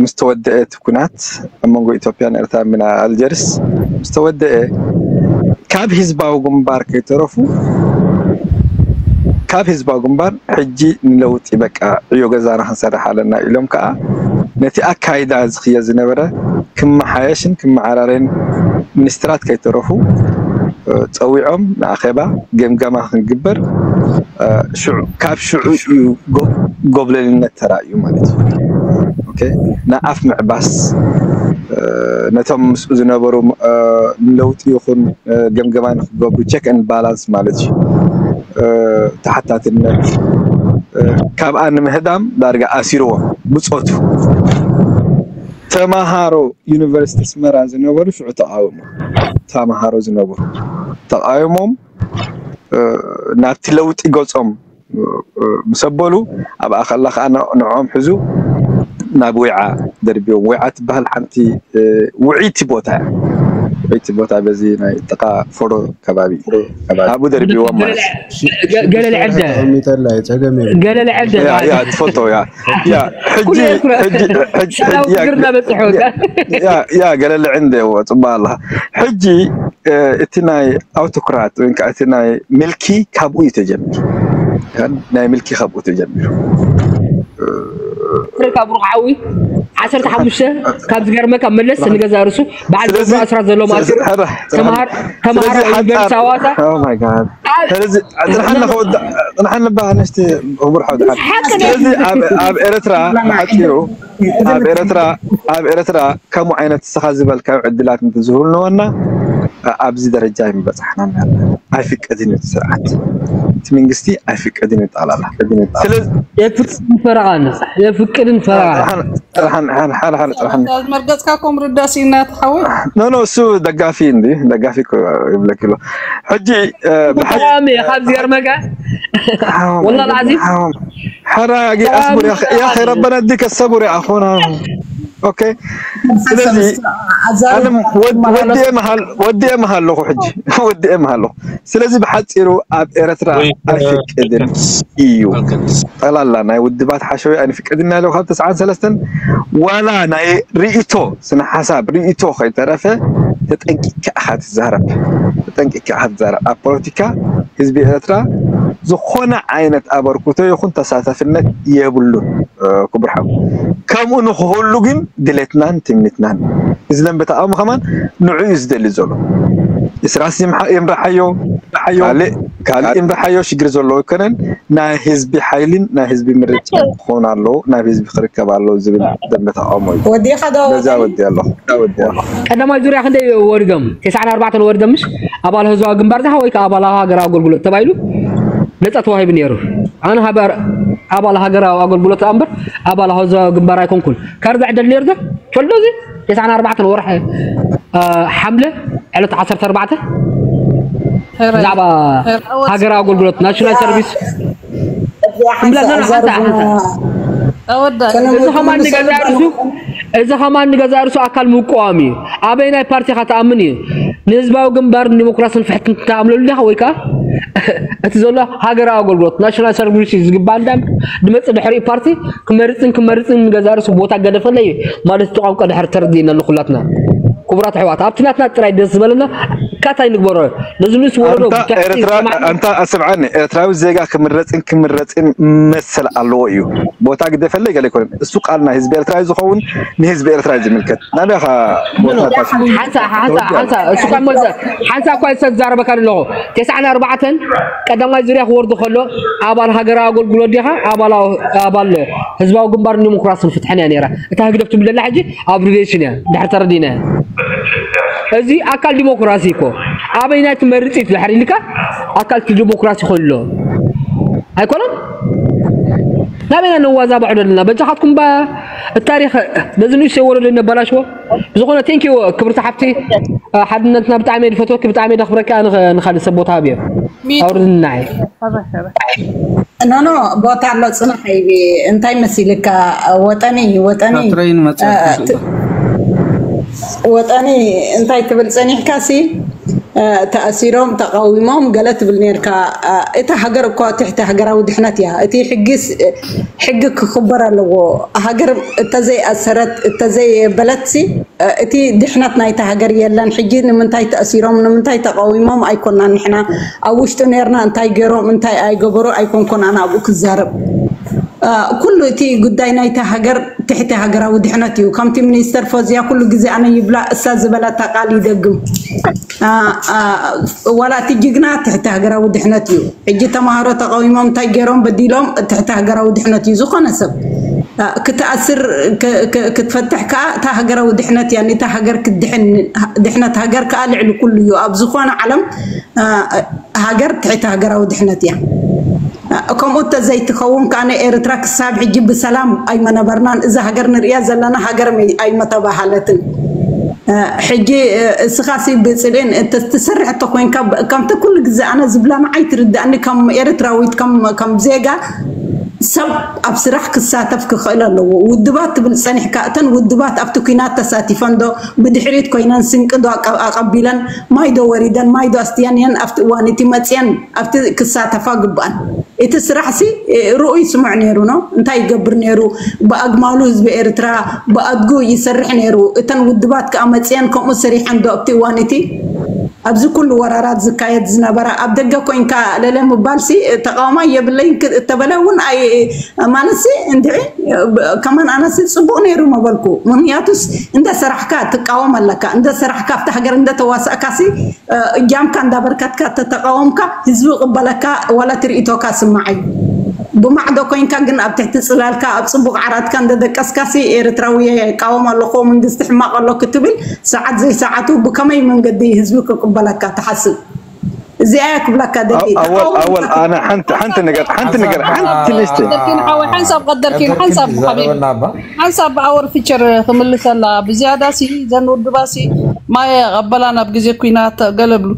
ምስ ተወደአ እቲ ኩናት ኣብ መንጎ ኢትዮጵያን ኤርትራን ብና ኣልጀርስ ምስ ተወደአ ካብ ህዝባዊ ግንባር ከይተረፉ ካብ ህዝባዊ ግንባር ሕጂ ንለውጢ በቃ ዕዮ ገዛና ክንሰርሕ ኣለና ኢሎም ከዓ ነቲ ኣካይዳ ዝኽየ ዝነበረ ክመሓየሽን ክመዓራረይን ሚኒስትራት ከይተረፉ ፀዊዖም ንኣኼባ ገምገማ ክንግበር ካብ ሽዑ እዩ ጎብለልነት ተራእዩ ማለት እዩ። ንኣፍ ምዕባስ ነቶም ምስኡ ዝነበሩ ለውጢ ይኹን ገምገማ ንክገብሩ ቸክ ን ባላንስ ማለት እዩ። ተሓታትነት ካብኣ ንምህዳም ዳርጋ ኣሲርዎም ብፆቱ ተማሃሮ ዩኒቨርሲቲ ኣስመራ ዝነበሩ ሽዑ ተቃወሙ ተማሃሮ ዝነበሩ ተቃዊሞም ናብቲ ለውጢ ገፆም ምስ ኣበሉ ኣብኣ ከላ ከዓ ንዕኦም ሕዙ ናብ ወይዓ ደርብዮም ወይዓ ትበሃል ሓንቲ ውዒቲ ቦታ እያ ውዒቲ ቦታ በዚ ናይ ጥቃ ፎሮ ከባቢ ኣብኡ ደርብዎም ማለት ገለለ ዕደ ገለለ ዕደ ያ ትፈልጦ ያ ያ ሕጂ ሕጂ ሕጂ ያ ገለለ ዕንደ ጽባ ኣላ ሕጂ እቲ ናይ ኣውቶክራት ወይ ከዓ እቲ ናይ ምልኪ ካብኡ እዩ ተጀሚሩ ናይ ምልኪ ካብኡ ተጀሚሩ ካብ ሩቕ ሓዊ ዓሰርተ ሓሙሽተ ካብ ዝገርመካ መለስ ንገዛ ርሱ በዓል ገብሩ ኣስራት ዘሎ ማእሲሩ ተምሃር ተምሃር ዩኒቨርሲቲ ሃዋሳ ጽንሓኒ ባ ኣነሽቲ ክቡር ሓው ስለዚ ኣብ ኤርትራ ብሓፂሩ ኣብ ኤርትራ ኣብ ኤርትራ ከምኡ ዓይነት ንስኻ ዝበልካዮ ዕድላት እንተዝህልወና ኣብዚ ደረጃ ኣይምበጻሕናን ያለ። ኣይፍቀድን እዩ እቲ ስርዓት፣ እቲ መንግስቲ ኣይፍቀድን እዩ ጠቕላላ። ስለዚ የፍቅድን ፈረቓ ንሳ የፍቅድን ፈረቓ ጥርሓን ጥርሓን ሓለ ሓለ ጥርሓን መርገጽካ ኮም ርዳእ ሲና ተሓዊ ኖ ኖ እሱ ደጋፊ እንዲ ደጋፊ እኮ ይብለክ ኣሎ። ሕጂ እ፣ ብሓ- ተቃዋሚ ኢኻ ዝገርመካ ሓው- ወላሂ العظيم ሓው- ሓራ ጊ ኣስቡር ያ ያ ረበና ዲከ ሰቡር ያ ኣኾና ኦኬ። ስለዚ ኣነ ወድ- ወዲኤ መሃል ወዲኤ መሃል ኣለኹ ሕጂ ወዲኤ መሃል ኣለኹ። ስለዚ ብሓፂሩ ኣብ ኤርትራ ወይ፣ ኣይፍቅድን እዩ። ጠላላ ናይ ውድባት ሓሸዊ ኣይንፍቅድን ያለው ካብ ተስዓን ሰለስተን ዋላ ናይ ርእቶ ስነ ሓሳብ ርእቶ ከይተረፈ ተጠንቂካ ኢኻ ትዛረብ። ተጠንቂካ ኢኻ ትዛረብ። ኣብ ፖለቲካ ህዝቢ ኤርትራ ዝኾነ ዓይነት ኣበርክቶ ይኹን ተሳታፍነት የብሉን። እ፣ ክቡር ሓው ከምኡ ንክህሉ ግን ድሌትናን ትምኒትናን እዚ ደንበ ተቃውሞ ከማን ንዑ እዩ ዝደሊ ዘሎ። እስራስ ይምሓ- ይምረሓዮ ካልእ ካልእ ይምረሓዮ ሽግር ዘለዎ ኣይኮነን። ናይ ህዝቢ ሓይልን ናይ ህዝቢ ምርጫ ክኾን ኣለዎ ናብ ህዝቢ ክርከብ ኣለዎ ዝብል ደንበ ተቃውሞ እዩ። ወዲኻ ዶ ነዛ ወዲ ኣለኹ ወዲ ኣለኹ ቀዳማይ ዙርያ ክንደይ ወሪዶም? ተስዓን ኣርባዕተን ወሪዶም ምሽ ኣባል ህዝባዊ ግንባር ዛኻ ወይ ከዓ ኣባል ሃገራዊ ኣገልግሎት ተባሂሉ ነፃ ተዋሂቡ ነይሩ። ኣነ ሃበር ኣባል ሃገራዊ ኣገልግሎት እምበር ኣባል ህዝባዊ ግንባር ኣይኮንኩን። ካርድ ዕደል ነይሩ ዶ? ፈልዶ እዚ ተስዓን ኣርባዕተን ወርሒ እ፣ ሓምለ ዕለት ዓሰርተ ኣርባዕተ ብዛዕባ ሃገራዊ ኣገልግሎት ናሽናል ሰርቪስ እዚኣ ሓንሳ እምብላ ዘና ሓንሳ ኣዛርቡና ሓንሳ ተወዳ እዚ ከማን ንገዛ ርሱ እዚ ከማን ንገዛ ርሱ ኣካል ምቋም እዩ። ኣበይ ናይ ፓርቲ ኢኻ ትኣምን እዩ? ንህዝባዊ ግንባር ንዲሞክራስን ፍሕትን ትኣምነሉ ዲኻ ወይ ከዓ እቲ ዘሎ ሃገራዊ ኣገልግሎት ናሽናል ሰርቪስ እዩ ዝግባእ እንዳ ድመፅእ ድሕሪኡ ፓርቲ ክመርፅን ክመርፅን ንገዛ ርሱ ቦታ ገደፈለ እዩ ማለት እቲ ቋንቋ ድሕር ተረዲእና ንኩላትና ክቡራት ኣሕዋት ኣብቲ ናትና ጥራይ ደስ ዝበለና ካታይ ንግበሮ ነዚ ምስ ወረዶ ኣንታ ኤርትራ ኣንታ ኣስምዓኒ ኤርትራዊ ዜጋ ክምረፅን ክምረፅን መሰል ኣለዎ እዩ። ቦታ ግደፈለይ ገለ ኣይኮነን። እሱ ቃል ናይ ህዝቢ ኤርትራ እዩ ዝኸውን ንህዝቢ ኤርትራ እዩ ዝምልከት። ናበይ ኢኻ ቦታ ታሲ ሓንሳ ሓንሳ ሓንሳ እሱ ካብ መዘ ሓንሳ እኳ ዝተዛረበካ ኣለኹ ተስዓን ኣርባዕተን ቀዳማይ ዙርያ ክወርዱ ከሎ ኣባል ሃገራዊ ኣገልግሎት ዲኻ ኣባል ኣባል ህዝባዊ ግንባር ዲሞክራስን ፍትሕን እያ ነይራ። እታ ህግደፍ ትብል ዘላ ሕጂ ኣብሪቬሽን እያ ድሕር ተረዲና እዚ ኣካል ዲሞክራሲ እኮ ኣበይ ናይ ትመርፅ እዩ ድሕር ኢልካ ኣካል ዲሞክራሲ ኮይኑ ኣሎ ኣይኮነን ናበይና ነዋዛባዕ ደለና በጃኻትኩም ባ ታሪኽ ነዚ ንእሽተይ ወለዶ ነበላሽዎ ብዝኾነ ቴንኪዩ ክብርቲ ሓፍቲ ሓድነትና ብጣዕሚ ድፈትወኪ ብጣዕሚ ደኽብረኪ ኣነ ንኻልእ ሰብ ቦታ ሃብዮ ኣውርድናይ ኖ ኖ ቦታ ኣሎ ፅናሕ ይቢ እንታይ መሲልካ ወጠኒ ወጠኒ ትረይን መፅእ ወጠኒ እንታይ ትብል ፀኒሕካ ሲ ተኣሲሮም ተቃዊሞም ገለ ትብል ነርካ እታ ሃገር እኮ ትሕቲ ሃገራዊ ድሕነት እያ እቲ ሕጊ ክኽበር ኣለዎ ሃገር እተዘይኣሰረት እተዘይበለት ሲ እቲ ድሕነት ናይታ ሃገር የለን ሕጂ ንምንታይ ተኣሲሮም ንምንታይ ተቃዊሞም ኣይኮናን ንሕና ኣብ ውሽጡ ነርና እንታይ ገሮም እንታይ ኣይገበሩ ኣይኮንኮን ኣነ ኣብኡ ክዛረብ ኩሉ እቲ ጉዳይ ናይታ ሃገር ትሕቲ ሃገራዊ ድሕነት እዩ ከምቲ ሚኒስተር ፎዝያ ኩሉ ግዜ ኣነ ይብላ እሳ ዝበላታ ቃል ይደግም ዋላ እቲ ጅግና ትሕቲ ሃገራዊ ድሕነት እዩ ሕጂ ተማሃሮ ተቃዊሞም እንታይ ገይሮም በዲሎም ትሕቲ ሃገራዊ ድሕነት እዩ ዝኾነ ሰብ ክትኣስር ክትፈትሕ ከዓ እታ ሃገራዊ ድሕነት እያ ነታ ሃገር ክትድሕን ድሕነት ሃገር ከዓ ልዕሊ ኩሉ እዩ ኣብ ዝኾነ ዓለም ሃገር ትሕቲ ሃገራዊ ድሕነት እያ ከምኡ ተዘይትኸውን ከዓ ኤርትራ ክሳብ ሕጂ ብሰላም ኣይመነበርናን እዛ ሃገር ንሪያ ዘለና ሃገር ኣይመተባሃለትን ሕጂ እስኻሲ ብፅልእን ትሰርሕ እተኮይንካ ከምቲ ኩሉ ግዜ ኣነ ዝብላ ንዓይ ትርዳእኒ ከም ኤርትራዊት ከም ዜጋ ሰብ ኣብ ስራሕ ክሳተፍ ክኽእል ኣለዎ ውድባት ትብል ፀኒሕካ እተን ውድባት ኣብቲ ኩናት ተሳቲፈን ዶ ብድሕሪት ኮይነን ስንቂ ዶ ኣቀቢለን ማይ ዶ ወሪደን ማይ ዶ ኣስትየን እየን ኣብቲ እዋን እቲ መፅየን ኣብቲ ክሳተፋ ግብኣን እቲ ስራሕ ሲ ርኡይ ስሙዕ ነይሩ ነው እንታይ ይገብር ነይሩ ብኣግማሉ ህዝቢ ኤርትራ ብኣድጉ ይሰርሕ ነይሩ እተን ውድባት ከዓ መፅየን ከምኡ ሰሪሐን ዶ ኣብቲ እዋን እቲ ኣብዚ ኩሉ ወራራት ዝካየድ ዝነበረ ኣብ ደገ ኮይንካ ለለ ምባል ሲ ተቃውማ የብለይ እተበለ እውን ኣይ ማለት ሲ እንድዒ ከማን ኣነሲ ፅቡቅ ነይሩ መበልኩ ምክንያቱስ እንደ ሰራሕካ ትቃወም ኣለካ እንደ ሰራሕካ ኣብቲ ሃገር እንደ ተዋሳእካ ሲ እጃምካ እንዳበርከትካ ተተቃወምካ ህዝቢ ቅበለካ ዋላ ትርኢቶካ ስማዓይ ብማዕዶ ኮይንካ ግን ኣብ ትሕቲ ጽላልካ ኣብ ጽቡቕ ዓራትካ እንደደቀስካሲ ኤርትራዊ ይቃወም ኣለኹ መንግስቲ ሕማቕ ኣሎ ክትብል ሰዓት ዘይሰዓቱ ብከመይ መንገዲ ህዝቢ ክቅበለካ ትሓስብ? እዚኣ እያ ክብለካ ደሊ ኣወል ኣወል ኣነ ሓንቲ ሓንቲ ነገር ሓንቲ ነገር ሓንቲ ልስቲ ቀደርኪን ሓወይ ሓንሳብ ቀደርኪን ሓንሳብ ሓቢብ ሓንሳብ ብኣወር ፊቸር ክምልሰላ ብዝያዳ ሲ ዘን ውድባ ሲ ማየ ቀበላ ናብ ግዜ ኩናት ገለብሉ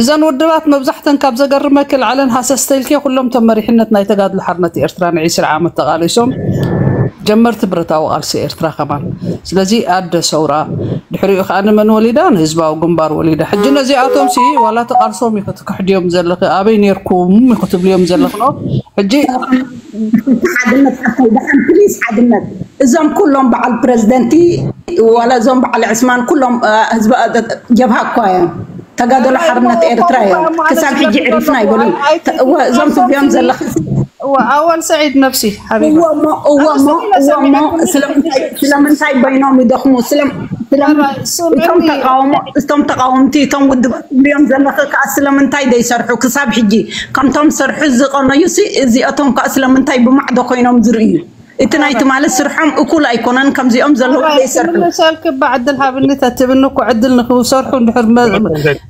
እዘን ውድባት መብዛሕተን ካብ ዘገርመኪ ላዕለን ሃሰስተልኪ ኩሎም ተመሪሕነት ናይ ተጋድሎ ሓርነት ኤርትራ ን20 ዓመት ተቓሊሶም ጀመርቲ ብረታዊ ቃልሲ ኤርትራ ከማን ስለዚ ኣደ ሰውራ ድሕሪኡ ከዓ ንመን ወሊዳ ንህዝባዊ ግንባር ወሊዳ ሕጂ ነዚኣቶም ሲ ዋላ ተቃልሶም ኢኹ ትክሕድዮም ዘለኺ ኣበይ ነርኩም ኢኹ ትብልዮም ዘለኽኖ ሕጂ ሓድነት ሓፍተይ ደሓን ፕሊስ ሓድነት እዞም ኩሎም በዓል ፕረዚደንቲ ዋላ እዞም በዓል ዕስማን ኩሎም ህዝቢ ጀብሃ እኳ እዮም ተጋደሎ ሓርነት ኤርትራ እዮም ክሳብ ሕጂ ዕሪፍና ይበሉ እዞም ትብዮም ዘለኺ ኣወል ሰዒድ ነብሲ ሓቢባ እወሞ እወሞ እወሞ ስለምንታይ በይኖም ይደኽሙ እቶም ተቃውሞ እቶም ተቃውምቲ እቶም ውድባት ትብዮም ዘለኺ ከዓ ስለምንታይ ደይሰርሑ ክሳብ ሕጂ ከምቶም ዝሰርሑ ዝቀነዩ ሲ እዚኣቶም ከዓ ስለምንታይ ብማዕዶ ኮይኖም ዝርእዩ እቲ ናይ ትማሊ ስርሖም እኩል ኣይኮነን ከምዚኦም ዘለዉ ዘይሰርሑ ክምልሰልኪ እባ ዕድል ሃብኒ ተትብኒ እኮ ዕድል ንክሰርሑ እንድሕር መ-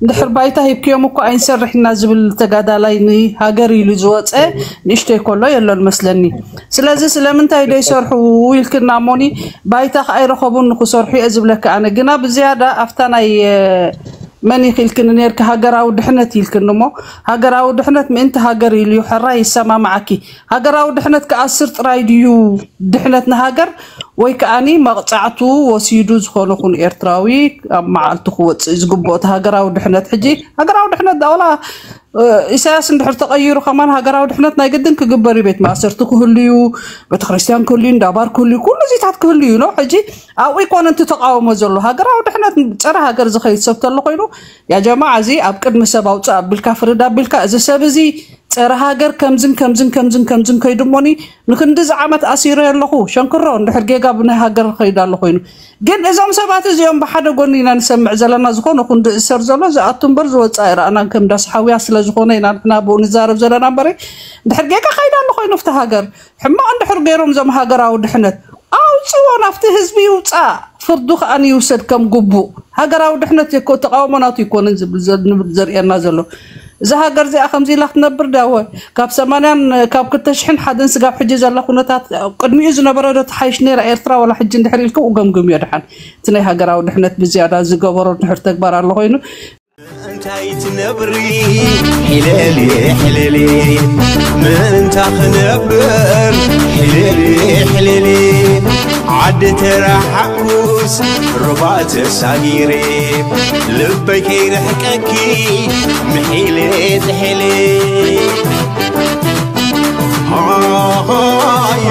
እንድሕር ባይታ ሂብክዮም እኮ ኣይንሰርሕ ኢና ዝብል ተጋዳላይ ንሃገር ኢሉ ዝወፀ ንእሽተይ ከሎ የሎን መስለኒ ስለዚ ስለምንታይ ደይሰርሑ ኢልክና እሞኒ ባይታ ከዓ ኣይረኸቡን ንክሰርሑ እየ ዝብለካ ኣነ ግና ብዝያዳ ኣብታ ናይ እ፣ መን ኢኺ ኢልክኒ ነርኪ ሃገራዊ ድሕነት ኢልክኒ እሞ ሃገራዊ ድሕነት ምእንቲ ሃገር ኢሉ እዩ ሕራይ ይሰማማዓኪ ሃገራዊ ድሕነት ክኣስር ጥራይ ድዩ ድሕነት ንሃገር ወይ ከኣኒ መቕፃዕቱ ወሲዱ ዝኾነ ኹን ኤርትራዊ ኣብ መዓልቱ ክወፅእ ዝግብኦ እቲ ሃገራዊ ድሕነት ሕጂ ሃገራዊ ድሕነት ዳውላ ኢሳያስ እንድሕር ተቐይሩ ከማን ሃገራዊ ድሕነት ናይ ግድን ክግበር እዩ ቤት ማእሰርቲ ክህሉ እዩ ቤተክርስትያን ክህሉ እዩ እንዳባር ክህሉ እዩ ኩሉ እዚታት ክህሉ እዩ ነው ሕጂ ኣብኡ ይኮነ እቲ ተቃውሞ ዘሎ ሃገራዊ ድሕነት ፀረ ሃገር ዝኸይድ ሰብ ተሎ ኮይኑ ያ ጀማዓ እዚ ኣብ ቅድሚ ሰብ ኣውፅእ ኣቢልካ ፍርድ ኣቢልካ እዚ ሰብ እዚ ፀረ ሃገር ከምዝን ከምዝን ከምዝን ከምዝን ከይዱ እሞኒ ንክንድዚ ዓመት ኣሲረ ኣለኹ ሸንክሮ እንድሕር ጌጋ ብናይ ሃገር ከይዱ ኣሎ ኮይኑ ግን እዞም ሰባት እዚኦም ብሓደ ጎኒ ኢና ንሰምዕ ዘለና ዝኾነ ኩን ዝእሰር ዘሎ ዝኣቱ እምበር ዝወፅእ ኣይረኣናን ከም ዳስ ሓውያ ስለ ዝኾነ ኢና ንሕና ብኡ ንዛረብ ዘለና እምበረ እንድሕር ጌጋ ከይዱ ኣሎ ኮይኑ ኣብቲ ሃገር ሕማቕ እንድሕር ገይሮም እዞም ሃገራዊ ድሕነት ኣውፅዎ ናብቲ ህዝቢ ይውፃእ ፍርዱ ከዓ ይውሰድ ከም ግቡእ ሃገራዊ ድሕነት የኮ ተቃውሞ ናቱ ይኮንን ዝብል ዘ- ንብል ዘርእየና ዘሎ እዛ ሃገር እዚኣ ከምዚ ኢላ ክትነብር ዳወ ካብ ሰማንያን ካብ ክልተ ሽሕን ሓደን ስጋብ ሕጂ ዘላ ኩነታት ቅድሚኡ ዝነበረ ዶ ተሓይሽ ነይራ ኤርትራ ወላ ሕጂ እንድሕር ኢልኩም እገምግምዮ ድሓን እቲ ናይ ሃገራዊ ድሕነት ብዝያዳ ዝገበሮ ድሕር ተግባር ኣሎ ኮይኑ እንታይ ትነብሪ ሕለሊ ሕለሊ ምእንታ ክነብር ሕለሊ ሕለሊ ዓዲ ተረሓኩስ ሩባ ተሳጊረ ልበይ ከይርሕቀኪ ምሒለ ጥሒለ ሃሃይ